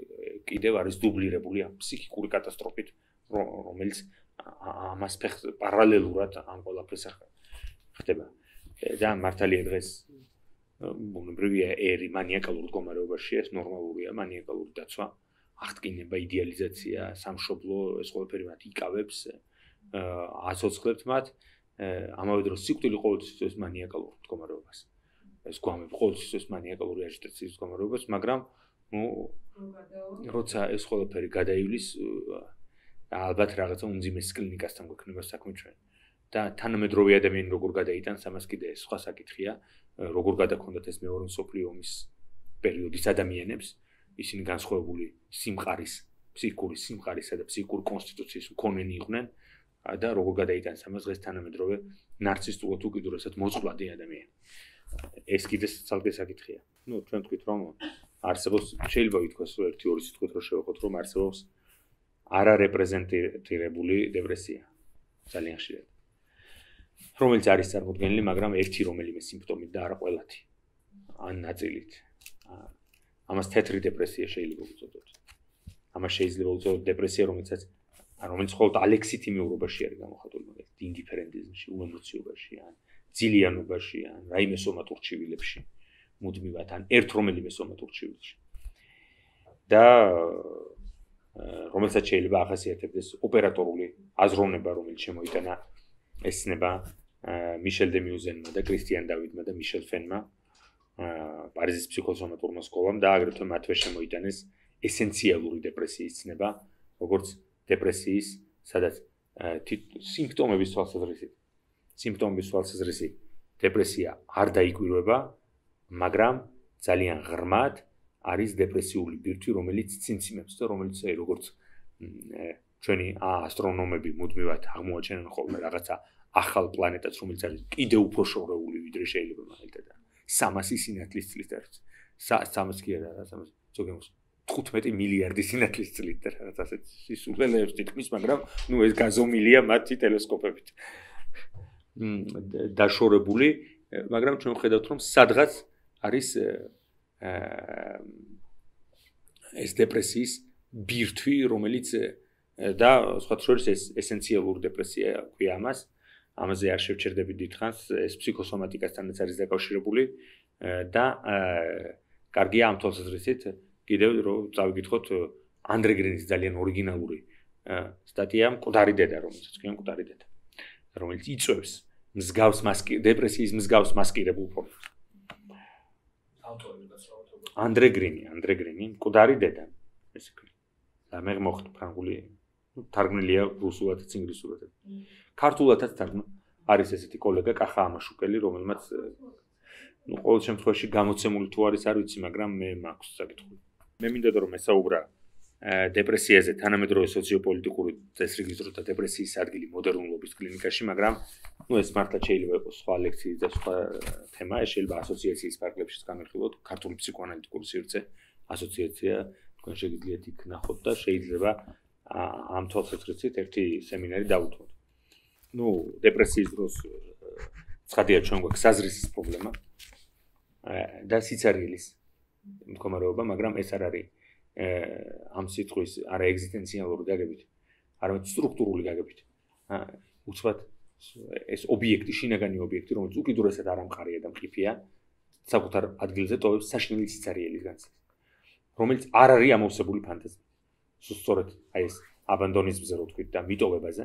A: კიდევ არის დუბლირებული ამ ფსიქიკური კატასტროფით, რომელიც ამას პარალელურად ამ ყველაფერს ხდება. და მართალია დღეს ბუნებრივია ერი მანიაკალურ მდგომარეობაშია, ეს ნორმალურია, მანიაკალური დაცვა, აღტკინება, იდეალიზაცია, სამშობლო, ეს ყველაფერი მათ იკავებს, აცოცხლებთ მათ, ამავე დროს სიკვდილი ყოველთვის ეს მანიაკალურ მდგომარეობას. ეს გვამები ყოველთვის ეს მანიაკალური აჟიტაციის მდგომარეობას, მაგრამ ნუ როცა ეს ყველაფერი გადაივლის, ალბათ რაღაცა უმძიმეს კლინიკასთან გვექნება საქმე ჩვენ. და თანამედროვე ადამიანი როგორ გადაიტანს, ამას კიდე სხვა საკითხია, როგორ გადაქონდათ ეს მეორე მსოფლიო ომის პერიოდის ადამიანებს, ისინი განსხვავებული სიმყარის, ფსიქიკური სიმყარისა და ფსიქიკური კონსტიტუციის მქონენი იყვნენ და როგორ გადაიტანეს ამას დღეს თანამედროვე ნარცისტულად უკიდურესად მოწყვლადი ადამიანი. ეს კიდე ცალკე საკითხია. ნუ ჩვენ თქვით რომ არსებობს შეიძლება ვითქვას რომ ერთი ორი სიტყვით რომ შევეხოთ რომ არსებობს არარეპრეზენტირებული დეპრესია. ძალიან ხშირად. რომელიც არის წარმოქმნილი, მაგრამ ერთი რომელიმე სიმპტომით და არა ყველათი. ან ნაწილით. ამას თეთრი დეპრესია შეიძლება უწოდოთ. ამას შეიძლება უწოდოთ დეპრესია, რომელსაც რომელიც მხოლოდ ალექსით იმეურობაში არის გამოხატული, მაგალითად, ინდიფერენტიზმში, უემოციობაში, ან ძილიანობაში, ან რაიმე სომატურ ჩივილებში, მუდმივად, ან ერთ რომელიმე სომატურ ჩივილში. და რომელსაც შეიძლება ახასიათებდეს ოპერატორული აზროვნება, რომელიც შემოიტანა ეს ცნება მიშელ დე მიუზენმა და კრისტიან დავიდმა და მიშელ ფენმა პარიზის ფსიქოსომატურმა სკოლამ და აგრეთვე მათვე შემოიტანეს ესენციალური დეპრესიის ცნება, როგორც დეპრესიის, სადაც სიმპტომების თვალსაზრისით, სიმპტომების თვალსაზრისით დეპრესია არ დაიკვირვება, მაგრამ ძალიან ღრმად არის დეპრესიული ბირთვი, რომელიც ცინციმებს და რომელიც როგორც ჩვენი ასტრონომები მუდმივად აღმოაჩენენ ხოლმე რაღაცა ახალ პლანეტას, რომელიც არის კიდევ უფრო შორეული, ვიდრე შეიძლება მაგალითად სამასი სინათლის წლით არის. სამას კი არა, სამას ზოგადად თხუთმეტი მილიარდი სინათლის წლით და რაღაც ასეთ სისულელეებს თითქმის, მაგრამ ნუ ეს გაზომილია მათი ტელესკოპებით. დაშორებული, მაგრამ ჩვენ ვხედავთ რომ სადღაც არის ეს დეპრესიის ბირთვი, რომელიც და სხვა შორის ეს ესენციალური დეპრესია ქვია ამას. ამაზე არ შევჩერდები დიდხანს, ეს ფსიქოსომატიკასთანაც არის დაკავშირებული და კარგია ამ თვალსაზრისით კიდევ რომ წავიკითხოთ ანდრე გრინის ძალიან ორიგინალური სტატია მკვდარი დედა, რომელსაც ქვია მკვდარი დედა, რომელიც იწვევს მსგავს მასკი დეპრესიის მსგავს მასკირებულ ფორმას.
B: ავტორი გასაუბრებელია.
A: ანდრე გრინი, ანდრე გრინი, მკვდარი დედა. ესე ქვია. და მე მოხდა ფრანგული, თარგმნილია რუსულადაც, ინგლისურადაც. ქართულადაც თარგმნა. არის ესეთი კოლეგა კახა ამაშუკელი, რომელმაც ნუ ყოველ შემთხვევაში გამოცემული თუ არის არ ვიცი, მაგრამ მე მაქვს საკითხი. მე მინდა რომ ესაუბრა დეპრესიაზე, თანამედროვე სოციოპოლიტიკური წესრიგის და დეპრესიის ადგილი მოდერნულობის კლინიკაში, მაგრამ ნუ ეს მართლა შეიძლება იყოს სხვა ლექციის და სხვა თემა, ეს შეიძლება ასოციაციის ფარგლებშიც განვიხილოთ, ქართული ფსიქოანალიტიკური სივრცე ასოციაცია, თქვენ შეგიძლიათ იქ ნახოთ და შეიძლება ამ თვალსაზრისით ერთი სემინარი დავუთმოთ. ნუ დეპრესიის დროს ცხადია ჩვენ გვაქვს საზრისის პრობლემა და სიცარიელის მდგომარეობა, მაგრამ ეს არ არის ამ სიტყვის არა ეგზისტენციალური გაგებით, არამედ სტრუქტურული გაგებით. უცბად ეს ობიექტი, შინაგანი ობიექტი, რომელიც უკიდურესად არ ამყარია და მყიფეა, საკუთარ ადგილზე ტოვებს საშინელი სიცარიელის განცდას, რომელიც არ არის ამოვსებული ფანტაზია. სწორედ აი ეს აბანდონიზმზე რო თქვით და მიტოვებაზე,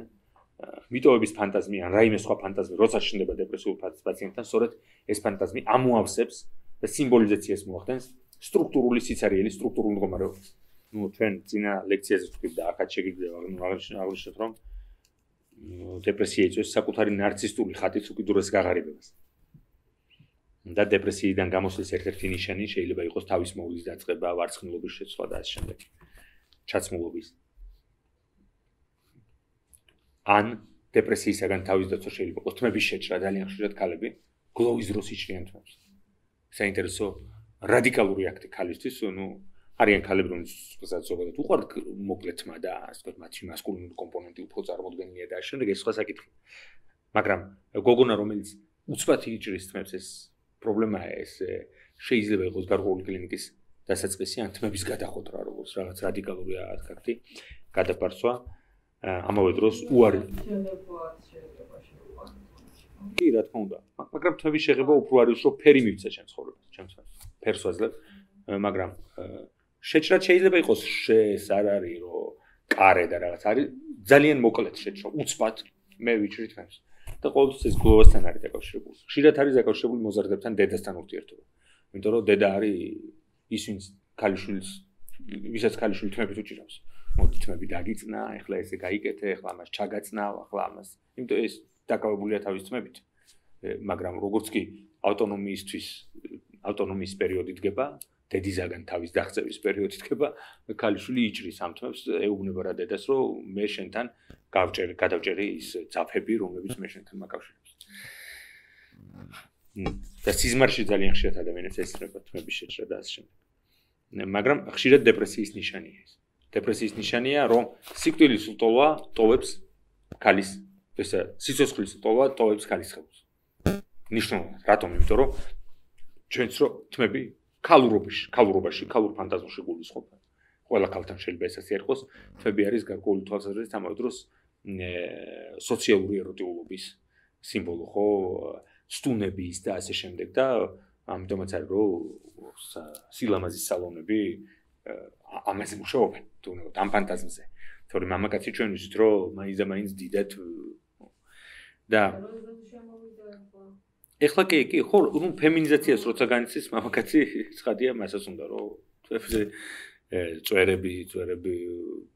A: მიტოვების ფანტაზმი ან რაიმე სხვა ფანტაზმი, როცა შენდება დეპრესიულ პაციენტთან, სწორედ ეს ფანტაზმი ამოავსებს და სიმბოლიზაციას მოახდენს სტრუქტურული სიცარიელის სტრუქტურულ მდგომარეობას. ნუ ჩვენ წინა ლექციაზე ვთქვით და ახაც შეგიძლია აღნიშნოთ, რომ დეპრესია იწვევს საკუთარი ნარცისტული ხატის უკიდურეს გაღარიბებას. და დეპრესიიდან გამოსვლის ერთ-ერთი ნიშანი შეიძლება იყოს თავის მოვლის დაწყება, ვარცხნილობის შეცვლა და ასე შემდეგ. ჩაცმულობის. ან დეპრესიისაგან თავის დაცვა შეიძლება იყოს თმების შეჭრა, ძალიან ხშირად ქალები გლოვის დროს იჭრიან თმებს. საინტერესო რადიკალური აქტი ქალისთვის, ნუ არიან ქალები, რომლებიც ზოგადად უყვართ მოკლე თმა და ასე ვთქვათ, მათი მასკულინური კომპონენტი უფრო წარმოდგენილია და ასე შემდეგ, ეს სხვა საკითხი. მაგრამ გოგონა, რომელიც უცბად იჭრის თმებს, ეს პრობლემაა, ეს შეიძლება იყოს გარკვეული კლინიკის დასაწყისი ან თმების გადახვედრა, როგორც რაღაც რადიკალური აქტი, გადაპარსვა. ამავე დროს უარი კი რა თქმა უნდა, მაგრამ თმების შეღება უფრო არის, რომ ფერი მივცა ჩემს ცხოვრებას, ჩემს ფერს ვაძლევ, მაგრამ შეჭრა შეიძლება იყოს შეს არ არის, რომ კარე და რაღაც არის, ძალიან მოკლედ შეჭრა, უცბად მე ვიჭრი თმებს. და ყოველთვის ეს გლოვასთან არის დაკავშირებული. ხშირად არის დაკავშირებული მოზარდებთან დედასთან ურთიერთობა. იმიტომ რომ დედა არის ის, ვინც ქალიშვილს, ვისაც ქალიშვილი თმებით უჭირავს. მოდი თმები დაგიწნა, ეხლა ესე გაიკეთე, ეხლა ამას ჩაგაწნავ, ახლა ამას. იმიტომ ეს დაკავებულია თავის თმებით. მაგრამ როგორც კი ავტონომიისთვის ავტონომიის პერიოდი დგება, დედისაგან თავის დაღწევის პერიოდი დგება, ქალიშვილი იჭრის ამ თმებს, ეუბნება რა დედას, რომ მე შენთან გავჭერი, გადავჭერი ის ძაფები, რომლებიც მე შენთან მაკავშირებს. და სიზმარში ძალიან ხშირად ადამიანებს ესწრება თმების შეჭრა და ასე შემდეგ. მაგრამ ხშირად დეპრესიის ნიშანია ეს. დეპრესიის ნიშანია, რომ სიკვდილის ლტოლვა ტოვებს ქალის, ესე სიცოცხლის ლტოლვა ტოვებს ქალის ხელს. ნიშნულოვანად, რატომ? იმიტომ რომ ჩვენც რო თმები ქალურობაში, ქალურობაში, ქალურ ფანტაზიაში გულისხმობ. ყველა ქალთან შეიძლება ეს ასე იყოს, თმები არის გარკვეული თვალსაზრისით ამავე დროს სოციალური ეროტიულობის სიმბოლო, ხო? სტუნების და ასე შემდეგ და ამიტომაც არის რომ სილამაზის სალონები ამაზე მუშაობენ, თუ უნდა ამ ფანტაზმზე. თორემ მამაკაცი ჩვენ ვიცით რომ მაინც და მაინც დიდად და ეხლა კი კი ხო, ნუ ფემინიზაციას როცა განიცდის მამაკაცი, ცხადია მასაც უნდა რომ თვეებზე წვერები, წვერები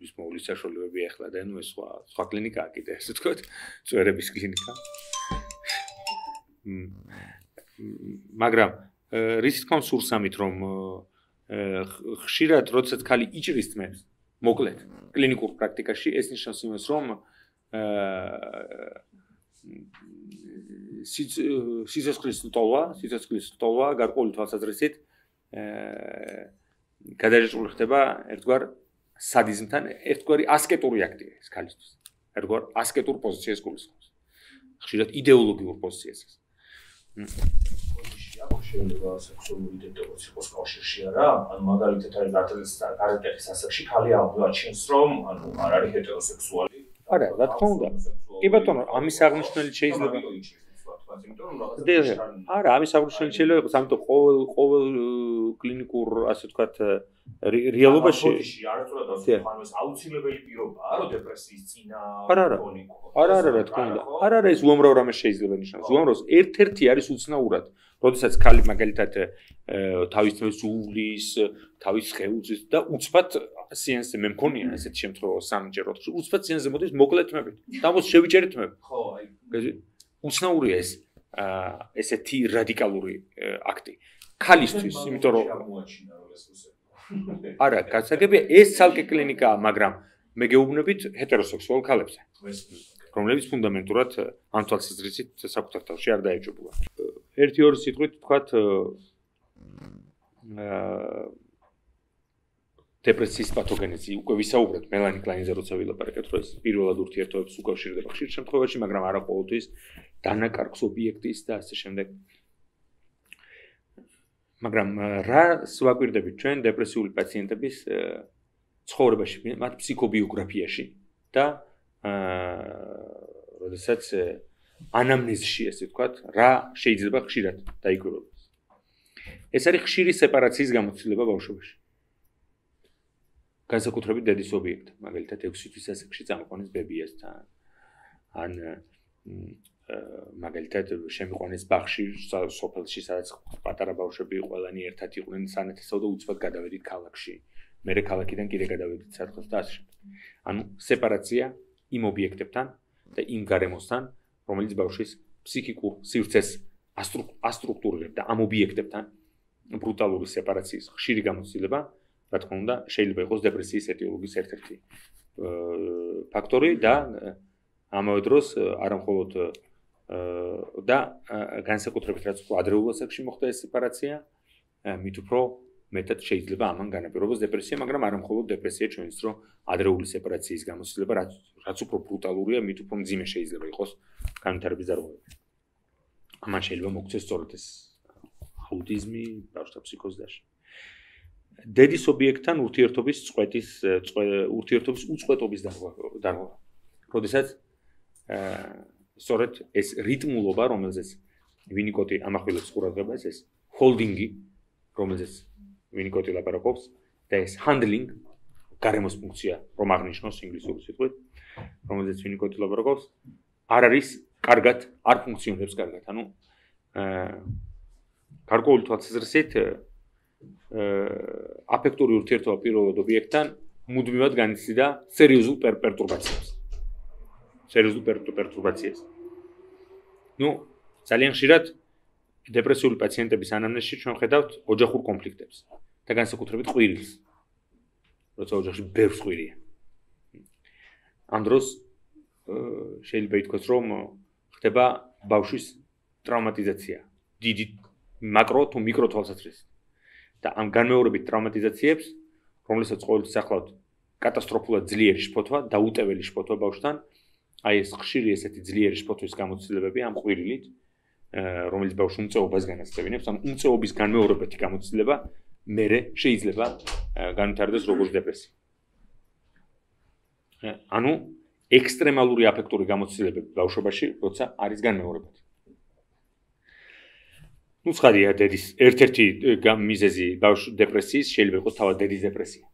A: ის მოვლის საშუალებები ეხლა და ნუ ეს სხვა სხვა კლინიკაა კიდე, ასე ვთქვათ, წვერების კლინიკა. მაგრამ რის თქმა უნდა სურს ამით რომ ხშირად როდესაც ქალი იჭრის თმებს მოკლედ კლინიკურ პრაქტიკაში ეს ნიშნავს იმას რომ სიცოცხლის ლტოლვა სიცოცხლის ლტოლვა გარკვეული თვალსაზრისით გადაჭრილი ხდება ერთგვარ სადიზმთან ერთგვარი ასკეტური აქტია ეს ქალისთვის ერთგვარ ასკეტურ პოზიციას გულისხმობს ხშირად იდეოლოგიურ პოზიციას
B: შეიძლება სექსუალური იდენტობაც იყოს კავშირში არა, ანუ მაგალითად არის გარდატეხის ასაკში ხალი აღმოაჩენს რომ ანუ არ არის ჰეტეროსექსუალი.
A: არა, რა თქმა უნდა. კი ბატონო, ამის აღნიშნული შეიძლება არა, ამის აღნიშნული შეიძლება იყოს, ამიტომ ყოველ ყოველ კლინიკურ ასე ვთქვათ რეალობაში
B: არასდროს აუცილებელი პირობაა, რომ დეპრესიის წინა
A: არა არა არა არა რა თქმა უნდა. არა არა ეს უამრავ რამეს შეიძლება ნიშნავს. უამრავს ერთ-ერთი არის უცნაურად როდესაც ქალი მაგალითად თავის თმებს უვლის, თავის სხეულს და უცბად სიენსზე მე მქონია ესეთი შემთხვევა სამჯეროდ. უცბად სიენსზე მოდის მოკლე თმებით. დამოს შევიჭერეთ თმები. ხო, აი. უცნაურია ეს ესეთი რადიკალური აქტი. ქალისთვის, იმიტომ რომ არა, გასაგებია ეს ცალკე კლინიკაა, მაგრამ მე გეუბნებით ჰეტეროსექსუალ ქალებზე. რომლებიც ფუნდამენტურად ამ თვალსაზრისით საკუთარ თავში არ დაეჯობულა. ერთი ორი სიტყვით ვთქვათ დეპრესიის პათოგენეზი უკვე ვისაუბრეთ მელანი კლაინზე როცა ვილაპარაკეთ რომ ეს პირველად ურთიერთობებს უკავშირდება ხშირ შემთხვევაში, მაგრამ არა ყოველთვის დანაკარგს ობიექტის და ასე შემდეგ. მაგრამ რა ვაკვირდებით ჩვენ დეპრესიული პაციენტების ცხოვრებაში, მათ ფსიქობიოგრაფიაში და აა როდესაც ანამნეზში ესე ვთქვათ, რა შეიძლება ხშირად დაიკვირვებოს. ეს არის ხშირი სეპარაციის გამოცდილება ბავშვობაში. განსაკუთრებით დედის ობიექტი, მაგალითად ექვსი თვის ასაკში წამოყვანეს ბებიასთან. ან მაგალითად შემიყვანეს ბაღში, სოფელში, სადაც პატარა ბავშვები ყველანი ერთად იყვნენ, სანათესავ და უცბად გადავედით ქალაქში. მერე ქალაქიდან კიდე გადავედით საერთოდ და ასე შემდეგ. ანუ სეპარაცია იმ ობიექტებთან და იმ გარემოსთან, რომელიც ბავშვის ფსიქიკურ სივრცეს ასტრუქტურირებდა ამ ობიექტებთან ბრუტალური სეპარაციის ხშირი გამოცდილება, რა თქმა უნდა, შეიძლება იყოს დეპრესიის ეტიოლოგიის ერთ-ერთი ფაქტორი და ამავე დროს არა მხოლოდ და განსაკუთრებით რაც ადრეულ ასაკში მოხდა ეს სეპარაცია, მით უფრო მეტად შეიძლება ამან განაპირობოს დეპრესია, მაგრამ არა მხოლოდ დეპრესია ჩვენს დრო ადრეული სეპარაციის გამოცდილება, რაც რაც უფრო ბრუტალურია, მით უფრო მძიმე შეიძლება იყოს განვითარების დარღვევები. ამან შეიძლება მოგვცეს სწორედ ეს აუტიზმი, ბავშვთა ფსიქოზი და დედის ობიექტთან ურთიერთობის წყვეტის ურთიერთობის უწყვეტობის დარღვევა. როდესაც სწორედ ეს რიტმულობა, რომელზეც ვინიკოტი ამახვილებს ყურადღებას, ეს ჰოლდინგი, რომელზეც ვინიკოტი ლაპარაკობს და ეს handling, გარემოს ფუნქცია, რომ აღნიშნოს ინგლისური სიტყვით, რომელზეც ვინიკოტი ლაპარაკობს, არ არის კარგად, არ ფუნქციონირებს კარგად. ანუ გარკვეული თვალსაზრისით აფექტური ურთიერთობა პირველად ობიექტთან მუდმივად განიცდიდა სერიოზულ პერტურბაციას. სერიოზულ პერტურბაციას. ნუ ძალიან ხშირად დეპრესიული პაციენტების ანამნეზში ჩვენ ხედავთ ოჯახურ კონფლიქტებს და განსაკუთრებით ყვირილს. როცა ოჯახში ბევრს ყვირია. ამ დროს შეიძლება ითქვას, რომ ხდება ბავშვის ტრავმატიზაცია. დიდი მაკრო თუ მიკრო თვალსაზრისით. და ამ განმეორებით ტრავმატიზაციებს, რომლებსაც ყოველთვის ახლავთ კატასტროფულად ძლიერი შფოთვა, დაუტეველი შფოთვა ბავშვთან, აი ეს ხშირი ესეთი ძლიერი შფოთვის გამოცდილებები ამ ყვირილით, რომელიც ბავშვს უმწეობას განასწევინებს, ამ უმწეობის განმეორებითი გამოცდილება მერე შეიძლება განვითარდეს როგორც დეპრესია. ანუ ექსტრემალური აფექტური გამოცდილებები ბავშვობაში, როცა არის განმეორებითი. ნუ ცხადია, დედის ერთ-ერთი მიზეზი ბავშვ დეპრესიის შეიძლება იყოს თავად დედის დეპრესია.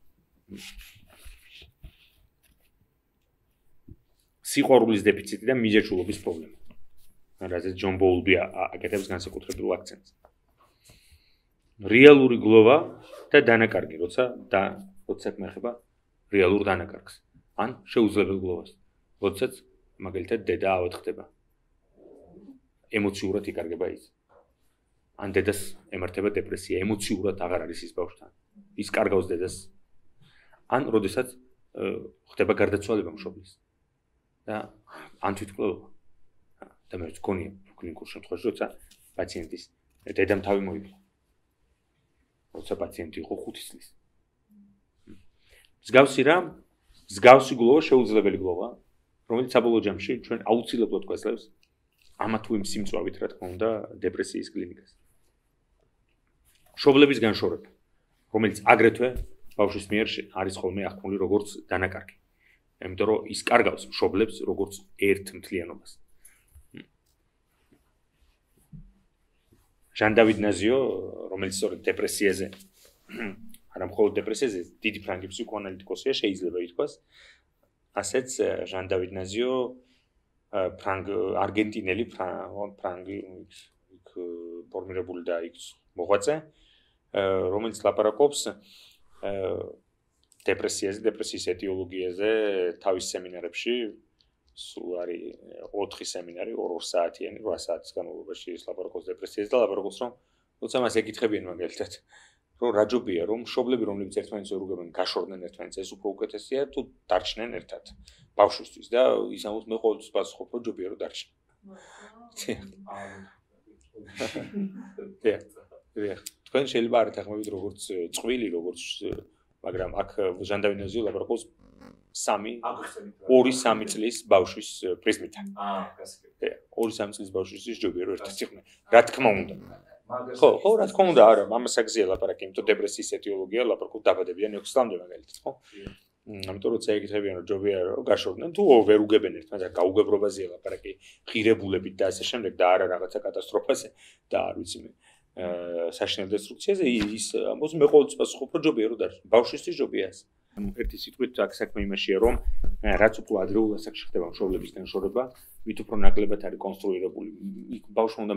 A: სიყვარულის დეფიციტი და მიზეჭულობის პრობლემა. რაზეც ჯონ ბოულბი აკეთებს განსაკუთრებულ აქცენტს. რეალური გლოვა და დანაკარგი, როცა და როცა საქმე ეხება რეალურ დანაკარგს, ან შეუძლებელ გლოვას, როდესაც მაგალითად დედა ავად ხდება. ემოციურად იკარგება ის. ან დედას ემართება დეპრესია, ემოციურად აღარ არის ის ბავშვთან. ის კარგავს დედას. ან როდესაც ხდება გარდაცვალება მშობლის. და ან თვითმკვლელობა. და მე ვქონია კლინიკურ შემთხვევაში, როცა პაციენტის დედამ თავი მოიგო. როცა პაციენტი იყო ხუთი წლის. მსგავსი რა, მსგავსი გლოვა შეუძლებელი გლოვა, რომელიც საბოლოო ჯამში ჩვენ აუცილებლად გვაძლევს ამა თუ იმ სიმწვავით, რა თქმა უნდა, დეპრესიის კლინიკას. მშობლების განშორება, რომელიც აგრეთვე ბავშვის მიერ არის ხოლმე აღქმული როგორც დანაკარგი. იმიტომ რომ ის კარგავს მშობლებს როგორც ერთ მთლიანობას. ჟან დავიდ ნაზიო, რომელიც სწორედ დეპრესიაზე, არა მხოლოდ დეპრესიაზე, დიდი ფრანგი ფსიქოანალიტიკოსია, შეიძლება ითქვას. ასეც ჟან დავიდ ნაზიო, ფრანგ არგენტინელი ფრანგი იქ ფორმირებული და იქ მოღვაწე, რომელიც ლაპარაკობს დეპრესიაზე, დეპრესიის ეტიოლოგიაზე თავის სემინარებში. სულ არის ოთხი სემინარი, ორ საათიანი, რვა საათის განმავლობაში ის ლაპარაკობს დეპრესიაზე და ლაპარაკობს, რომ როცა მას ეკითხებიან მაგალითად, რომ რა ჯობია, რომ მშობლები, რომლებიც ერთმანეთს ვერ უგებენ, გაშორდნენ ერთმანეთს, ეს უფრო უკეთესია თუ დარჩნენ ერთად ბავშვისთვის და ის ამბობს, მე ყოველთვის პასუხობ, რომ ჯობია რომ დარჩნენ. თქვენ შეიძლება არ ეთანხმებით როგორც წყვილი, როგორც მაგრამ აქ ჟან დავიდ ნაზიო ლაპარაკობს სამი ორი სამი წლის ბავშვის პრიზმიდან.
B: აა, გასაგებია.
A: ორი სამი წლის ბავშვის ჯობია რომ ერთად იყვნენ. რა თქმა უნდა. ხო, ხო, რა თქმა უნდა, არა, ამას აგზია ლაპარაკი, იმიტომ დეპრესიის ეტიოლოგია ლაპარაკობ დაბადებიდან ექვსი წლამდე მაგალითად, ხო? ამიტომ როცა ეკითხებიან რომ ჯობია რომ გაშორდნენ თუ ვერ უგებენ ერთმანეთს, გაუგებრობაზეა ლაპარაკი, ღირებულებით და ასე შემდეგ და არა რაღაცა კატასტროფაზე და არ ვიცი მე. საშინელ დესტრუქციაზე ის ამბობს მე ყოველთვის პასუხობ რომ ჯობია რომ დარჩენ. ბავშვისთვის ჯობია ეს. ერთი სიტყვით აქ საქმე იმაშია რომ რაც უფრო ადრეულ ასაკში ხდება მშობლების განშორება, ვით უფრო ნაკლებად არის კონსტრუირებული. იქ ბავშვმა უნდა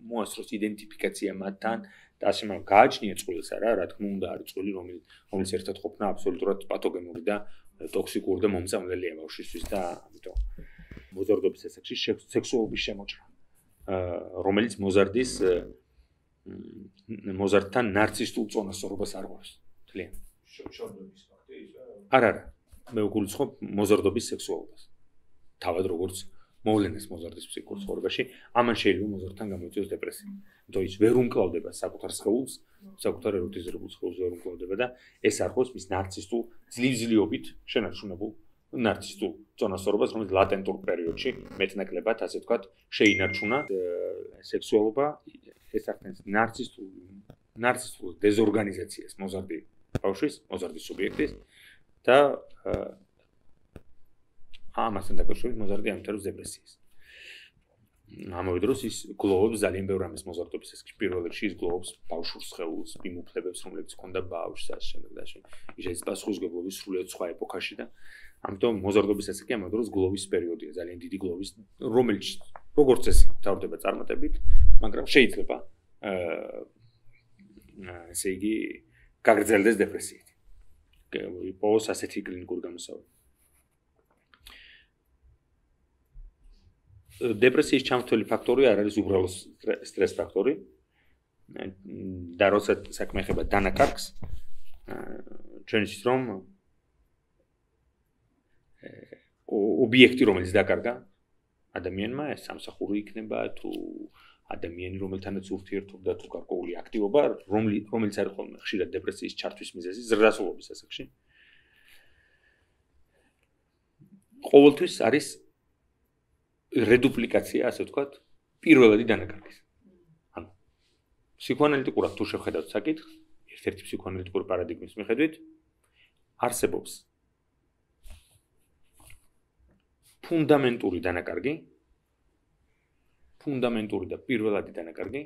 A: მოასწროს იდენტიფიკაცია მათთან და ასე მაგრამ გააჩნია წყვილს არა, რა თქმა უნდა არის წყვილი რომელიც რომელიც ერთად ყოფნა აბსოლუტურად პათოგენური და ტოქსიკური და მომწამლელია ბავშვისთვის და ამიტომ მოზარდობის ასაკში სექსუალობის შემოჭრა, რომელიც მოზარდის მოზარდთან ნარცისტულ წონასწორობას არღვევს. თლიან.
B: შორდობის ფაქტი ის
A: არა, არა. მე ვგულისხმობ მოზარდობის სექსუალობას. თავად როგორც მოვლენას მოზარდის ფსიქიკურ ცხოვრებაში, ამან შეიძლება მოზარდთან გამოიწვიოს დეპრესია. იმიტომ ის ვერ უმკლავდება საკუთარ სხეულს, საკუთარ ეროტიზებულ სხეულს ვერ უმკლავდება და ეს არხოს მის ნარცისტულ ძლივ-ძლივობით შენარჩუნებულ ნარცისტულ წონასწორობას, რომელიც ლატენტურ პერიოდში მეტნაკლებად, ასე ვთქვათ, შეინარჩუნა სექსუალობა, ეს ახდენს ნარცისტულ ნარცისტულ დეზორგანიზაციას მოზარდი ბავშვის, მოზარდის სუბიექტის და ამასთან დაკავშირებით მოზარდი ამთავრებს დეპრესიას. ამავე დროს ის გლოვობს ძალიან ბევრ ამის მოზარდობის ეს პირველ რიგში ის გლოვობს ბავშვურ სხეულს, იმუფლებებს, რომლებიც ჰქონდა ბავშვს ასე შემდეგ და ასე. ის პასუხისმგებლობის სრულიად სხვა ეპოქაში და ამიტომ მოზარდობის ასაკი ამავე დროს გლოვის პერიოდია, ძალიან დიდი გლოვის, რომელიც როგორც წესი მთავრდება წარმატებით, მაგრამ შეიძლება აა ესე იგი გაგრძელდეს დეპრესიით. პოს ასეთი კლინიკური გამოსავალი. დეპრესიის ჩამთვლელი ფაქტორი არ არის უბრალოდ სტრეს ფაქტორი. და როცა საქმე ეხება დანაკარგს, ჩვენ იცით რომ ობიექტი რომელიც დაკარგა ადამიანმა ეს სამსახური იქნება თუ ადამიანი რომელთანაც ურთიერთობდა თუ გარკვეული აქტივობა რომელიც არის ხოლმე ხშირად დეპრესიის ჩართვის მიზეზი ზრდასრულობის ასაკში ყოველთვის არის რედუპლიკაცია ასე ვთქვათ პირველადი დანაკარგის ანუ ფსიქოანალიტიკურად თუ შევხედავთ საკითხს ერთ-ერთი ფსიქოანალიტიკური პარადიგმის მიხედვით არსებობს ფუნდამენტური დანაკარგი ფუნდამენტური და პირველადი დანაკარგი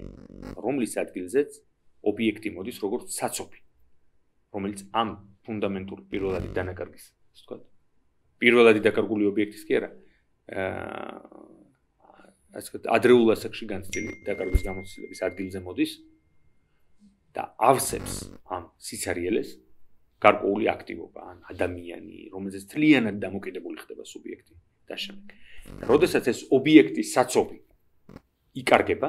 A: რომლის ადგილზეც ობიექტი მოდის როგორც საცობი რომელიც ამ ფუნდამენტურ პირველადი დანაკარგის ასე ვთქვათ პირველადი დაკარგული ობიექტის კი არა ასე ვთქვათ ადრეულ ასაკში განცდილი დაკარგვის გამოცდილების ადგილზე მოდის და ავსებს ამ სიცარიელეს გარკვეული აქტივობა ან ადამიანი რომელზეც თლიანად დამოკიდებული ხდება სუბიექტი და შემდეგ. როდესაც ეს ობიექტი საცობი იკარგება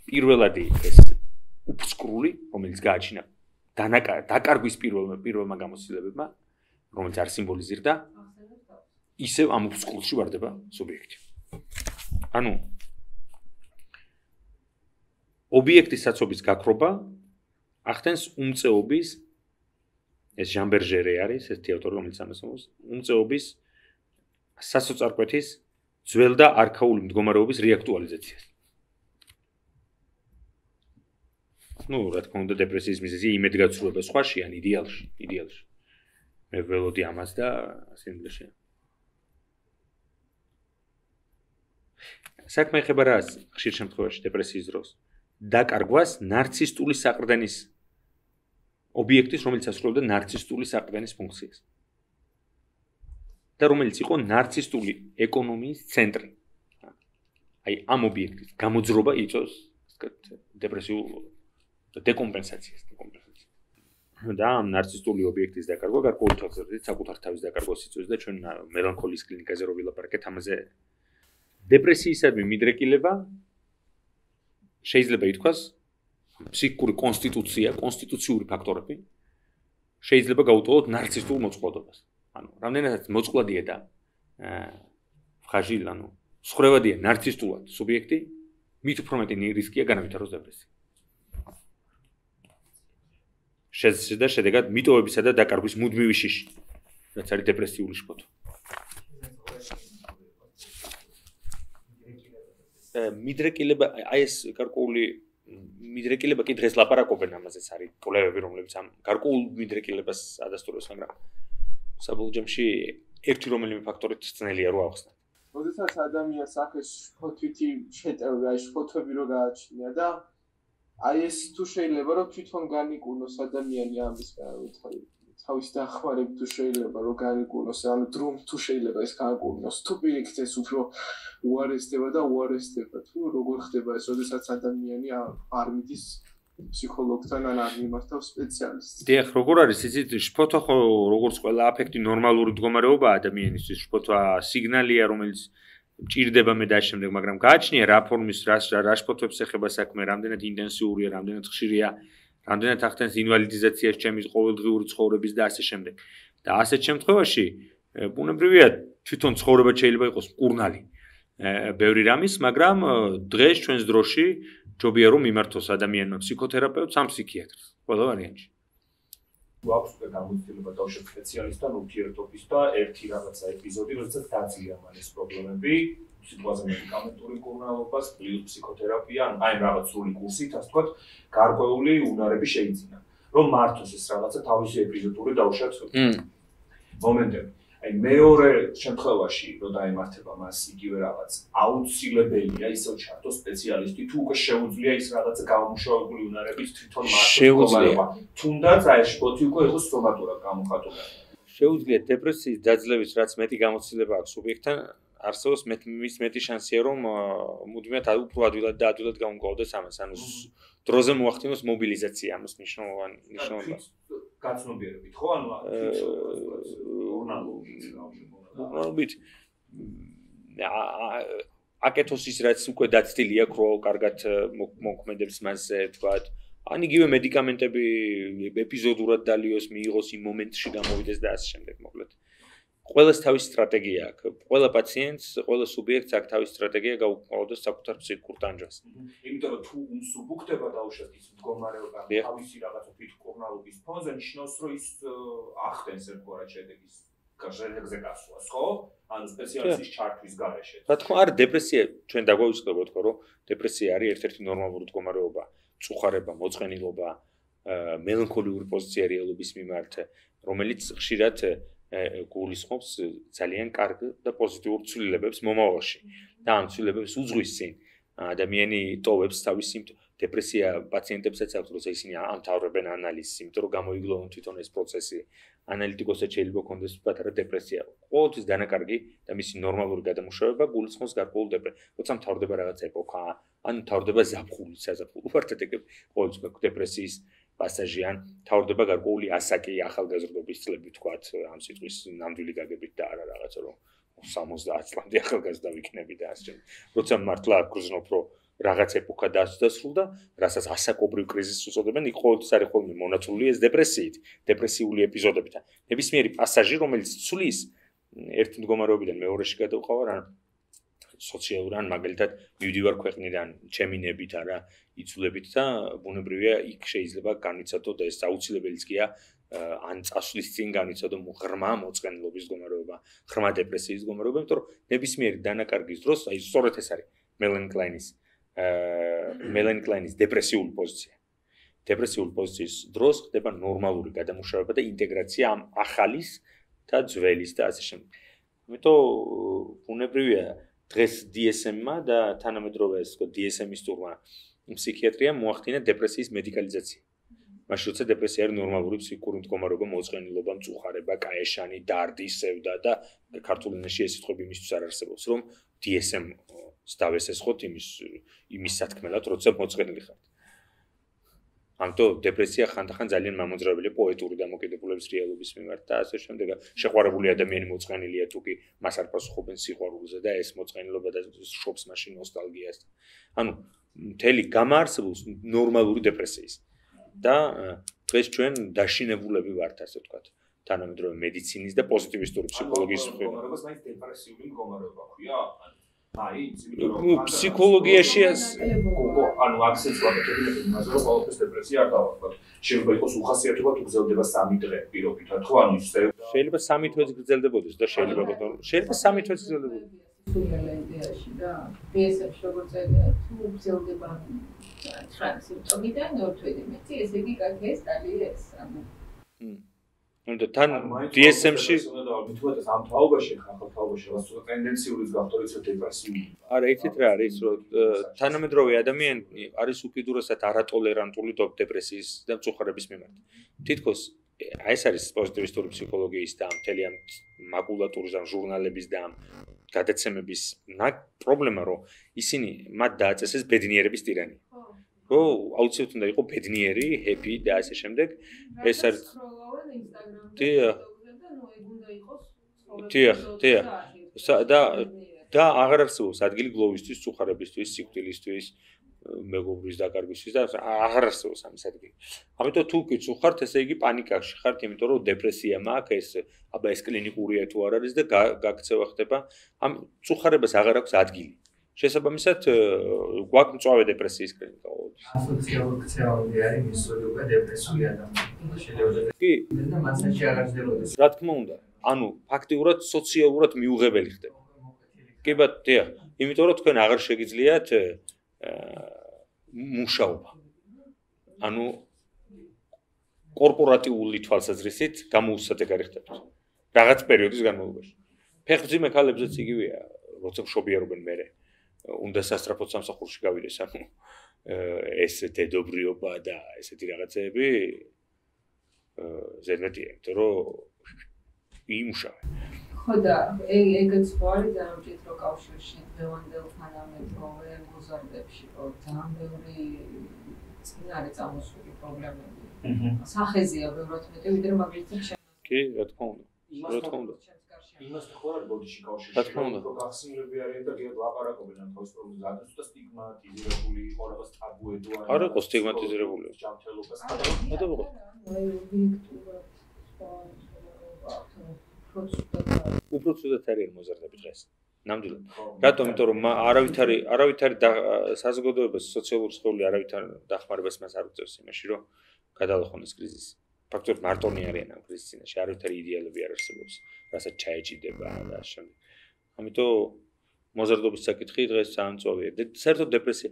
A: პირველადი ეს უფსკრული რომელიც გააჩინა დაკარგვის პირველმა პირველმა გამოცდილებებმა რომელიც არ სიმბოლიზირდა ისევ ამ უფსკრულში ვარდება სუბიექტი. ანუ ობიექტის საცობის გაქრობა ახდენს უმწეობის ეს ჟან ბერჟერე არის ეს თეორია რომელიც ამასწავლებს უმწეობის სასოწარკვეთის ძველ და არქაული მდგომარეობის რეაქტუალიზაციას. ну, რა თქმა უნდა, დეპრესიის მიზეზი იმედგაცრუება სხვაში ან იდეალში, იდეალში. მე ველოდი ამას და სინგლში. საქმე ეხება რას? ხშირ შემთხვევაში დეპრესიის დროს დაკარგვას ნარცისტული საყრდენის ობიექტის, რომელიც ასრულებდა ნარცისტული საყრდენის ფუნქციას. და რომელიც იყო ნარცისტული ეკონომიის ცენტრი. აი ამ ობიექტის გამოძრობა იწვევს, ვთქვათ, დეპრესიულ დეკომპენსაციას, დეკომპენსაციას. და ამ ნარცისტული ობიექტის დაკარგვა გარკვეული თვალსაზრისით საკუთარ თავის დაკარგვას იწვევს და ჩვენ მელანქოლიის კლინიკაზე რო ვილაპარაკეთ ამაზე დეპრესიისადმი მიდრეკილება შეიძლება ითქვას ფსიქიკური კონსტიტუცია, კონსტიტუციური ფაქტორები შეიძლება გაუტოლოთ ნარცისტულ მოწყვლადობას. ანუ რამდენადაც მოწყვლადია და ფხაჟილ, ანუ სხრევადია ნარცისტულად სუბიექტი, მით უფრო მეტი რისკია განავითაროს დეპრესია. შეძრდა შედეგად მიტოვებისა და დაკარგვის მუდმივი შიში, რაც არის დეპრესიული შფოთვა. მიდრეკილება, აი ეს გარკვეული მიდრეკილება კი დღეს ლაპარაკობენ ამაზეც არის კვლევები, რომლებიც ამ გარკვეულ მიდრეკილებას ადასტურებს, მაგრამ საბოლოო ჯამში ერთი რომელიმე ფაქტორით ძნელია რო ავხსნათ.
D: როდესაც ადამიანს აქეს შფოთვითი შეტევი, აი შფოთვები რო გააჩნია და აი ეს თუ შეიძლება რომ თვითონ განიკურნოს ადამიანი ამის თავის დახმარებით თუ შეიძლება რომ განიკურნოს, ანუ დრომ თუ შეიძლება ეს განიკურნოს, თუ პირიქით ეს უფრო უარესდება და უარესდება, თუ როგორ ხდება ეს, როდესაც ადამიანი არ მიდის ფსიქოლოგთან ან არ მიმართავს სპეციალისტს. დიახ, როგორ არის იცით, შფოთვა ხო როგორც ყველა აფექტი ნორმალური მდგომარეობაა ადამიანისთვის, შფოთვა სიგნალია, რომელიც ჭირდება მე და შემდეგ, მაგრამ გააჩნია რა ფორმის, რა რა შფოთვებს ეხება საქმე, რამდენად ინტენსიურია, რამდენად ხშირია, რამდენად ახდენს ინვალიდიზაციას ჩემი ყოველდღიური ცხოვრების და ასე შემდეგ. და ასეთ შემთხვევაში ბუნებრივია თვითონ ცხოვრება შეიძლება იყოს მკურნალი. ბევრი რამის, მაგრამ დღეს ჩვენს დროში ჯობია რომ მიმართოს ადამიანმა ფსიქოთერაპევტს ან ფსიქიატრს. ყველა ვარიანტში.
B: გვაქვს უკვე გამოცდილება დავშევ სპეციალისტთან ურთიერთობის და ერთი რაღაცა ეპიზოდი, როდესაც დაძლია მან ეს პრობლემები, სიტუაცია მედიკამენტური მკურნალობას, პლუს ფსიქოთერაპია, აი რაღაც სრული კურსით, ასე ვთქვათ, გარკვეული უნარები შეიძინა. რომ მართოს ეს რაღაცა თავისი ეპიზოდური დავშევთ მომენტები. აი მეორე შემთხვევაში, რომ დაემართება მას იგივე რაღაც, აუცილებელია ისევ ჩართოს სპეციალისტი, თუ უკვე შეუძლია ის რაღაცა გამომუშავებული უნარების თვითონ მართოს პრობლემა. თუნდაც აი შფოთი უკვე იყოს სომატურად გამოხატული.
A: შეუძლია დეპრესიის დაძლევის რაც მეტი გამოცდილება აქვს სუბიექტთან, არსებობს მის მეტი შანსია რომ მუდმივად უფრო ადვილად და ადვილად გამომკლავდეს ამას, ანუ დროზე მოახდინოს მობილიზაცია ამას მნიშვნელოვანი მნიშვნელობა.
B: გაცნობიერებით ხო ანუ ურნალობით
A: ურნალობით აკეთოს ის რაც უკვე დაცდილი აქვს რო კარგად მოქმედებს მასზე თქვათ ან იგივე მედიკამენტები ეპიზოდურად დალიოს მიიღოს იმ მომენტში გამოვიდეს და ასე შემდეგ მოკლედ ყველას თავისი სტრატეგია აქვს ყველა პაციენტს ყველა სუბიექტს აქვს თავისი სტრატეგია გაუქმებდეს საკუთარ ფსიქიკურ ტანჯვას
B: იმიტომ რომ თუ უნსუბუქდება დაუშვათ ის მდგომარეობა თავისი რაღაცა ფიქრკურნალობის ფონზე ნიშნავს რომ ის ახდენს ერთგვარად შედეგის გასაგებზე გასვლას ხო ანუ სპეციალისტის ჩართვის გარეშე
A: რა თქმა არა დეპრესია ჩვენ დაგვაუწყდებოდ ხო რომ დეპრესია არის ერთ-ერთი ნორმალური მდგომარეობა წუხარება მოწყენილობა მელანქოლიური პოზიცია რეალობის მიმართ რომელიც ხშირად გულისხმობს ძალიან კარგ და პოზიტიურ ცვლილებებს მომავალში და ამ ცვლილებებს უძღვის წინ ადამიანი ტოვებს თავის სიმპტომებს დეპრესია პაციენტებსაც აქვს როცა ისინი ამთავრებენ ანალიზს იმიტომ რომ გამოიგლოვონ თვითონ ეს პროცესი ანალიტიკოსებს შეიძლება კონდეს პატარა დეპრესია ყოველთვის დანაკარგი და მისი ნორმალური გადამუშავება გულისხმობს გარკვეულ დეპრესიას როცა მთავრდება რაღაც ეპოქა ან მთავრდება ზაფხული საზაფხულო ვარტედები ყოველთვის დეპრესიის პასაჟი ან თავდება გარკვეული ასაკი ახალგაზრდობის წლები თქვათ ამ სიტყვის ნამდვილი გაგებით და არა რაღაცა რომ სამოცდაათ წლამდე ახალგაზრდა ვიქნები და ასე როცა მართლა გრძნობ რომ რაღაც ეპოქა დასრულდა რასაც ასაკობრივ კრიზისს უწოდებენ იქ ყოველთვის არის ხოლმე მონაწილე ეს დეპრესიით დეპრესიული ეპიზოდებით ნებისმიერი პასაჟი რომელიც ცვლის ერთ მდგომარეობიდან მეორეში გადავყავარ ან სოციალურ ან მაგალითად მივდივარ ქვეყნიდან ჩემინებით არა იცვლებით და ბუნებრივია იქ შეიძლება განიცადო და ეს აუცილებელიც გია ან წასვლის წინ განიცადო ღრმა მოწყენილობის მდგომარეობა ღრმა დეპრესიის მდგომარეობა იმიტომ რომ ნებისმიერი დანაკარგის დროს აი სწორედ ეს არის მელანი კლაინის მელანი კლაინის დეპრესიული პოზიცია დეპრესიული პოზიციის დროს ხდება ნორმალური გადამუშავება და ინტეგრაცია ამ ახალის და ძველის და ასე შემდეგ იმიტომ ბუნებრივია დღეს დი ეს ემ-მა და თანამედროვე ეს დი ეს ემ-ისტურმა ფსიქიატრიამ მოახდინა დეპრესიის მედიკალიზაცია. მაშინ როცა დეპრესია არის ნორმალური ფსიქიკური მდგომარეობა, მოწყენილობა, მწუხარება, კაეშანი, დარდი, სევდა და ქართულ ენაში ეს სიტყვები იმისთვის არ არსებობს, რომ დი ეს ემ-ს დავესესხოთ იმის იმის სათქმელად, როცა მოწყენილი ხართ. ამიტომ დეპრესია ხანდახან ძალიან მამოძრავებელი პოეტური დამოკიდებულების რეალობის მიმართ და ასე შემდეგ. შეყვარებული ადამიანი მოწყენილია თუ კი მას არ პასუხობენ სიყვარულზე და ეს მოწყენილობა და შობს მაშინ ნოსტალგიას. ანუ მთელი გამაარსებულს ნორმალური დეპრესიის. და დღეს ჩვენ დაშინებულები ვართ, ასე ვთქვათ, თანამედროვე მედიცინის და პოზიტივისტური ფსიქოლოგიის
B: მდგომარეობას მაინც დეპრესიული მდგომარეობა ქვია. აი,
A: ფსიქოლოგიაში
B: ანუ აქცენტს ვაკეთებთ იმაზე, რომ ყოველთვის დეპრესია არ დავახსნათ. შეიძლება იყოს უხასიათობა თუ გრძელდება სამი დღე პირობითად, ხო? ანუ ის
A: შეიძლება სამი თვეც გრძელდებოდეს და შეიძლება შეიძლება სამი თვეც გრძელდებოდეს.
C: სულელენდიაში და დი ეს ემ-ში როგორც ეგრე თუ გრძელდება ცხრა სიმპტომიდან ორ თვეზე მეტი, ესე იგი კარგი ეს ტალია ეს. ანუ
A: ანუ თან დი ეს ემ-ში
B: მithmet ამ თაობაში ხახალ თაობაში რაღაც ტენდენციურიც გახდორიც დეპრესიული.
A: არა, იცით რა არის, რომ თანამედროვე ადამიანი არის უკიდურესად არატოლერანტული დეპრესიის და მწუხარების მიმართ. თითქოს აი ეს არის პოზიტივისტური ფსიქოლოგიის და მთელი ამ მაკულატურის და ჟურნალების და გადაცემების პრობლემა, რომ ისინი მათ დააწესეს ბედნიერების ტირანი. ხო, აუცილებლად უნდა იყოს ბედნიერი, ჰეპი და ასე შემდეგ. ეს არის დიახ. დიახ, დიახ. და და აღარ არსებობს ადგილი გლოვისთვის, წუხარებისთვის, სიკვდილისთვის, მეგობრის დაკარგვისთვის და აღარ არსებობს ამის ადგილი. ამიტომ თუ კი წუხართ, ესე იგი პანიკაში ხართ, იმიტომ რომ დეპრესია მაქვს, ეს აბა ეს კლინიკურია თუ არ არის და გაქცევა ხდება. ამ წუხარებას აღარ აქვს ადგილი. შესაბამისად, გვაქვს მწვავე დეპრესიის კლინიკა.
D: ასოციალური ქცევები არის მისული უკვე დეპრესიული ადამიანები. შეიძლება
A: კი,
D: და მასაში არ აღძელოდეს.
A: რა თქმა უნდა, ანუ ფაქტიურად სოციალურად მიუღებელი ხდება. კი ბატონო, იმიტომ რომ თქვენ აღარ შეგიძლიათ მუშაობა. ანუ კორპორატიული თვალსაზრისით გამოუსადეგარი ხდებთ. რაღაც პერიოდის განმავლობაში. ფეხმძიმე ქალებზეც იგივეა, როცა მშობიარობენ მერე. უნდა სასწრაფოდ სამსახურში გავიდეს, ანუ ეს დედობრიობა და ესეთი რაღაცეები ზედმეტია, იმიტომ რომ იმუშავე.
C: ხო და ეგეც ხო არის ძალიან მჭიდრო კავშირში დღევანდელ თანამედროვე მოზარდებში, რომ ძალიან ბევრი წინარე წამოსული პრობლემები. სახეზეა ბევრად მეტი, ვიდრე მაგალითად
A: კი, რა თქმა უნდა. რა თქმა უნდა.
B: იმასთან ხო არის ბოდიში კავშირში რომ გახსნილები არიან და გიად ლაპარაკობენ ამ თავის პრობლემაზე ადრე ცოტა სტიგმატიზირებული იყო რაღაც ტაბუედო არის
A: არ იყო სტიგმატიზირებული
B: ჯანმრთელობას
A: არ იყო
C: აი ობიექტურად
A: უფრო ცუდად არის მოზარდები დღეს ნამდვილად რატომ იმიტომ რომ არავითარი არავითარი საზოგადოებას სოციალური სხეული არავითარ დახმარებას მას არ უწევს იმაში რომ გადალახონ ეს კრიზისი ფაქტობრივად მარტონი არიან ამ კრიზისის წინაშე არავითარი იდეალები არ არსებობს რასაც ჩაეჭიდება და შემდეგ ამიტომ მოზარდობის საკითხი დღეს სამწოვია საერთოდ დეპრესია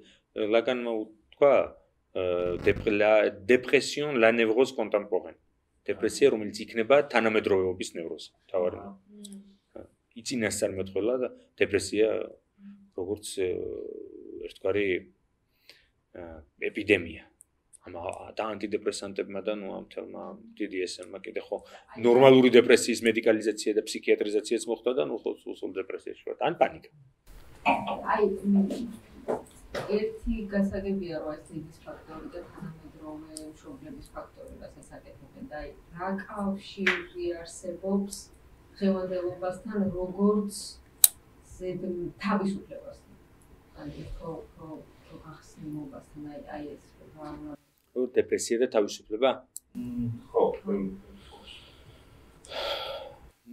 A: ლაკანმა თქვა დეპრესიონ la névrose contemporaine დეპრესია რომელიც იქნება თანამედროვეობის ნევროზი თავარი იწინასწარმეტყველა და დეპრესია როგორც ერთგვარი ეპიდემია ამ და ანტიდეპრესანტებმა და ნუ ამ თელმა დი დი ეს ემმა კიდე ხო ნორმალური დეპრესიის მედიკალიზაცია და ფსიქიატრიზაციაც მოხდა და ნუ ხო სულ დეპრესიაში ვარ ან პანიკა
C: აი ერთი გასაგებია რომ ეს ძიების ფაქტორი და თანამედროვე მშობლების ფაქტორი რასაც აკეთებენ და აი რა კავშირი არსებობს დღევანდელობასთან როგორც ზედ თავისუფლებასთან აი ხო ხო გახსნილობასთან აი აი ეს
A: რა დეპრესია და თავისუფლება
B: ხო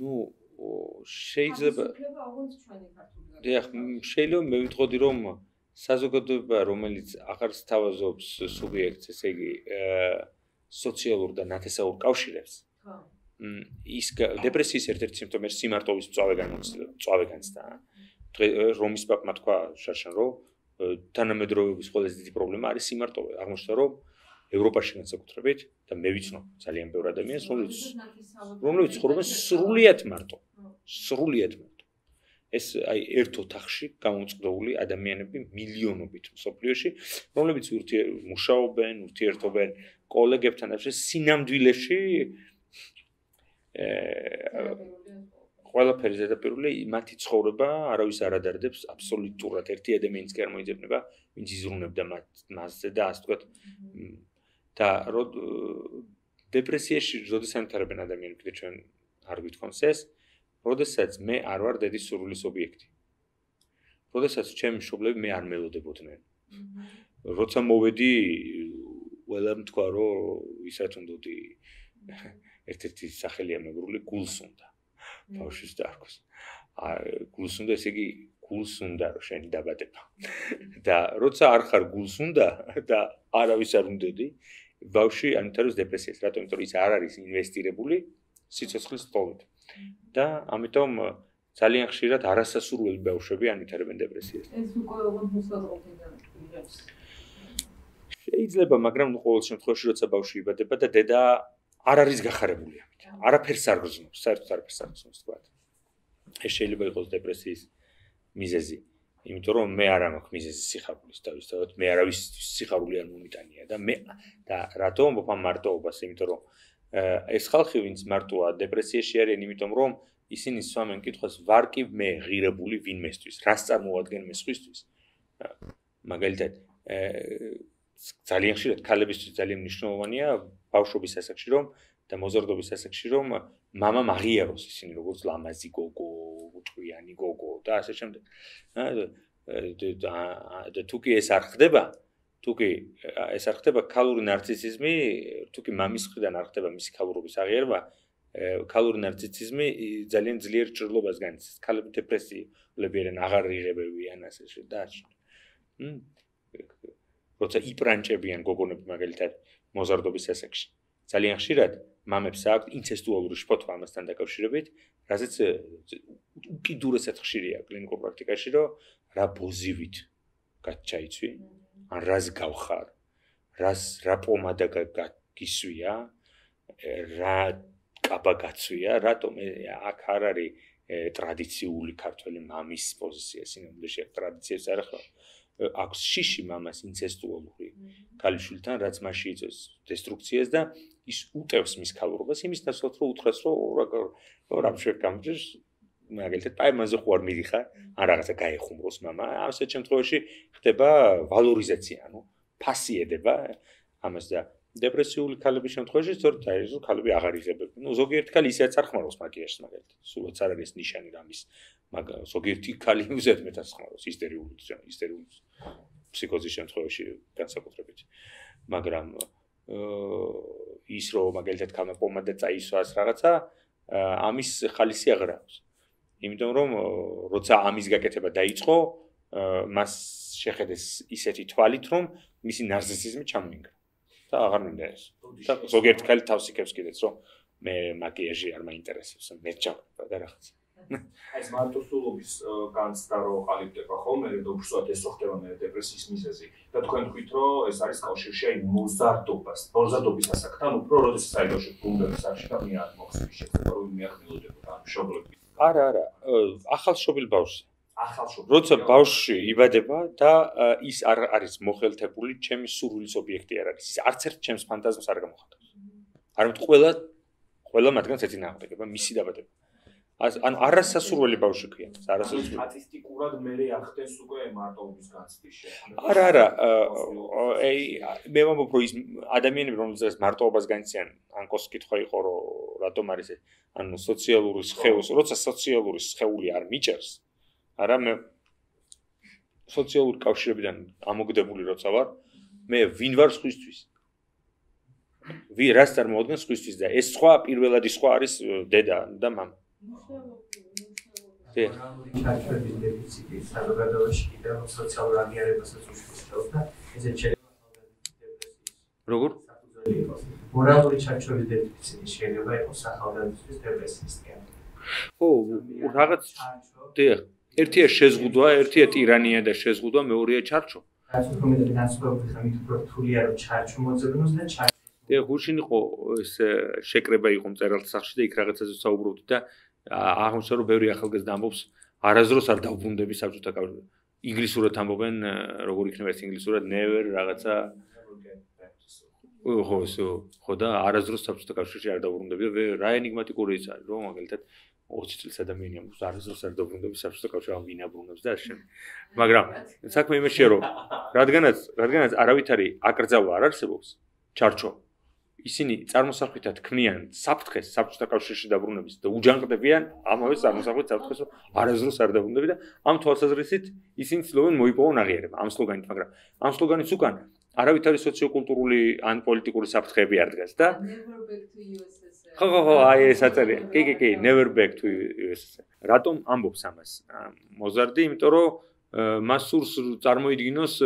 A: ნუ შეიძლება
C: თავისუფლება ოღონდ ჩვენი ქართული
A: დიახ შეიძლება მე ვიტყოდი რომ საზოგადოება რომელიც აღარ სთავაზობს სუბიექტს ესე იგი სოციალურ და ნათესაურ კავშირებს
C: ხო
A: ის დეპრესიის ერთ-ერთი სიმპტომი სიმარტოვის მწვავე განმცდელობა მწვავე განცდა რომის პაპმა თქვა შარშან რომ თანამედროვეობის ყველაზე დიდი პრობლემა არის სიმარტოვე აღმოჩნდა რომ ევროპაში განსაკუთრებით და მე ვიცნობ ძალიან ბევრ ადამიანს რომლებიც რომლებიც ცხოვრობენ სრულიად მარტო სრულიად მარტო ეს აი ერთ ოთახში გამოწყდოული ადამიანები მილიონობით მსოფლიოში რომლებიც მუშაობენ ურთიერთობენ კოლეგებთან და სინამდვილეში ყველაფერი ზედაპირული მათი ცხოვრება არავის არ ადარდებს აბსოლუტურად ერთი ადამიანიც კი არ მოიძებნება ვინც იზრუნებდა მასზე და ასე ვთქვათ და დეპრესიაში როდის ანთარებენ ადამიანები კიდე ჩვენ არ გვითხოვს ეს როდესაც მე არ ვარ დედის სურვილის ობიექტი როდესაც ჩემი მშობლები მე არ მელოდებოდნენ როცა მოვედი ყველამ თქვა რომ ისაც უნდადი ერთ-ერთი სახელია მეგრული გულს უნდა ბავშვის დარგოს გულს უნდა ესე იგი გულს უნდა რომ შენი დაბადება და როცა არ ხარ გულს უნდა და არავის არ უნდადი ბავშვი ანთარებს დეპრესიას რატომ იმიტომ რომ ის არ არის ინვესტირებული სიცოცხლის სტოლით და ამიტომ ძალიან ხშირად არასასურველი ბავშვები ანითარებენ დეპრესიას
C: ეს უკვე ოღონდ მოსაზრებიდან იღებს
A: შეიძლება მაგრამ ნუ ყოველ შემთხვევაში როცა ბავშვი იბადება და დედა არ არის გახარებული ამით. არაფერს არ გრძნობს, საერთოდ არაფერს არ გრძნობს თქვა. ეს შეიძლება იყოს დეპრესიის მიზეზი, იმიტომ რომ მე არ მაქვს მიზეზი სიხარულის თავისთავად, მე არავის სიხარული არ მომიტანია და მე და რატომ ვფამ მარტოობას, იმიტომ რომ ეს ხალხი ვინც მარტოა დეპრესიაში არიან, იმიტომ რომ ისინი სვამენ კითხვას ვარ კი მე ღირებული ვინმესთვის, რას წარმოადგენ მე სხვისთვის. მაგალითად ძალიან ხშირად ქალებისთვის ძალიან მნიშვნელოვანია ბავშვობის ასაკში რომ და მოზარდობის ასაკში რომ მამა აღიაროს ისინი როგორც ლამაზი გოგო, უჭვიანი გოგო და ასე შემდეგ. და თუ კი ეს არ ხდება, თუ კი ეს არ ხდება ქალური ნარცისიზმი, თუ კი მამის მხრიდან არ ხდება მისი ქალურობის აღიარება, ქალური ნარცისიზმი ძალიან ძლიერ ჭრილობას განიცდის. ქალები დეპრესიულები არიან, აღარ იღებებიან ასე და როცა იპრანჭებიან გოგონები მაგალითად მოზარდობის ასაკში. ძალიან ხშირად მამებს აქვთ ინცესტუალური შფოთვა ამასთან დაკავშირებით, რაზეც უკიდურესად ხშირია კლინიკურ პრაქტიკაში, რომ რა ბოზივით გაჩაიცვი, ან რას გავხარ, რას რა პომადა გისვია, რა კაბა გაცვია, რატომ აქ არ არის ტრადიციული ქართველი მამის პოზიცია, სინამდვილეში ტრადიციებს არ ახლა აქვს შიში მამას ინცესტუალური ქალიშვილთან, რაც მასში იწვევს დესტრუქციას და ის უტევს მის ქალურობას, იმის ნაცვლად რომ უთხრეს რომ რა შეიძლება გამჭირს, მაგალითად, აი მანზე ხო არ მიდიხარ, ან რაღაცა გაეხუმროს მამა, ასეთ შემთხვევაში ხდება ვალორიზაცია, ანუ ფასიედება ამას და დეპრესიული ქალების შემთხვევაში სწორედ აი ეს ქალები აღარ იღებენ. ნუ ზოგიერთი ქალი ისეც არ ხმარობს მაკიაჟს მაგალითად. სულაც არ არის ნიშანი რამის, მაგრამ ზოგიერთი ქალი უზედმეტად ხმარობს ისტერიული ისტერიული ფსიქოზის შემთხვევაში განსაკუთრებით. მაგრამ ის რომ მაგალითად ქალმა პომადა წაისვას რაღაცა, ამის ხალისი აღარ აქვს. იმიტომ რომ როცა ამის გაკეთება დაიწყო, მას შეხედეს ისეთი თვალით, რომ მისი ნარცისიზმი ჩამოინგრა. და აღარ მინდა ეს. და ზოგიერთი ქალი თავს იქებს კიდეც, რომ მე მაკიაჟი არ მაინტერესებს, მე ჩავყვა და რაღაცა.
B: აი ეს მარტოსულობის განცდა რო ყალიბდება ხოლმე, და უბრალოდ ეს რო ხდება მე დეპრესიის მიზეზი. და თქვენ თქვით, რომ ეს არის კავშირში აი მოზარდობას, მოზარდობის ასაკთან, უფრო როდესაც აი ბავშვი გუნდების არში და მე არ მოხსნის შეცდომა რომ მიახდინოდებოდა ამ მშობლები.
A: არა, არა, ახალშობილ ბავშვს.
B: ახალშობილი.
A: როცა ბავშვი იბადება და ის არ არის მოხელთებული, ჩემი სურვილის ობიექტი არ არის. ის არც ერთ ჩემს ფანტაზმს არ გამოხატავს. არამედ ყველა ყველა მათგანს ეწინააღმდეგება მისი დაბადება. ანუ არასასურველი ბავშვი ქვია, არასასურველი.
B: სტატისტიკურად მე ახდენს უკვე მარტოობის განცდის შექმნა.
A: არა, არა, აი მე ვამბობ რომ ის ადამიანები რომელსაც მარტოობას განიცდიან, ანკოს კითხვა იყო რომ რატომ არის ეს, ანუ სოციალური სხეულის, როცა სოციალური სხეული არ მიჭერს, არა მე სოციალური კავშირებიდან ამოგდებული როცა ვარ, მე ვინ ვარ სხვისთვის? ვი რას წარმოადგენს სხვისთვის და ეს სხვა პირველადი სხვა არის დედა და მამა.
F: მორალური ჩარჩოების დეფიციტი საზოგადოებაში კიდევ სოციალურ აღიარებასაც უშუალოდ და ესეც შეიძლება დეპრესიის
A: როგორ?
F: საფუძველი იყოს. მორალური ჩარჩოების დეფიციტი შეიძლება იყოს სახალხო დეპრესიის თემა.
A: ო, რაღაც დიახ. ერთია შეზღუდვა, ერთია ტირანია და შეზღუდვა, მეორეა ჩარჩო.
F: რაც უფრო მეტად განსხვავებული ხარ, მით უფრო რთულია რომ ჩარჩო მოძებნოს და ჩარჩო.
A: დიახ, გუშინ იყო ეს შეკრება იყო მწერალთა სახლში და იქ რაღაცაზე საუბრობთ და აღმოჩნდა რომ ბევრი ახალგაზრდა ამბობს არასდროს არ დავბრუნდები საბჭოთა კავშირში. ინგლისურად ამბობენ, როგორ იქნება ეს ინგლისურად never რაღაცა ხო, ხო და არასდროს საბჭოთა კავშირში არ დავბრუნდები და რა ენიგმატიკური ის არის, რომ მაგალითად ოცი წლის ადამიანი ამბობს არასდროს არ დავბრუნდები საბჭოთა კავშირში, ან ვინ აბრუნებს და ასე. მაგრამ საქმე იმაშია რომ რადგანაც რადგანაც არავითარი აკრძალვა არ არსებობს, ჩარჩო ისინი წარმოსახვითად ქმნიან საფრთხეს საბჭოთა კავშირში დაბრუნების და უჯანყდებიან ამავე წარმოსახვითად საფრთხეს, რომ არასდროს არ დაბრუნდები და ამ თვალსაზრისით ისინი ცდილობენ მოიპოვონ აღიარება ამ სლოგანით, მაგრამ ამ სლოგანის უკან არავითარი სოციოკულტურული ან პოლიტიკური საფრთხეები არ დგას და ხო ხო ხო აი ეს აწერია. კი კი კი never back to U S S R. რატომ ამბობს ამას მოზარდი? იმიტომ რომ მას სურს წარმოიდგინოს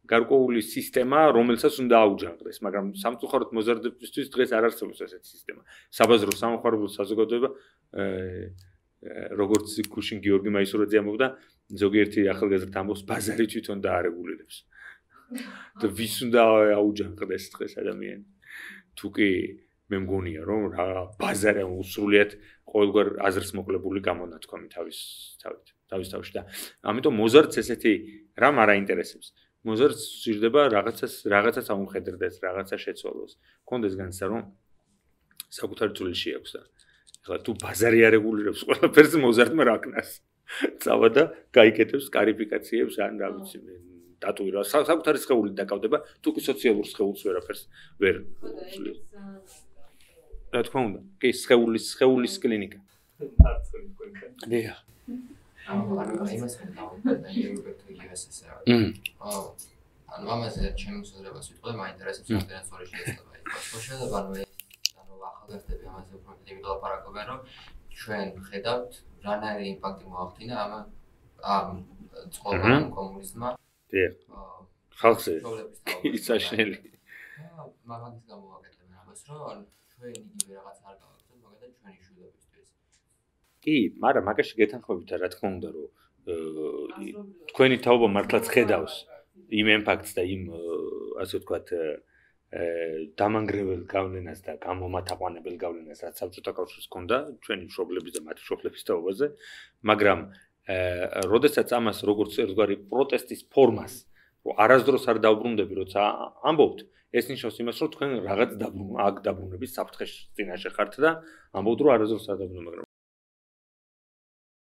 A: გარკვეული სისტემა, რომელსაც უნდა აუჯანყდეს, მაგრამ სამწუხაროდ მოზარდებისთვის დღეს არ არსებობს ესეთი სისტემა. საბაზრო სამხარებლო საზოგადოება, როგორც გუშინ გიორგი მაისურაძე ამბობდა, ზოგიერთი ახალგაზრდა ამბობს, ბაზარი თვითონ დაარეგულირებს. და ვის უნდა აუჯანყდეს დღეს ადამიანი? თუ კი მე მგონია, რომ რა ბაზარი უსრულიად ყოველგვარ აზრს მოკლებული გამონათქვამი თავის თავით, თავის თავში და ამიტომ მოზარდს ესეთი რამ არ აინტერესებს. მოზარდს სჭირდება რაღაცას რაღაცას აუმხედრდეს, რაღაცა შეცვალოს. კონდეს განცდა რომ საკუთარი წვლილი შეაქვს და ეხლა თუ ბაზარი არეგულირებს ყველაფერს მოზარდმა რა ქნას. წავა და გაიკეთებს კარიფიკაციებს ან რა ვიცი მე დატუირება საკუთარი სხეული დაკავდება, თუ კი სოციალურ სხეულს ვერაფერს ვერ უსვლის. რა თქმა უნდა, კი სხეულის სხეულის კლინიკა. დიახ.
G: ანუ იმას ხედავ და ნეირობექტ U S S R. აა ანუ ამაზე ჩემს უზრებას ვიტყოდე, მაინტერესებს რამდენად სწორი შეიძლება იყოს. ხო შეიძლება ანუ ანუ ახალგაზრდები ამაზე უფრო მეტი ვილაპარაკობენ, რომ ჩვენ ხედავთ რანაირი იმპაქტი მოახდინა ამ ამ წყობამ კომუნიზმმა.
A: დიახ. ხალხზე ის საშინელი.
G: აა მაგის გამოვაკეთებენ ამას, რომ ჩვენ იგივე რაღაც არ გავაკეთებთ, მაგალითად ჩვენი შვილებისთვის.
A: კი, მაგრამ მაგაში გეთანხმებით რა თქმა უნდა, რომ თქვენი თაობა მართლაც ხედავს იმ იმპაქტს და იმ ასე ვთქვათ დამანგრეველ გავლენას და გამომათაყვანებელ გავლენას, რაც საბჭოთა კავშირს ჰქონდა ჩვენი მშობლების და მათი მშობლების თაობაზე, მაგრამ როდესაც ამას როგორც ერთგვარი პროტესტის ფორმას, რომ არასდროს არ დავბრუნდები, როცა ამბობთ, ეს ნიშნავს იმას, რომ თქვენ რაღაც დაბრუნ აქ დაბრუნების საფრთხეს წინაშე ხართ და ამბობთ, რომ არასდროს არ დაბრუნდები, მაგრამ